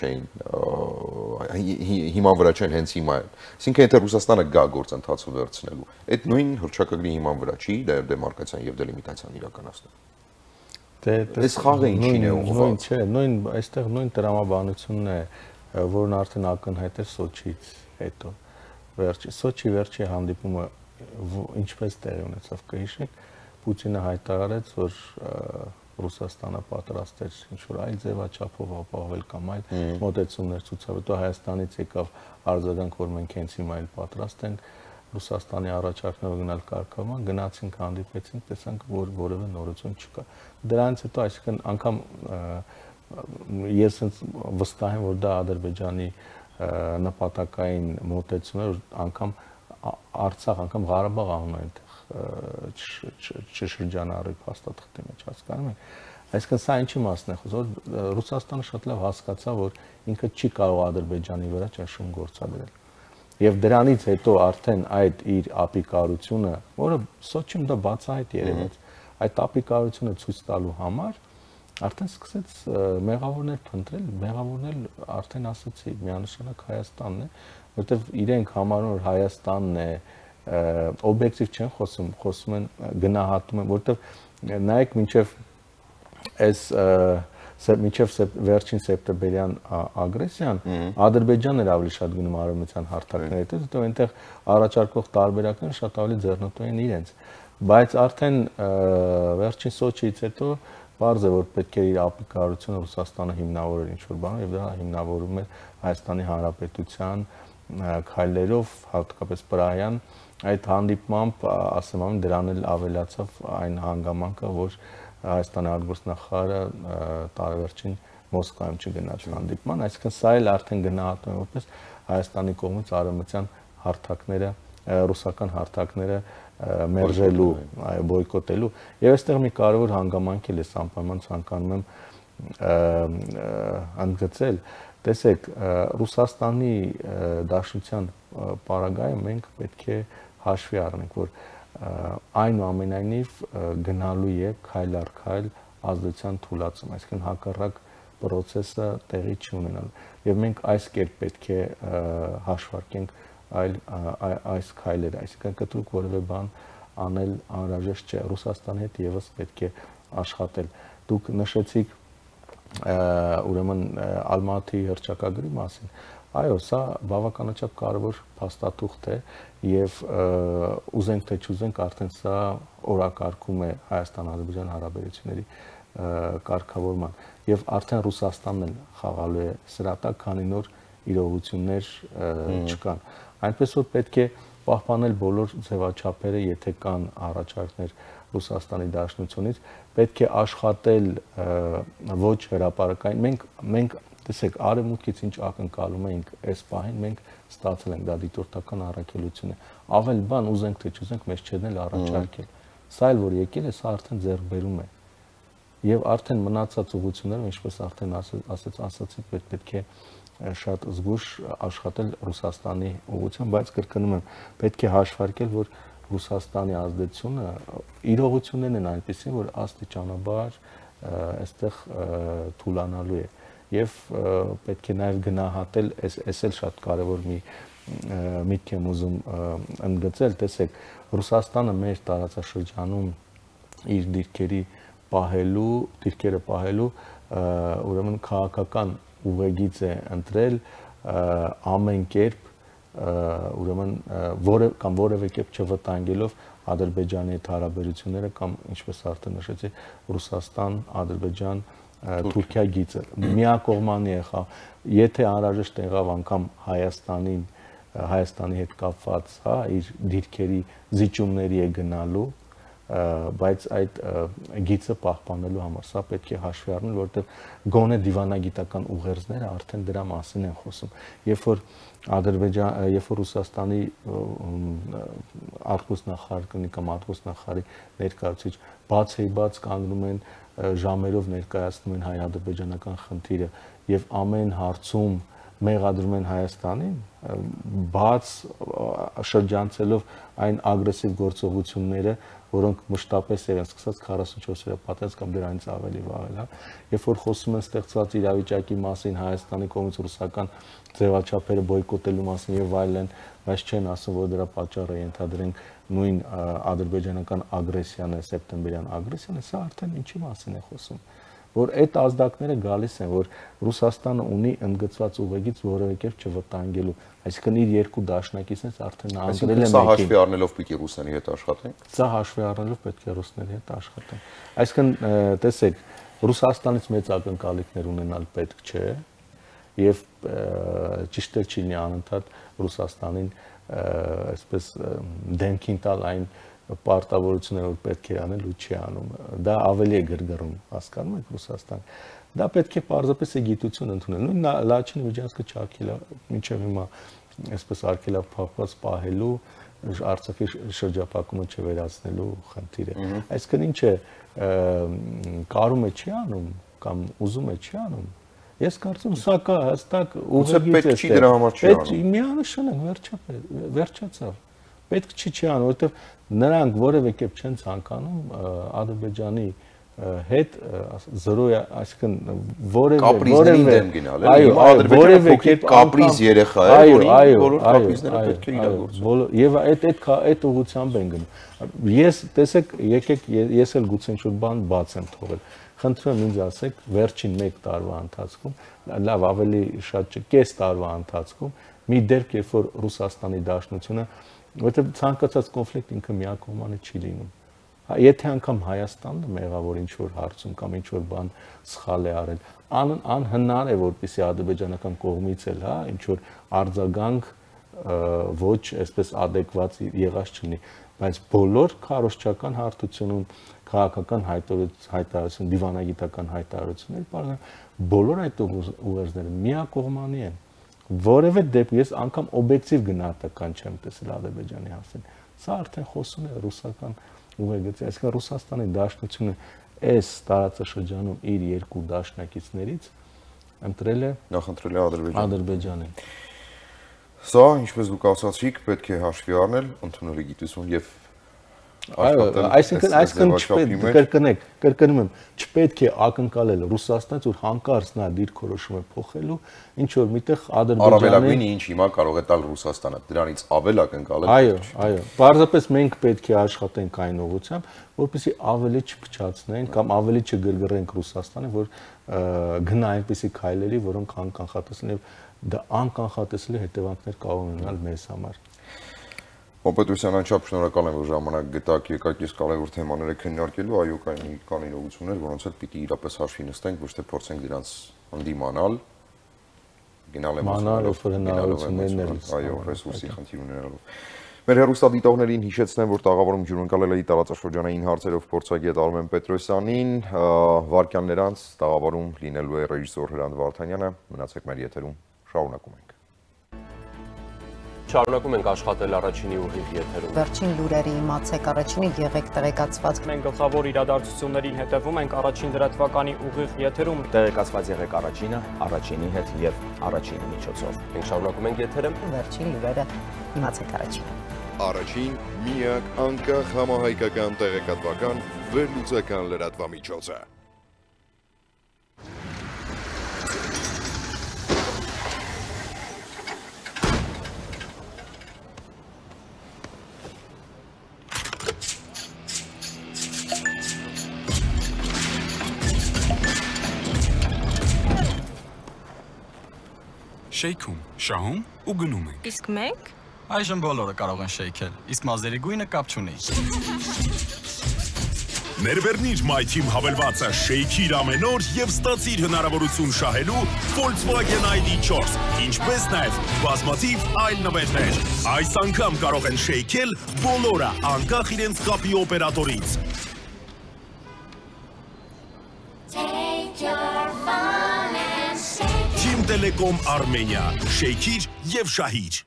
չեն հենց հիմա։ Այսինքն եթե Ռուսաստանը գա գործընթացը վերցնելու, այդ նույն հռչակագրի հիման վրա չի դեմարկացիան եւ դելիմիտացիան իրականացնել։ Այս խաղը ինչին է ուղղված։ Չէ, նույն այստեղ նույն տրամաբանությունն է, որն արդեն ակնհայտ է Սոչիից հետո։ Սոչի վերջի հանդիպումը ինչպես տեղի ունեցավ, կհիշեք, Պուտինը հայտարարեց, որ Ռուսաստանը պատրաստ էր ինչ-որ այլ ձևաչափով ապահովել կամ այլ մոտեցումներ ցուցաբերել, հետո Հայաստանից եկավ արձագանք, որ մենք հենց հիմա այլ պատրաստ ենք, Ռուսաստանի առաջարկները գնալ կարգավորման, գնացինք, հանդիպեցինք, տեսանք, որ որևէ նորություն չկա։ Դրանից հետո, այսինքն անգամ ես վստահ եմ, որ դա Ադրբեջանի նպատակային մոտեցում է, որ անգամ Արցախ, անգամ Ղարաբաղ անուն այնտեղ չշրջանառի փաստաթղթի մեջ, հասկանում եք։ Այսինքն սա ինչի մասն է խոսում, որ Ռուսաստանը շատ լավ հասկացավ, որ ինքը չի կարող Ադրբեջանի վրա ճնշում գործադրել։ Եվ դրանից հետո արդեն այդ իր ապիկարությունը, որը Սոչիում դա բացահայտ երևաց, այդ ապիկարությունը ցույց տալու համար արդեն սկսեց մեղավորներ փնտրել, մեղավորներ արդեն ասացի, միանշանակ Հայաստանն է, որովհետև իրենք համարում որ Հայաստանն է, օբյեկտիվ չեն խոսում, խոսում են գնահատում են, որովհետև նայեք մինչև այս մինչև վերջին սեպտեմբերյան ագրեսիան Ադրբեջանն էր ավելի շատ գնում արևմտյան հարթակների հետ, հետո այնտեղ առաջարկող տարբերակները շատ ավելի ձեռնտու են իրենց, բայց արդեն վերջին Սոչիից հետո բարձ է որ պետք է իր ապիկարությունը Ռուսաստանը հիմնավորել ինչ-որ բանով եւ դա հիմնավորում է Հայաստանի Հանրապետության քայլերով, հատկապես Պրահյան, այդ հանդիպմամբ ասեմ ամեն դրան էլ ավելացավ այն հանգամանքը, որ Հայաստանի արտգործնախարարը տարեվերջին Մոսկվայում չգնաց հանդիպման, այսինքն սա էլ արդեն գնահատում է որպես Հայաստանի կողմից արևմտյան հարթակները, ռուսական հարթակները մերժելու, բոյկոտելու եւ այստեղ մի կարևոր հանգամանք էլ է անպայման ցանկանում եմ ընդգծել, տեսեք, Ռուսաստանի Դաշնության պարագայում մենք պետք է հաշվի առնենք, որ այնուամենայնիվ գնալու է քայլ առ քայլ ազդեցության թուլացում, այսինքն հակառակ process-ը տեղի չի ունենալու եւ մենք այս կերպ պետք է հաշվարկենք այս քայլերը, այսինքն կտրուկ որևէ բան անել անհրաժեշտ չէ, Ռուսաստանի հետ եւս պետք է աշխատել։ Դուք նշեցիք ուրեմն Ալմատի հռչակագրի մասին, այո, սա բավականաչափ կարևոր փաստաթուղթ է եւ ուզենք թե չուզենք արդեն սա օրակարգում է Հայաստան-Ադրբեջան հարաբերությունների կարգավորման եւ արդեն Ռուսաստանն էլ խաղալու է սրատակ, քանի նոր իրողություններ չկան։ Այնպես որ պետք է պահպանել բոլոր ձևաչափերը, եթե կան առաջարկներ Ռուսաստանի Դաշնությունից, պետք է աշխատել ոչ հրապարակային։ Մենք տեսեք, արևմուտքից ինչ ակնկալում էինք այս պահին, մենք ստացել ենք, դա դիտորդական առաքելություն է։ Ավել բան ուզենք թե չուզենք, մեզ չեն էլ առաջարկել։ Սա էլ որ եկել է, սա արդեն ձեռքբերում է։ Եվ արդեն մնացած ուղղությունները, ինչպես արդեն ասացի, պետք է շատ զգուշ աշխատել Ռուսաստանի ուղղությամբ, բայց կրկնում եմ, պետք է հաշվարկել, որ Ռուսաստանի ազդեցությունը իրողություններն են այնպեսին, որ աստիճանաբար այստեղ թուլանալու է եւ պետք է նաեւ գնահատել, այս էլ շատ կարեւոր մի միտք եմ ուզում ընդգծել, տեսեք, Ռուսաստանը մեր տարածաշրջանում իր դիրքերը պահելու ուրեմն քաղաքական ուղեգիծ է ընտրել ամեն կերպ ուրեմն որևէ կերպ չվտանգելով Ադրբեջանի հետ հարաբերությունները կամ ինչպես արդեն նշեցի Ռուսաստան, Ադրբեջան, Թուրքիա գիծը միակողմանի եղավ, եթե անհրաժեշտ եղավ անգամ Հայաստանի հետ կապված, հա, իր դիրքերի զիջումների է գնալու, բայց այդ գիծը պահպանելու համար սա պետք է հաշվի առնել, որովհետև գոնե դիվանագիտական ուղերձները արդեն դրա մասին են խոսում։ Երբ որ Ռուսաստանի արտգործնախարար կամ արտգործնախարարի ներկայացուցիչ բաց կանգնում են ժամերով ներկայացնում են հայ-ադրբեջանական խնդիրը եւ ամեն հարցում մեղադրում են Հայաստանին, բաց շրջանցելով այն ագրեսիվ գործողությունները, որոնք մշտապես են սկսած 44-րդ պատերազմ կամ դրանից ավելի վաղ, հա, երբ որ խոսում են ստեղծված իրավիճակի մասին, Հայաստանի կողմից ռուսական ձևաչափերը բոյկոտելու մասին եւ այլն, բայց չեն ասում, որ դրա պատճառը ենթադրենք նույն ադրբեջանական ագրեսիան է, սեպտեմբերյան ագրեսիան է, սա արդեն ինչի մասին է խոսում, որ այդ ազդակները գալիս են, որ Ռուսաստանը ունի ընդգծված ուղեգիծ որևէ կերպ չվտանգելու, այսինքն իր երկու դաշնակիցներից արդեն անդրել է մեկին։ Սա հաշվի առնելով պիտի ռուսների հետ աշխատենք։ Սա հաշվի առնելով պետք է ռուսների հետ աշխատենք։ Այսինքն, տեսեք, Ռուսաստանից մեծ ակնկալիքներ ունենալ պետք չէ, եւ ճիշտ է չի անընդհատ Ռուսաստանին այսպես դեմքին տալ այն պարտավորությունները, որ պետք է անել ու չի անում։ Դա ավելի է գրգռում, հասկանում եք, Ռուսաստան։ Դա պետք է պարզապես է գիտություն ընդունել։ Նույն Լաչինի Միջանցքը չարքելա, մինչև հիմա այսպես արգելափակված պահելու, Արցախի շրջափակումը չվերացնելու խնդիրը։ Այսինքն ինչ է, կարում է չի անում կամ ուզում է չի անում։ Ես կարծում սա կա հստակ ուղղագիծ է։ Պետք չի դրա համար չի անում։ Միանշանակ վերջացավ։ Պետք չի անում, որովհետև նրանք որևէ կերպ չեն ցանկանում Ադրբեջանի հետ զրո, այսինքն կապրիզներին դեմ գնալ, այո, Ադրբեջանը փոքրիկ կապրիզ երեխա է, որին բոլոր կապրիզները պետք է իրագործեն։ Եվ այդ ուղղությամբ են գնում։ Ես տեսեք, եկեք ես էլ գուցե ինչ-որ բան բաց եմ թողել։ Խնդրում եմ ինձ ասեք, վերջին 1 տարվա ընթացքում, լավ ավելի շատ չէ, կես տարվա ընթացքում մի դեպք, երբ որ Ռուսաստանի Դաշնությունը, որովհետև ցանկացած կոնֆլիկտ ինքը միակողմանի չի լինում։ Եթե անգամ Հայաստանը մեղավոր ինչ-որ հարցում կամ ինչ-որ բան սխալ է արել, անհնար է, որպեսզի ադրբեջանական կողմից էլ, հա, ինչ-որ արձագանք ոչ այսպես adekvat եղած չլինի, բայց բոլոր քարոզչական հարթությունում քաղաքական հայտարարություն, դիվանագիտական հայտարարությունները, բոլոր այդ ուղերձները միակողմանի են։ Որևէ դեպքում ես անգամ օբյեկտիվ գնահատական չեմ տեսել Ադրբեջանի հասցեն։ Սա արդեն խոսում է ռուսական ուղեգծի, այսինքն Ռուսաստանի Դաշնությունը այս տարածաշրջանում իր երկու դաշնակիցներից ընտրել է նախընտրել է Ադրբեջանին։ Սա, ինչպես դուք ասացիք, պետք է հաշվի առնել, ընդունելի գիտություն եւ այսինքն կրկնում եմ, չպետք է ակնկալել Ռուսաստանից, որ հանկարծ նա դիրքորոշում է փոխելու, ինչ որ միտեղ Ադրբեջանը առավելագույնը ինչ հիմա կարող է տալ Ռուսաստանը, դրանից ավել ակնկալել։ Այո, պարզապես մենք պետք է աշխատենք այն ուղղությամբ, որպեսզի ավելի չփչացնենք կամ ավելի չգրգռենք Ռուսաստանը, որ գնա այնպիսի քայլերի, որոնք անկանխատեսելի եւ դա անկանխատեսելի հետևանքներ կարող ունենալ մեզ համար։ Պետրոսյան, անչափ շնորհակալ եմ, որ ժամանակ գտաք, եկաք այս կարևոր թեմաները քննարկելու, այո, կան իրողություններ, որոնց հետ պիտի իրապես հաշվի նստենք, ոչ թե փորձենք դրանց ընդդիմանալ, գնալ հնարավորություններն այո, ռեսուրսի խնդիր ունենալով։ Մեր հեռուստադիտողներին հիշեցնեմ, որ տաղավարում ջուրընկալել էի տարածաշրջանային հարցերով փորձագետ Արմեն Պետրոսյանին, վայրկյաններ անց տաղավարում լինելու է ռեժիսոր Հրանտ Վարդանյանը, մնացեք մեր եթերում, շարունակում ենք։ Շարունակում ենք աշխատել առաջինի ուղիղ եթերում։ Վերջին լուրերի իմացեք, առաջինի եղեք տեղեկացված։ Մենք գլխավոր իրադարձություններին հետևում ենք առաջին դրատվականի ուղիղ եթերում։ Տեղեկացված եղեք առաջինի հետ եւ առաջինի միջոցով։ Մենք շարունակում ենք եթերը։ Վերջին լուրերը իմացեք առաջին։ Առաջին միակ անկախ համահայկական տեղեկատվական վերլուծական լրատվամիջոցը։ Շեյքում, շահում ու գնում ենք։ Իսկ մենք այժմ բոլորը կարող են շեյքել, իսկ մազերի գույնը կապ չունի։ Ներբեռնիր MyTeam հավելվածը շեյքիր ամեն օր եւ ստացիր հնարավորություն շահելու Volkswagen ID4, ինչպես նաեւ բազմաթիվ այլ նվերներ։ Այս անգամ կարող են շեյքել բոլորը, անկախ իրենց կապի օպերատորից։ Team Telecom Armenia, շեյքիր եւ շահիր։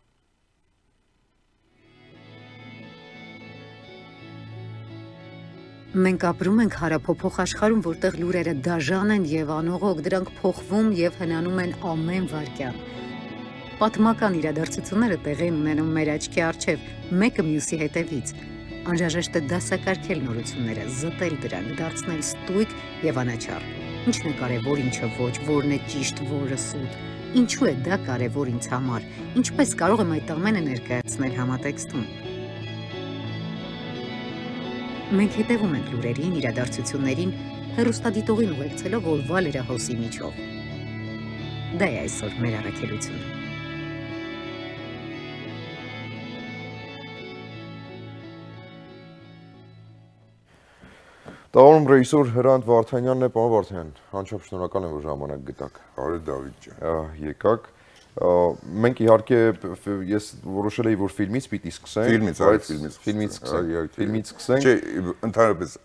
Մենք ապրում ենք հարափոփող աշխարհում, որտեղ լուրերը դաժան են եւ անողոք, դրանք փոխվում եւ հնանում են ամեն վայրկյան։ Պատմական իրադարձությունները տեղի են ունենում մեր աչքի առջև, մեկը մյուսի հետևից։ Անհրաժեշտ է դասակարգել նորությունները, զտել դրանք, դարձնել ստույգ եւ անաչառ։ Ինչն է կարևոր, ինչը ոչ, որն է ճիշտ, որը սուտ։ Ինչու է դա կարևոր ինձ համար։ Ինչպես կարող եմ այդ ամենը ներկայացնել համատեքստում։ Մենք հետևում ենք լուրերին, իրադարձություններին, հեռուստադիտողին ուղեկցելով օրվա լրահոսի միջով։ Դա է այսօր մեր առաքելությունը։ Տաղորում ռեյսոր Հրանտ Վարդանյանն է, պարոն Վարդանյան, անչափ շնորհակալ եմ, որ ժամանակ գտաք։ Բարև Դավիթ ջան։ Եկաք։ Մենք իհարկե ես որոշել էի, որ ֆիլմից պիտի սկսենք։ Ֆիլմից սկսենք։ Չէ, ընդհանրապես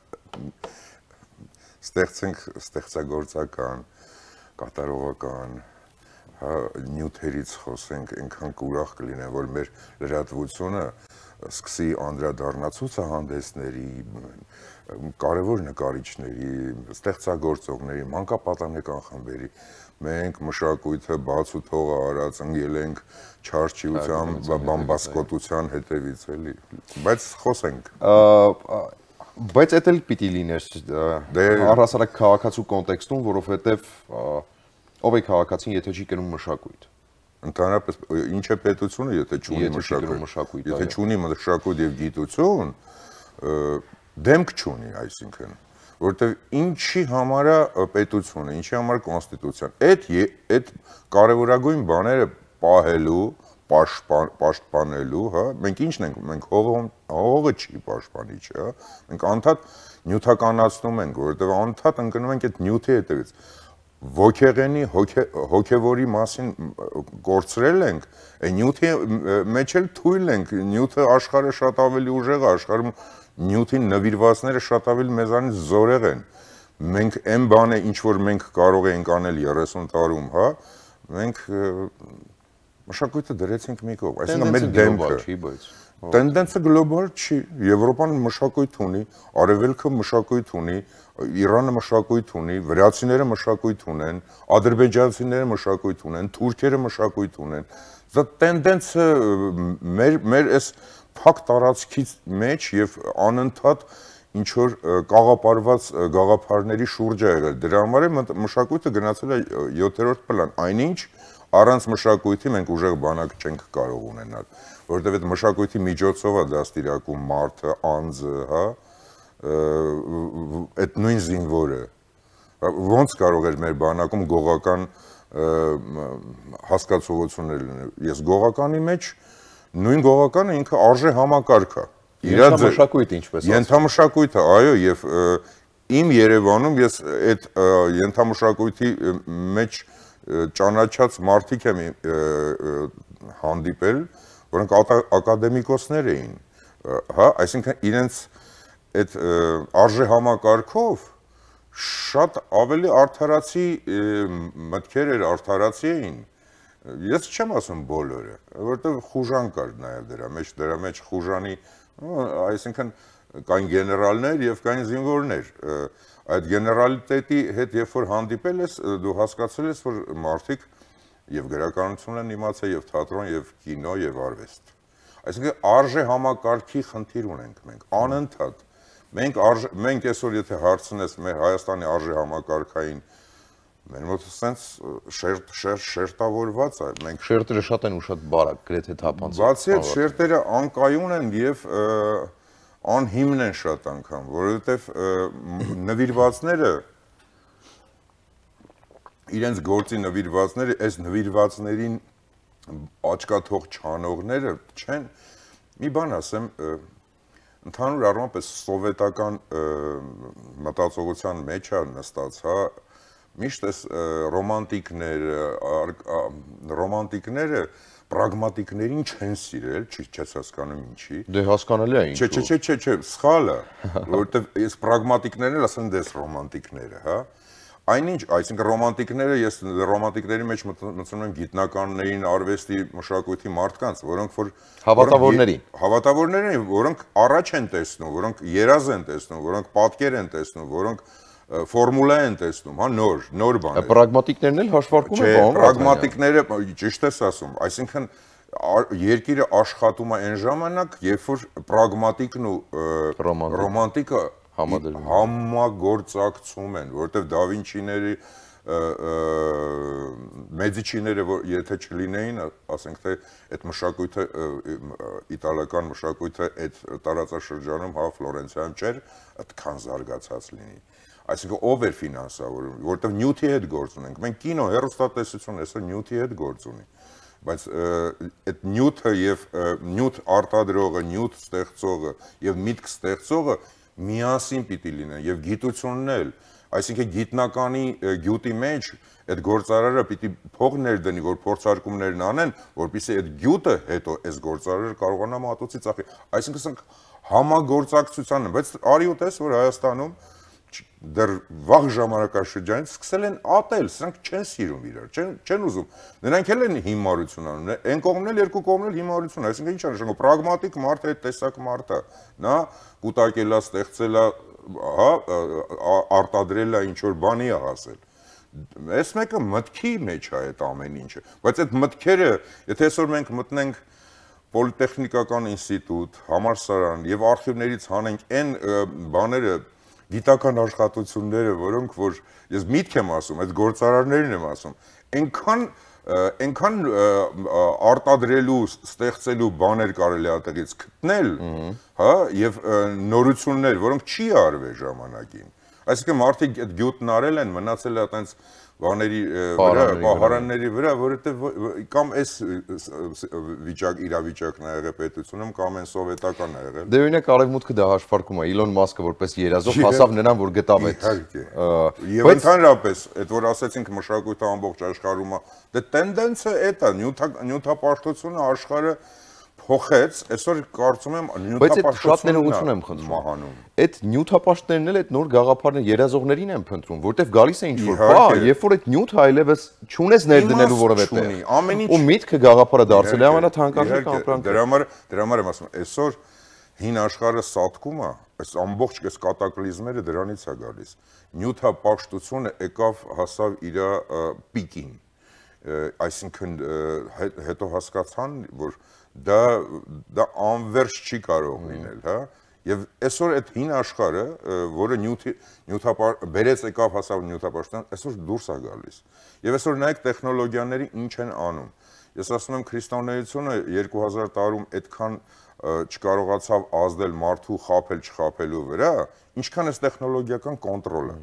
ստեղծենք ստեղծագործական, կատարողական, նյութերից խոսենք, այնքան ուրախ կլինեմ, որ մեր լրատվությունը սկսի անդրադառնալ ցուցահանդեսների, կարևոր նկարիչների, ստեղծագործողների, մանկապատանեկան խմբերի։ Մենք մշակույթը բաց ու թողը արած ընկել ենք չարչիության, բամբասկոտության հետևից էլի։ Բայց խոսենք։ Բայց դա էլ պիտի լիներ առհասարակ քաղաքացու կոնտեքստում, որովհետև ով է քաղաքացին, եթե չի կրում մշակույթ։ Ընդհանրապես ինչ է պետությունը, եթե չունի մշակույթ, եթե չունի մշակույթ եւ գիտություն, դեմք չունի, այսինքն, որովհետեւ ինչի համար է պետությունը, ինչի համար կոնստիտուցիան, այդ կարևորագույն բաները պահելու, պաշտպանելու, հա, մենք ինչն ենք, մենք հողը չի պաշտպանիչ, հա, մենք անդադ նյութականացնում ենք, որովհետեւ անդադ ընկնում ենք այդ նյութի հետևից։ Ոգեղենի, հոգևորի մասին կորցրել ենք, նյութի մեջ էլ թույլ ենք, նյութը աշխարհը շատ ավելի ուժեղ է, աշխարհում նյութին նվիրվածները շատ ավելի մեզանից զորեղ են։ Մենք այն բանը, ինչ որ մենք կարող ենք անել 30 տարում, հա, մենք մշակույթը դրեցինք մի կողմ, այսինքն մեր դեմքը Տենդենսը գլոբալ չի, Եվրոպան մշակույթ ունի, Արևելքը մշակույթ ունի, Իրանը մշակույթ ունի, վրացիները մշակույթ ունեն, ադրբեջանցիները մշակույթ ունեն, թուրքերը մշակույթ ունեն։ Դա տենդենսը մեր այս փակ տարածքից մեջ եւ անընդհատ ինչ որ կաղապարված գաղափարների շուրջ է եղել։ Դրա համար է մշակույթը գնացել է 7-րդ պլան, այնինչ առանց մշակույթի մենք ուժեղ բանակ չենք կարող ունենալ, որովհետև այդ մշակույթի միջոցով է դաստիարակում մարդը, անձը, հա, այդ նույն զինվորը, ոնց կարող էր մեր բանակում գողական հասկացողություններ լինել։ Ես գողականի մեջ նույն գողականը ինքը արժե համակարգ է։ Ենթամշակույթ ինչպես ասում։ Ենթամշակույթը, այո, եւ իմ Երևանում ես այդ ենթամշակույթի մեջ ճանաչած մարդիկ եմ հանդիպել, որոնք ակադեմիկոսներ էին, հա, այսինքն իրենց այդ արժե համակարգով շատ ավելի արդարացի մտքեր էր, արդարացի էին։ Ես չեմ ասում բոլորը, որովհետև խուժան կար նաև դրա մեջ խուժանի, այսինքն կային գեներալներ եւ կային զինվորներ։ Այդ գեներալիտետի հետ երբ որ հանդիպել ես, դու հասկացել ես, որ մարդիկ եւ գրականություն են իմացել, եւ թատրոն, եւ կինո, եւ արվեստ։ Այսինքն արժե համակարգի խնդիր ունենք մենք, անընդհատ։ Մենք այսօր եթե հարցնես մեր Հայաստանի արժե համակարգային, մեր մոտ sense շերտավորված է, մենք շերտերը շատ են ու շատ բարակ, գրեթե թափանցիկ։ Բացի այդ շերտերը անկայուն են եւ անհիմն են շատ անգամ, որովհետև նվիրվածները իրենց գործի նվիրվածները, այս նվիրվածներին աչքաթող չանողները չեն, մի բան ասեմ, ընդհանուր առմամբ այս սովետական մտածողության մեջ է նստած, հա, միշտ այս ռոմանտիկները պրագմատիկներին չեն սիրել, չես հասկանում ինչի։ Դե հասկանալի է ինչու։ Չէ, սխալ է, որովհետև այս պրագմատիկներն էլ ասեն դες ռոմանտիկները, հա։ Այնինչ, այսինքն ռոմանտիկները, ես ռոմանտիկների մեջ մտնում եմ գիտնականներին, արվեստի, մշակույթի մարդկանց, որոնք որ հավատավորներին, որոնք առաջ են տեսնում, որոնք երազ են տեսնում, որոնք պատկեր են տեսնում, որոնք ֆորմուլա են տեսնում, հա, նոր բաներ։ Պրագմատիկներն էլ հաշվարկում են, բան։ Պրագմատիկները ճիշտ ես ասում, այսինքն երկիրը աշխատում է այն ժամանակ, երբ որ պրագմատիկն ու ռոմանտիկը համագործակցում են, որովհետև դա Վինչիների մեդիչիները եթե չլինեին, ասենք թե այդ մշակույթը իտալական մշակույթը այդ տարածաշրջանում, հա, Ֆլորենցիայում չէր այդքան զարգացած լինի։ Այսինքն ով էր ֆինանսավորում, որովհետև նյութի հետ գործ ունենք։ Մենք կինո, հեռուստատեսություն այսօր նյութի հետ գործ ունի։ Բայց այդ նյութը եւ նյութ արտադրողը, նյութ ստեղծողը եւ միտք ստեղծողը միասին պիտի լինեն եւ գիտությունն էլ, այսինքն գիտնականի գյուտի մեջ այդ գործարարը պիտի փող ներդնի, որ փորձարկումներն անեն, որպեսզի այդ գյուտը հետո այս գործարարը կարողանա մատուցի ծախի։ Այսինքն համագործակցության, բայց արի ու տես, որ Հայաստանում դեռ վաղ ժամանակաշրջանից սկսել են ատել, սրանք չեն սիրում իրար, չեն ուզում։ Նրանք էլ են հիմարություն անում, այն կողմն էլ երկու կողմն էլ հիմարություն, այսինքն ինչ նշանակում, պրագմատիկ մարդ է, այդ տեսակ մարդ է, նա կուտակել է, ստեղծել է, հա, արտադրել է, ինչ որ բանի է հասել։ Այս մեկը մտքի մեջ է այդ ամեն ինչը, բայց այդ մտքերը, եթե այսօր մենք մտնենք պոլիտեխնիկական ինստիտուտ, համալսարան եւ արխիվներից հանենք այն բաները գիտական աշխատությունները, որոնք որ ես միտք եմ ասում, այդ գործարարներն եմ ասում, այնքան արտադրելու, ստեղծելու բաներ կարելի է այդտեղից գտնել, հա, եւ նորություններ, որոնք չի արվել ժամանակին։ Այսինքն մարդիկ այդ գյուտն արել են, մնացել է այտենց բաների վրա, պահարանների վրա, որովհետև կամ այս իրավիճակն է եղել պետությունում, կամ այն սովետական է եղել։ Դե օրինակ արևմուտքը դա հաշվարկում է, Իլոն Մասկը որպես երազող հասավ նրան, որ գտավ այդ։ Եվ ընդհանրապես, այդ որ ասեցինք մշակույթը ամբողջ աշխարհում է, դե տենդենսը այդ է, նյութապաշտությունը աշխարհը փոխեց, այսօր կարծում եմ նյութապաշտությունը եմ խնդրում։ Այդ նյութապաշտներն էլ այդ նոր գաղափարներ երազողներին են փնտրում, որտեվ գալիս է ինչ-որ բան, երբ որ այդ նյութը այլևս չունես ներդնելու որևէ տեղ։ Ու միտքը գաղափարը դարձել է ամենաթանկարժեք ապրանքը։ Դրա համար եմ ասում, այսօր հին աշխարհը սատկում է, այս ամբողջ այս կատակլիզմերը դրանից է գալիս։ Նյութապաշտությունը եկավ հասավ իր պիկին։ Այսինքն հետո հասկացան, որ դա անվերջ չի կարող լինել, հա, եւ այսօր այդ հին աշխարհը, որը բերեց եկավ հասավ նյութապաշտպան, այսօր դուրս է գալիս։ Եվ այսօր նայեք տեխնոլոգիաների ինչ են անում։ Ես ասում եմ քրիստոնեությունը 2000 տարում այդքան չկարողացավ ազդել մարդու չխաբելու վրա, ինչքան էս տեխնոլոգիական կոնտրոլը։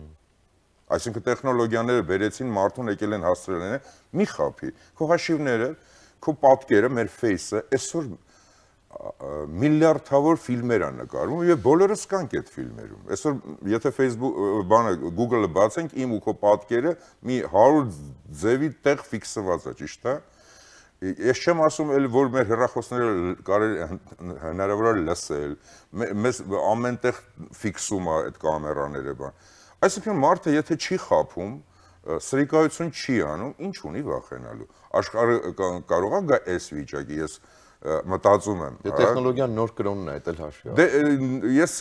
Այսինքն տեխնոլոգիաները բերեցին մարդուն եկել են հասցրել են, մի խափի, քո հաշիվները, քո պատկերը, մեր ֆեյսը, այսօր միլիարդավոր ֆիլմեր են նկարվում եւ բոլորս կանք այդ ֆիլմերում։ Այսօր եթե Facebook Google-ը բացենք, իմ ու քո պատկերը մի 100 ձևի տեղ ֆիքսված է, ճիշտ է։ Ես չեմ ասում էլ որ մեր հեռախոսները կարելի հնարավոր է լսել, մեզ ամենտեղ ֆիքսում է այդ կամերաները բան։ Այսինքն մարդը եթե չի խափում, սրիկայություն չի անում, ինչ ունի վախենալու։ Աշխարհը կարող է գա այս վիճակի, ես մտածում եմ։ Դե տեխնոլոգիան նոր կրոնն է, դա էլ հաշվի։ Դե ես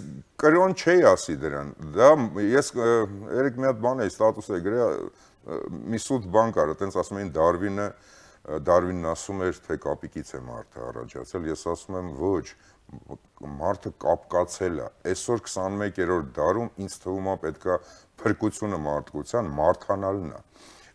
կրոն չէի ասի դրան։ Դա ես երեք մի հատ բան էի ստատուս է գրել, մի սուտ բան կար, այտենց ասում էին Դարվինն ասում էր, թե կապիկից է մարդը առաջացել, ես ասում եմ ոչ, մարդը կապկացել է։ Այսօր 21-րդ դարում ինձ թվում է պետքա փրկությունը մարդկության մարդանալն է։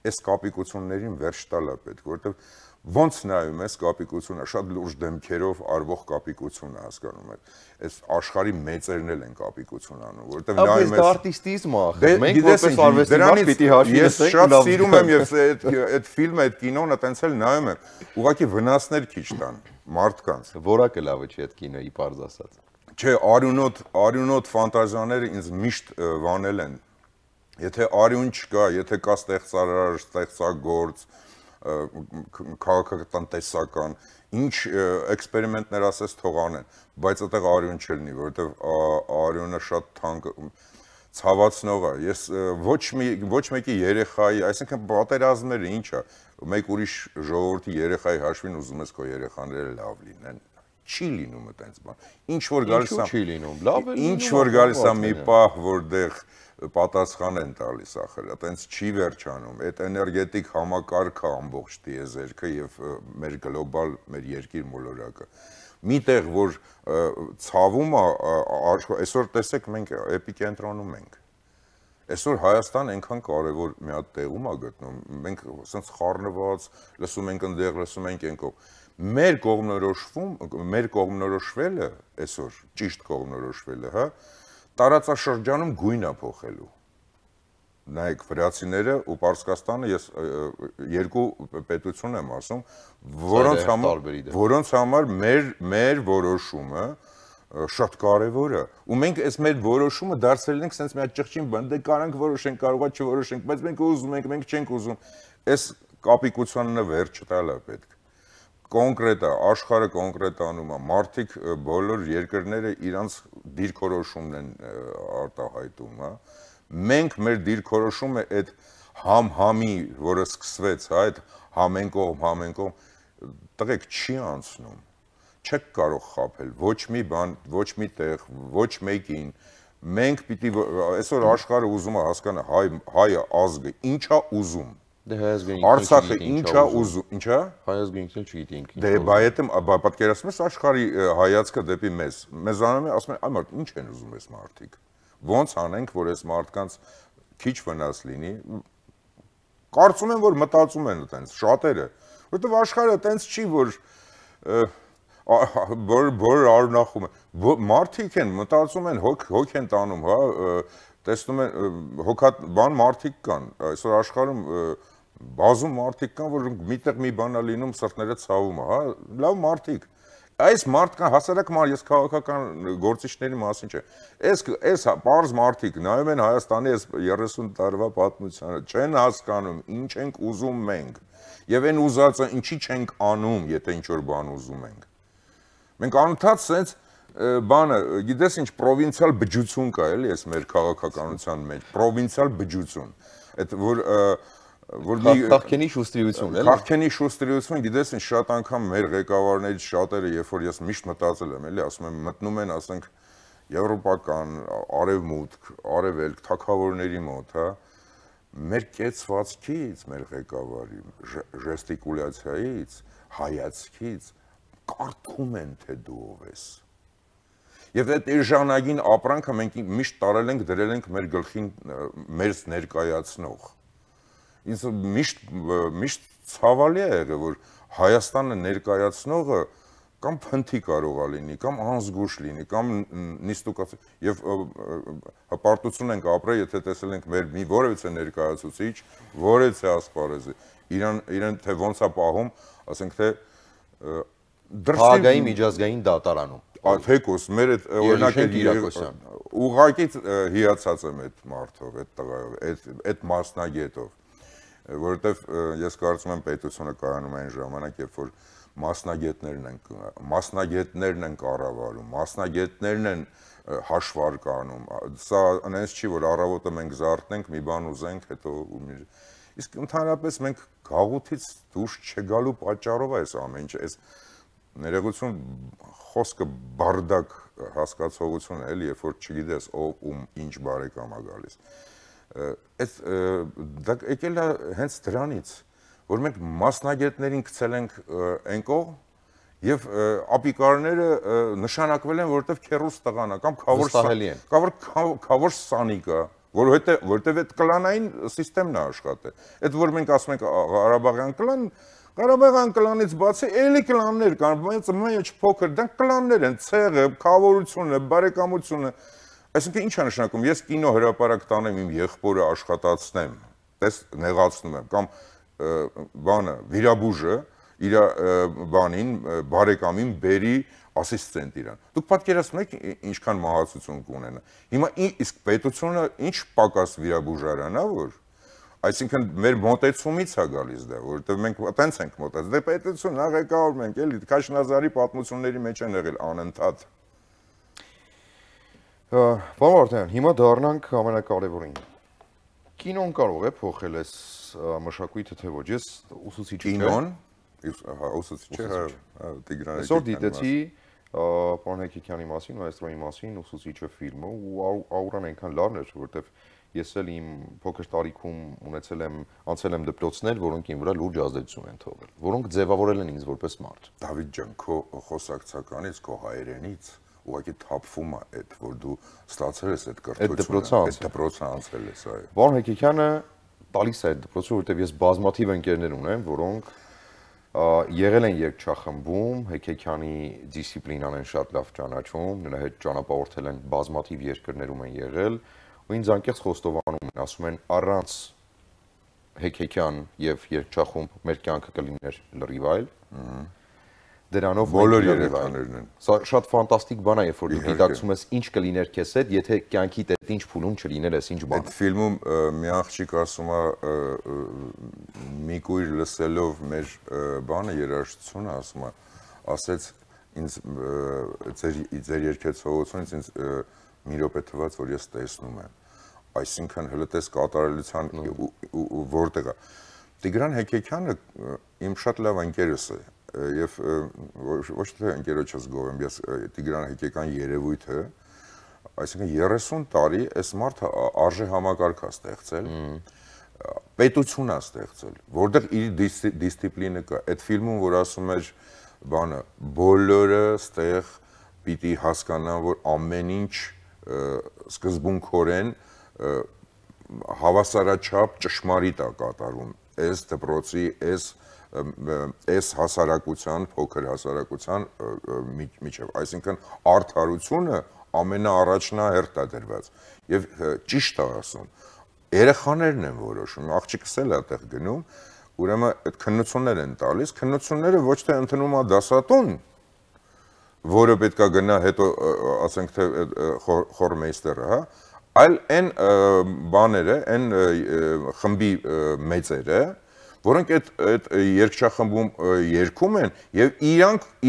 Այս կապիկություններին վերջ տալ է պետք, որովհետև ոնց նայում ես կապիկությունը, շատ լուրջ դեմքերով արվող կապիկություն է հասկանում ես։ Այս աշխարհի մեծերն էլ են կապիկություն անում, որովհետև նայում ես արտիստիզմը, մենք որպես արվեստի պիտի հաշվի ես շատ սիրում եմ եւ այդ ֆիլմը, այդ կինոն այտենց էլ նայում եմ, ուղղակի վնասներ քիչ տան մարդկանց։ Որակը լավը չի այդ կինոյի բարձ ասած։ Չէ, արյունոտ ֆանտազիաները ինձ միշտ վանել են։ Եթե արյուն չկա, եթե կա ստեղծարար, ստեղծագործ, քաղաքատնտեսական, ինչ էքսպերիմենտներ ասես թող անեն, բայց այդտեղ արյուն չլինի, որովհետև արյունը շատ թանկ ցավացնող է։ Ես ոչ մեկի երեխայի, այսինքն պատերազմները ինչ է, մեկ ուրիշ ժողովրդի երեխայի հաշվին ուզում ես քո երեխաները լավ լինեն։ Չի լինում այդպես բան։ Ինչ որ գալիս է, չի լինում։ Լավ է։ Ինչ որ գալիս է մի պահ, որտեղ պատասխան են տալիս ախր, այտենց չի վերջանում։ Այդ էներգետիկ համակարգը ամբողջ դիեզերքը եւ մեր գլոբալ, մեր երկիր մոլորակը։ Միտեղ որ ցավում է, այսօր տեսեք մենք էպիկենտրոնում ենք։ Այսօր Հայաստան այնքան կարևոր մի հատ տեղում է գտնում, մենք ասենց խառնված, լսում ենք այնտեղ, լսում ենք այնքով։ Մեր կողմնորոշվելը այսօր, ճիշտ կողմնորոշվելը, հա, տարածաշրջանում գույն է փոխելու։ Նայեք, վրացիները ու Պարսկաստանը, ես երկու պետություն եմ ասում, որոնց համար մեր որոշումը շատ կարևոր է։ Ու մենք այս մեր որոշումը դարձրել ենք sense մի հատ ճղճին բան, դե կարանք որոշենք, կարողա չորոշենք, բայց մենք ուզում ենք, մենք չենք ուզում։ Այս կապիկությունները վերջ տալը պետք։ Կոնկրետ է, աշխարհը կոնկրետանում է, մարդիկ բոլոր երկրները իրանց դիրքորոշումն են արտահայտում, հա։ Մենք մեր դիրքորոշումը այդ համ-համի, որը սկսվեց, հա, այդ համենկողմ, տղեկ չի անցնում։ Չեք կարող խաբել ոչ մի բան, ոչ մի տեղ, ոչ մեկին։ Մենք պիտի այսօր աշխարհը ուզում է հասկանա հայ ազգը ինչա ուզում։ Դե հայազգային Արցախը ինչա ուզում, ինչա։ Հայազգային ինքն չգիտի ինքն։ Դե բայց պատկերացնում ես աշխարհի հայացքը դեպի մեզ։ Մեզանում է ասում են, այ մարդ ինչ են ուզում այս մարդիկ։ Ոնց անենք, որ այս մարդկանց քիչ վնաս լինի։ Կարծում եմ, որ մտածում են այտենց շատերը, որովհետև աշխարհը այտենց չի, որ արունախում է։ Մարդիկ են մտածում են, հոգ են տանում, հա, տեսնում են հոգաբան մարդիկ կան։ Այսօր աշխարհում բազում մարդիկ կան, որ միտեղ մի բան է լինում, սրտները ցավում է, հա, լավ մարդիկ։ Այս մարդկան հասարակ ես քաղաքական գործիչների մասին չէ։ Այս պարզ մարդիկ նայում են Հայաստանի այս 30 տարվա պատմությանը, չեն հասկանում ինչ ենք ուզում մենք։ Եվ այն ուզածը ինչի չենք անում, եթե ինչ-որ բան ուզում ենք։ Մենք անընդհատ սենց բանը, գիտես ինչ պրովինցիալ բջջություն կա, էլի, այս մեր քաղաքականության մեջ, պրովինցիալ բջջություն։ Այդ որ Քաղաքենի շուստրիություն, էլի։ Քաղաքենի շուստրիություն, գիտես ինչ շատ անգամ մեր ղեկավարներից շատերը, երբ որ ես միշտ մտածել եմ, էլի, ասում եմ, մտնում են, ասենք, եվրոպական, արևմուտք, արևելք, թագավորների մոտ, հա, մեր կեցվածքից, մեր ղեկավարի ժեստիկուլյացիայից, հայացքից կարդում են, թե դու ով ես։ Եվ այդ էժանագին ապրանքը մենք միշտ տարել ենք, դրել ենք մեր գլխին մեր ներկայացնող։ Ինձ միշտ ցավալի է եղել, որ Հայաստանը ներկայացնողը կամ փնթի կարող է լինի, կամ անզգուշ լինի, կամ նիստուկացի, եւ հպարտություն ենք ապրել, եթե տեսել ենք մեր մի որևիցե ներկայացուցիչ, որևիցե ասպարեզի, իրեն թե ոնց է պահում, ասենք թե Հագային միջազգային դատարանում։ Թեկոս մեր այդ օրինակը ուղղակի հիացած եմ այդ մարդով, այդ տղայով, այդ մասնագետով, որովհետև ես կարծում եմ պետությունը կայանում այն ժամանակ, երբ որ մասնագետներն են կառավարում, մասնագետներն են հաշվարկանում։ Սա այնպես չի, որ առավոտը մենք զարթնենք, մի բան ուզենք, հետո իսկ ընդհանրապես մենք գաղութից դուրս չգալու պատճառով այս ամեն ինչը, այս ներողություն խոսքը բարդակ հասկացողություն է, էլի, երբ որ չգիտես ով ում ինչ բարեկամ է գալիս։ Դա եկել է հենց դրանից, որ մենք մասնագետներին գցել ենք այն կողմ եւ ապիկարները նշանակվել են, որովհետեւ քերուս տղան է կամ քավոր սանիկա, որովհետեւ այդ կլանային համակարգն է աշխատել։ Այդ որ մենք ասում ենք Ղարաբաղյան կլան, Ղարաբաղյան կլանից բացի էլի կլաններ կան, բայց մեծ փոքր, դրանք կլաններ են, ցեղը, քավորությունը, բարեկամությունը։ Այսինքն ինչ է նշանակում, ես կինո հրապարակ տանեմ իմ եղբորը աշխատացնեմ, տես նեղացնում եմ, կամ բանը, վիրաբուժը իր բանին, բարեկամին բերի ասիստենտ իրան։ Դուք պատկերացնում եք ինչքան մահացություն կունենա։ Հիմա իսկ պետությունը ինչ պակաս վիրաբուժարան է, որ այսինքն մեր մոտեցումից է գալիս դա, որովհետև մենք այտենց ենք մոտեցել։ Դե պետությունն աղեկավոր ենք, էլի Քաշնազարի պատմությունների մեջ են եղել անընդհատ։ Պարոն Վարդանյան, հիմա դառնանք ամենակարևորին։ Կինոն կարող է փոխել այս մշակույթը, թե ոչ։ Ես ուսուցիչ եմ։ Կինոն, ուսուցիչ է, Տիգրան։ Այսօր դիտեցի պարոն Հեկեկյանի մասին, մայստրոյի մասին, ուսուցիչը ֆիլմը ու աուրան այնքան լավն էր, որովհետև ես էլ իմ փոքր տարիքում անցել եմ դպրոցներ, որոնք իմ վրա լուրջ ազդեցություն են թողել, որոնք ձևավորել են ինձ որպես մարդ։ Դավիթ ջան, քո խոսակցականից, քո հայերենից ուղղակի թափվում է այդ, որ դու ստացել ես այդ կրթությունը, այդ դպրոցը անցել ես, այո։ Պարոն Հեկեկյանը տալիս է այդ դպրոցը, որովհետև ես բազմաթիվ ընկերներ ունեմ, որոնք եղել են երգչախմբում, Հեկեկյանի դիսցիպլինան են շատ լավ ճանաչում, նրա հետ ճանապարհորդել են բազմաթիվ երկրներում են եղել, ու ինձ անկեղծ խոստովանում են, ասում են առանց Հեկեկյան եւ երգչախումբ մեր կյանքը կլիներ լրիվ այլ։ Դրանով բոլոր երեխաներն են։ Սա շատ ֆանտաստիկ բան է, երբ որ դու գիտակցում ես ինչ կլիներ քեզ հետ, եթե կյանքիդ այդ ինչ փուլում չլիներ, այս ինչ բան։ Այդ ֆիլմում մի աղջիկ ասում է մի կույր լսելով մեր բանը երաժշտությունը, ասում է, ասեց ինձ ձեր երգեցողությունից ինձ մի րոպե թվաց, որ ես տեսնում եմ։ Այսինքն հլտես կատարելության որտեղ է։ Տիգրան Հեկեկյանը իմ շատ լավ ընկերս է եւ ոչ թե ընկերոջս գովեմ, ես Տիգրան Հեկեկյան երևույթը, այսինքն 30 տարի այս մարդը արժե համակարգ է ստեղծել, պետություն է ստեղծել, որտեղ իր դիսցիպլինը կա։ Այդ ֆիլմում, որ ասում էր բանը, բոլորը ստեղ պիտի հասկանան, որ ամեն ինչ սկզբունքորեն հավասարաչափ ճշմարիտ է կատարում այս դպրոցի, այս հասարակության, փոքր հասարակության միջև, այսինքն արդարությունը ամենաառաջնահերթ է դրված եւ ճիշտ է ասում, երեխաներն են որոշում, աղջիկս էլ է այդտեղ գնում, ուրեմն այդ քննություններ են տալիս, քննությունները ոչ թե ընդունում է դասատուն, որը պետք է գնա հետո ասենք թե խորմեյստերը, հա, այլ այն բաները, այն խմբի մեծերը, որոնք այդ երգչախմբում երգում են եւ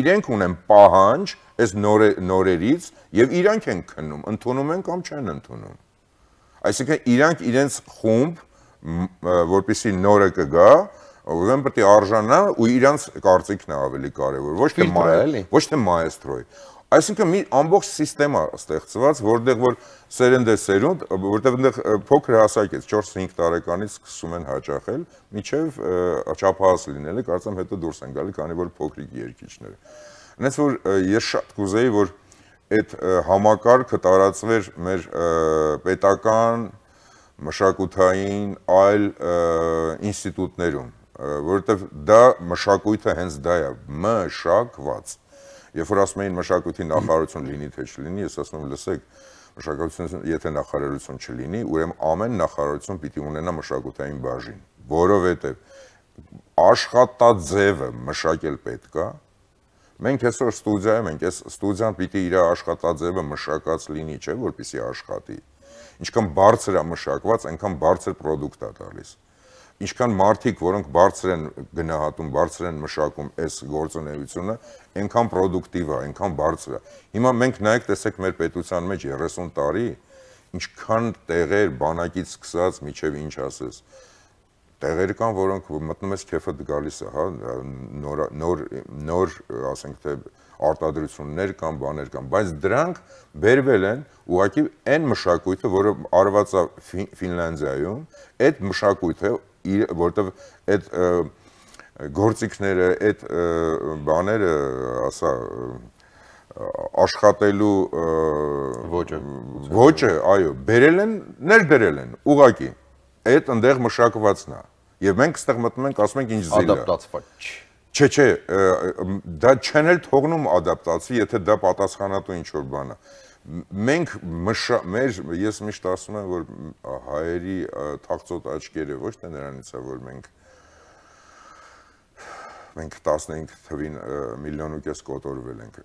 իրենք ունեն պահանջ այս նորերից եւ իրանք են քննում, ընդունում են կամ չեն ընդունում։ Այսինքն իրանք իրենց խումբ, որպեսզի նորը կգա, ուրեմն պետք է արժանա ու իրանք կարծիքն է ավելի կարեւոր, ոչ թե մայստրոյի։ Այսինքն մի ամբողջ սիստեմա ստեղծված, որտեղ որ սերնդեսերունդ, որտեղ այնտեղ փոքր հասակից 4-5 տարեկանից սկսում են հաճախել, միջև չափահաս լինելը, կարծեմ հետո դուրս են գալի, քանի որ փոքրիկ երգիչներ։ Այնպես որ ես շատ կուզեի, որ այդ համակարգը տարածվեր մեր պետական, մշակութային, այլ ինստիտուտներում, որովհետև դա մշակույթը հենց դա է, մշակված։ Երբ որ ասում էին մշակույթի նախարարություն լինի թե չլինի, ես ասում եմ, լսեք, մշակութային եթե նախարարություն չլինի, ուրեմն ամեն նախարարություն պիտի ունենա մշակութային բաժին, որովհետև աշխատաձևը մշակել պետք է։ Մենք այսօր ստուդիայում ենք, այս ստուդիան պիտի իր աշխատաձևը մշակած լինի, չէ՞, որպեսզի աշխատի։ Ինչքան բարձր է մշակված, այնքան բարձր պրոդուկտ է տալիս։ Ինչքան մարդիկ, որոնք բարձր են գնահատում, բարձր են մշակում այս գործունեությունը, այնքան պրոդուկտիվ է, այնքան բարձր է։ Հիմա մենք նայեք, տեսեք մեր պետության մեջ 30 տարի, ինչքան տեղեր բանակից սկսած միջև ինչ ասես։ Տեղեր կան, որոնք մտնում ես քեֆդ գալիս է, հա, նոր, ասենք թե արտադրություններ կան, բաներ կան, բայց դրանք բերվել են ուղղակի այն մշակույթը, որը արված է Ֆինլանդիայում, այդ մշակույթը որտեվ այդ գործիքները, այդ բաները, ասա, աշխատելու ոճը, այո, բերել են, ներդրել են, ուղղակի, այդ ընդեղ մշակվածն է, եւ մենք ստեղ մտնում ենք, ասում ենք ինչ զիլ է։ Ադապտացված Չէ, դա չեն էլ թողնում ադապտացի, եթե դա պատասխանատու ինչ-որ բան է։ Մենք ես միշտ ասում եմ, որ հայերի թաղծոտ աչքերը ոչ թե նրանից է, որ մենք 15 թվին 1,5 միլիոն կոտորվել ենք,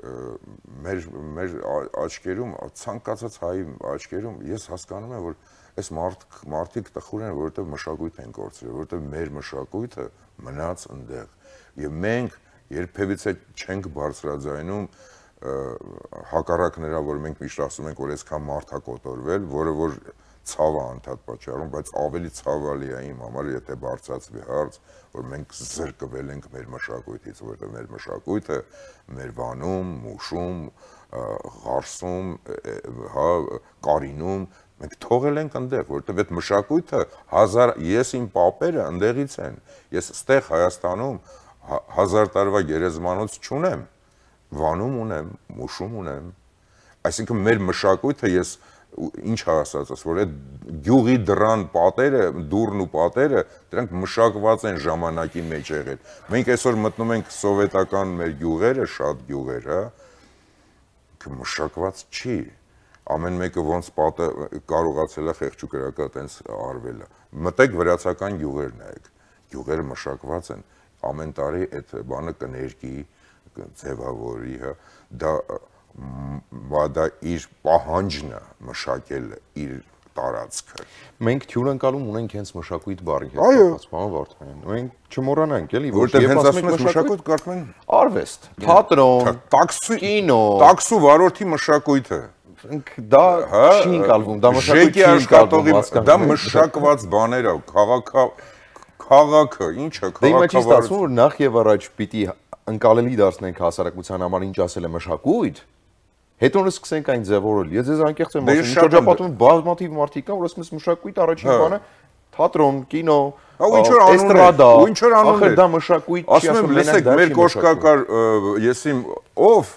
մեր աչքերում, ցանկացած հայի աչքերում, ես հասկանում եմ, որ այս մարդիկ տխուր են, որովհետև մշակույթ են կորցրել, որովհետև մեր մշակույթը մնաց ընդեղ, եւ մենք երբևիցե չենք բարձրաձայնում հակառակ նրա, որ մենք միշտ ասում ենք, որ այսքան մարդ է կոտորվել, որը որ ցավը անդադ պատճառում, բայց ավելի ցավալի է իմ համար, եթե բարձրացվի հարց, որ մենք զրկվել ենք մեր մշակույթից, որովհետև մեր մշակույթը մեր վանում, մուշում, ղարսում, հա, կարինում մենք թողել ենք այնտեղ, որովհետև այդ մշակույթը ես իմ պապերը այնտեղից են։ Ես ստեղ Հայաստանում 1000 տարվա գերեզմանոց չունեմ, վանում ունեմ, մուշում ունեմ։ Այսինքն մեր մշակույթը ես ինչ ասածս, որ այդ գյուղի դռան պատերը, դուրն ու պատերը, դրանք մշակված են ժամանակի մեջ եղել։ Մենք այսօր մտնում ենք սովետական մեր գյուղերը, շատ գյուղեր, հա, մշակված չի։ Ամեն մեկը ոնց պատը կարողացել է խեղճուկրակա տենց արվել է։ Մտեք վրացական գյուղեր նայեք։ Գյուղերը մշակված են, ամեն տարի այդ բանը կներկի, ձևավորի, հա, դա իր պահանջն է մշակել իր տարածքը։ Մենք թյուրընկալում ունենք հենց մշակույթ բառի հետ կապված, պարոն Վարդանյան։ Մենք չմոռանանք, էլի, որտեղ հենց ասում ես մշակույթ կարծում են արվեստ, թատրոն, կինո, տաքսու վարորդի մշակույթը։ Դա չի ընկալվում, դա մշակույթ չի ընկալվում, դա մշակված բաներ է, քաղաքը, ինչը, քաղաքավարությունը։ Դե իմ մեջ ստացվում, որ նախ եւ առաջ պիտի ընկալելի դարձնենք հասարակության համար ինչ ասել է մշակույթ, հետո սկսենք այն ձևավորել։ Ես ձեզ անկեղծ եմ ասում, շրջապատում բազմաթիվ մարդիկ կան, որ ասում են մշակույթ առաջին բանը թատրոն, կինո, էստրադա, ախր դա մշակույթ չի, ասում եմ, լսեք, մեր կոշկակար, եսիմ ով,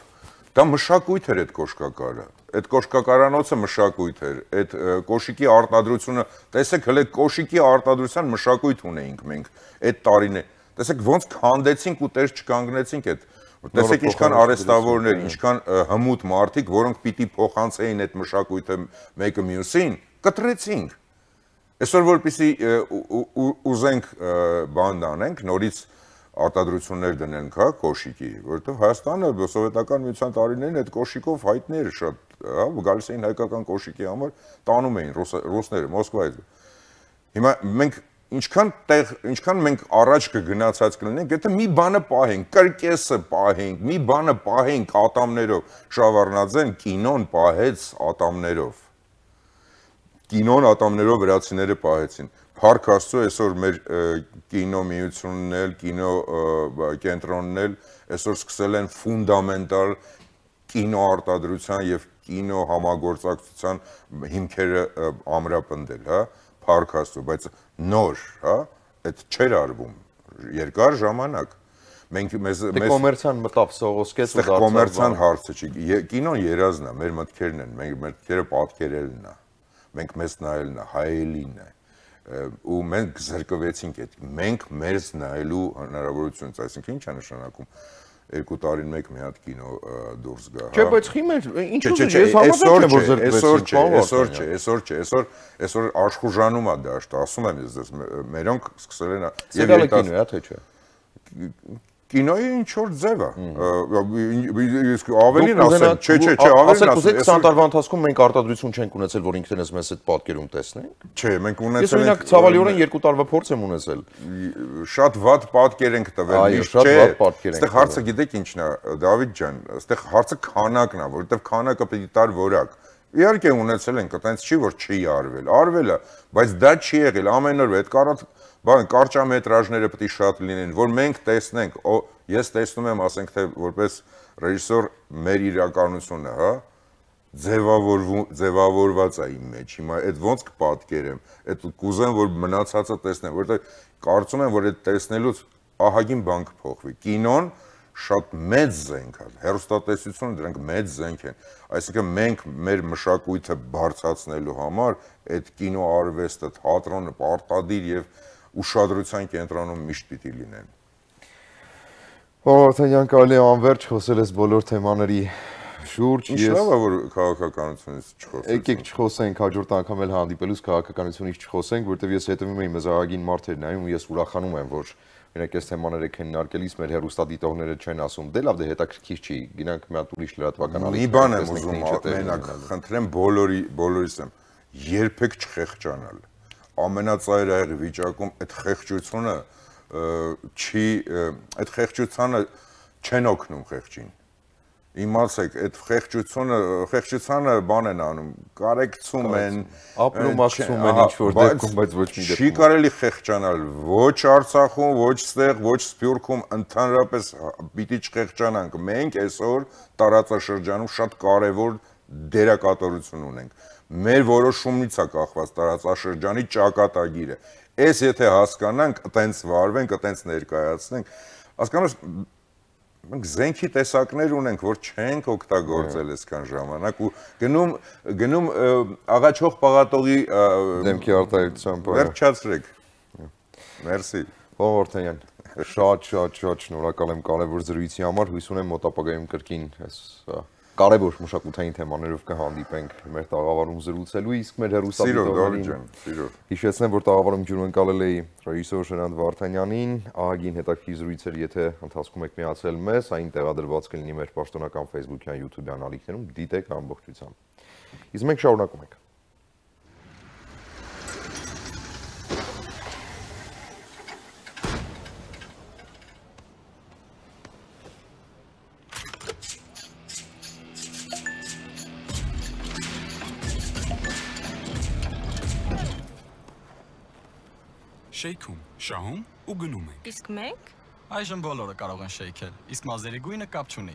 դա մշակույթ էր այդ կոշկակարը։ Այդ կոշկակարանոցը մշակույթ էր, այդ կոշիկի արտադրությունը, տեսեք, հələ կոշիկի արտադրության մշակույթ ունեինք մենք այդ տարիներ։ Տեսեք ոնց քանդեցինք ու տեր չկանգնեցինք այդ։ Տեսեք ինչքան արհեստավորներ, ինչքան հմուտ մարդիկ, որոնք պիտի փոխանցեին այդ մշակույթը մեկը մյուսին, կտրեցինք։ Այսօր որպեսզի ուզենք բան անենք, նորից արտադրություններ դնենք, հա, կոշիկի, որովհետև Հայաստանը սովետական միության տարիներին այդ կոշիկով հայտնի էր շատ, հա, գալիս էին հայկական կոշիկի համար, տանում էին ռուսները Մոսկվայից։ Հիմա մենք ինչքան մենք առաջ կգնացած կլինենք, եթե մի բանը պահենք, կրկեսը պահենք, մի բանը պահենք ատամներով, Շավարնաձեն կինոն պահեց ատամներով։ Կինոն ատամներով վրացիները պահեցին։ Փառք Աստծո, այսօր մեր կինո միությունն էլ, կինո կենտրոնն էլ այսօր սկսել են ֆունդամենտալ կինո արտադրության եւ կինո համագործակցության հիմքերը ամրապնդել, հա, Փառք Աստծո, բայց նոր, հա, այդ չէր արվում երկար ժամանակ։ Մենք մեզ կոմերցիան մտավ սողոսկեց ու դարձավ կոմերցիան հարցը չի։ Կինոն երազն է, մեր մտքերն են, մեր մտքերը պատկերելն է։ Մենք մեզ նայելն է, հայելին է։ Ու մենք զրկվեցինք այդ, մենք մեզ նայելու հնարավորությունից, այսինքն ինչ է նշանակում 2 տարին մեկ մի հատ կինո դուրս գա։ Չէ, բայց խիմեր, ինչու՞ ես համաձայն եմ որ զրկվեցինք, այսօր աշխուժանում է դաշտ, ասում եմ ես, մերոնք սկսել են եւ կինո է, թե չէ։ Կինոյի ինչ որ ձև է, ավելին ասեմ, չէ, ավելին ասեմ, 20 տարվա ընթացքում մենք արտադրություն չենք ունեցել, որ ինքներս մեզ այդ պատկերում տեսնենք։ Չէ, մենք ունեցել ենք։ Ես օրինակ ցավալիորեն 2 տարվա փորձ եմ ունեցել։ Շատ վատ պատկեր ենք տվել, միշտ չէ։ Այստեղ հարցը գիտեք ինչն է, Դավիթ ջան, այստեղ հարցը քանակն է, որովհետև քանակը պետք է տար որակ։ Իհարկե ունեցել ենք, այտենց չի որ չի արվել, արվել է, բայց դա չի եղել, ամեն օր այդ կարճամետրաժները պետք է շատ լինեն, որ մենք տեսնենք, ես տեսնում եմ, ասենք թե որպես ռեժիսոր մեր իրականությունը, հա, ձևավորված է իմ մեջ, հիմա այդ ոնց կպատկերեմ, այդ կուզեմ, որ մնացածը տեսնեմ, որովհետև կարծում եմ, որ այդ տեսնելուց ահագին բան կփոխվի, կինոն շատ մեծ զենք է, հեռուստատեսությունը դրանք մեծ զենք են, այսինքն մենք մեր մշակույթը բարձրացնելու համար այդ կինո արվեստը, թատրոնը պարտադիր եւ ուշադրության կենտրոնում միշտ պիտի լինեն։ Վարդանյան, կարելի է անverջ խոսել ես բոլոր թեմաների շուրջ։ Ինչ լավ է որ քաղաքականությունից չխոսենք։ Եկեք չխոսենք, հաջորդ անգամ էլ հանդիպելուց քաղաքականությունից չխոսենք, որովհետև ես հետևում եմ մեզարագին մարդեր նայում ու ես ուրախանում եմ, որ Մենակ այս թեմաները քննարկելիս մեր հեռուստադիտողները չեն ասում, դե լավ, դե հետաքրքիր չի, գնանք մի հատ ուրիշ լրատվական ալիք։ Մի բան եմ ուզում մենակ խնդրեմ բոլորիս եմ, երբեք չխեղճանալ։ Ամենածայրահեղ վիճակում այդ խեղճությունը չի, այդ խեղճությանը չեն օգնում խեղճին։ Իմացեք, այդ խեղճությանը բան են անում, կարեկցում են, ապրումակցում են ինչ-որ դեպքում, բայց ոչ մի դեպքում։ Չի կարելի խեղճանալ ոչ Արցախում, ոչ ստեղ, ոչ Սփյուռքում, ընդհանրապես պիտի չխեղճանանք։ Մենք այսօր տարածաշրջանում շատ կարևոր դերակատարություն ունենք։ Մեր որոշումից է կախված տարածաշրջանի ճակատագիրը։ Այս եթե հասկանանք, այտենց վարվենք, այտենց ներկայացնենք, հասկանու՞մ մենք զենքի տեսակներ ունենք, որ չենք օգտագործել այսքան ժամանակ ու գնում աղաչող պաղատողի դեմքի արտահայտությամբ վերջացրեք։ Մերսի։ Պարոն Վարդանյան, շատ շնորհակալ եմ կարևոր զրույցի համար, հույս ունեմ մոտ ապագայում կրկին այս կարևոր մշակութային թեմաներով կհանդիպենք մեր տաղավարում զրուցելու, իսկ մեր հեռուստադիտողներին հիշեցնեմ, որ տաղավարում ջուրում ընկալել էի ռեժիսոր Ժրանտ Վարդանյանին, ահագին հետաքրքիր զրույցեր, եթե ընթացքում եք միացել մեզ, այն տեղադրված կլինի մեր պաշտոնական Facebook-յան, YouTube-յան ալիքներում, դիտեք ամբողջությամբ։ Իսկ մենք շարունակում ենք։ Շեյքում, շահում ու գնում ենք։ Իսկ մենք? Այժմ բոլորը կարող են շեյքել, իսկ մազերի գույնը կապ չունի։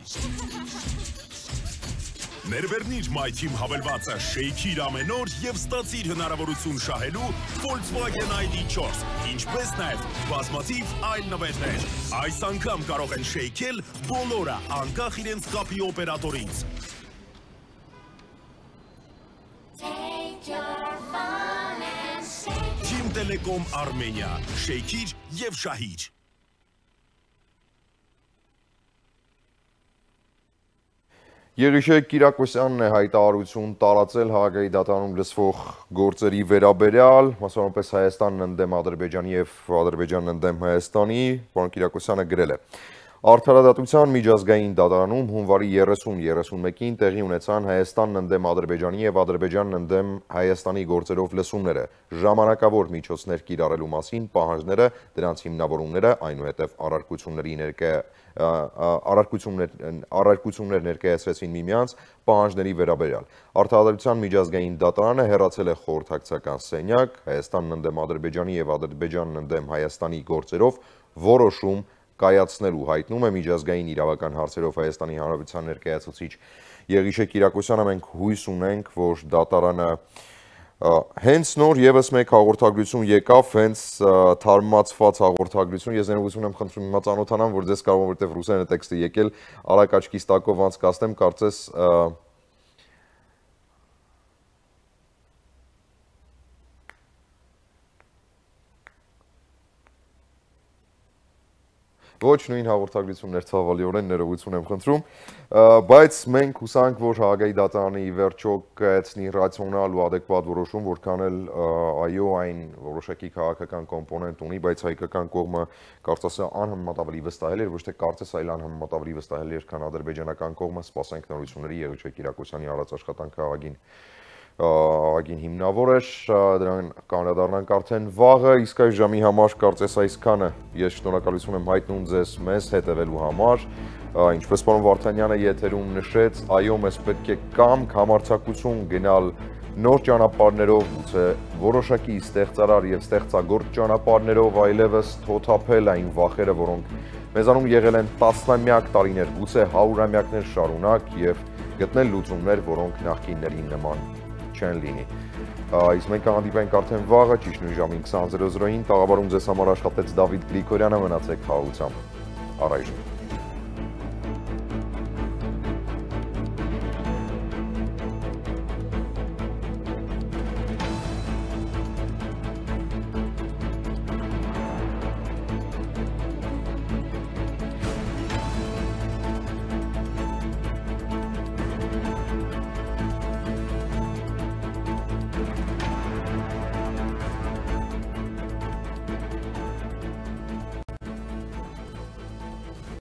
Ներբեռնիր My Team հավելվածը շեյքիր ամեն օր և ստացիր հնարավորություն շահելու Volkswagen ID4, ինչպես նաև բազմաթիվ այլ նվերներ։ Այս անգամ կարող են շեյքել բոլորը, անկախ իրենց կապի օպերատորից։ Team Telecom Armenia, շեյքիր և շահիր։ Եղիշեկ Կիրակոսյանն է հայտարարություն տարածել Հաագայի դատարանում լսվող գործերի վերաբերյալ, մասնավորապես Հայաստանն ընդդեմ Ադրբեջանի և Ադրբեջանն ընդդեմ Հայաստանի, պարոն Կիրակոսյանը գրել է. Արդարադատության միջազգային դատարանում հունվարի 30-31-ին տեղի ունեցան Հայաստանն ընդդեմ Ադրբեջանի և Ադրբեջանն ընդդեմ Հայաստանի գործերով լսումները, ժամանակավոր միջոցներ կիրառելու մասին պահանջները, դրանց հիմնավորումները, այնուհետև առարկություններ ներկայացրեցին միմյանց պահանջների վերաբերյալ։ Արդարադատության միջազգային դատարանը հեռացել է խորհրդակցական սենյակ, Հայաստանն ընդդեմ Ադրբեջանի և Ադրբեջանն ընդդեմ Հայաստանի գործերով որոշում կայացնելու, հայտնում է միջազգային իրավական հարցերով Հայաստանի Հանրապետության ներկայացուցիչ Եղիշեկ Կիրակոսյանը։ Մենք հույս ունենք, որ դատարանը հենց նոր եւս մեկ հաղորդագրություն եկավ, հենց թարմացված հաղորդագրություն։ Ես ներողություն եմ խնդրում հիմա ծանոթանամ, որ ձեզ կարող որտեղ ռուսերեն տեքստը եկել, արագ աչքիս տակով անցկացնեմ, կարծես ոչ նույն հաղորդագրություններ ցավալիորեն ներողություն եմ խնդրում, բայց մենք հուսանք, որ Հաագայի դատարանը ի վերջո կայացնի ռացիոնալ ու ադեկվատ որոշում, որքան էլ այո, այն որոշակի քաղաքական կոմպոնենտ ունի, բայց հայկական կողմը կարծես անհամեմատ ավելի վստահել էր, ոչ թե կարծես, այլ անհամեմատ ավելի վստահել էր, քան ադրբեջանական կողմը։ Սպասենք նորությունների, Եղիշեկ Կիրակոսյանի արած աշխատանքը ահագին հիմնավոր էր, դրան կանդրադառնանք արդեն վաղը, իսկ այս ժամի համար կարծես այսքանը։ Ես շնորհակալություն եմ հայտնում ձեզ մեզ հետևելու համար, ինչպես պարոն Վարդանյանը եթերում նշեց, այո, մեզ պետք է կամք, համարձակություն գնալ նոր ճանապարհներով, գուցե որոշակի ստեղծարար եւ ստեղծագործ ճանապարհներով, այլևս թոթափել այն վախերը, որոնք մեզանում եղել են տասնամյակ տարիներ, գուցե հարյուրամյակներ շարունակ եւ գտնել լուծումներ, որոնք նախկիններին նման չեն լինի։ Իսկ մենք կհանդիպենք արդեն վաղը, ճիշտ նույն ժամին 20:00-ին, տաղավարում ձեզ համար աշխատեց Դավիթ Գրիգորյանը, մնացեք խաղաղությամբ, առայժմ։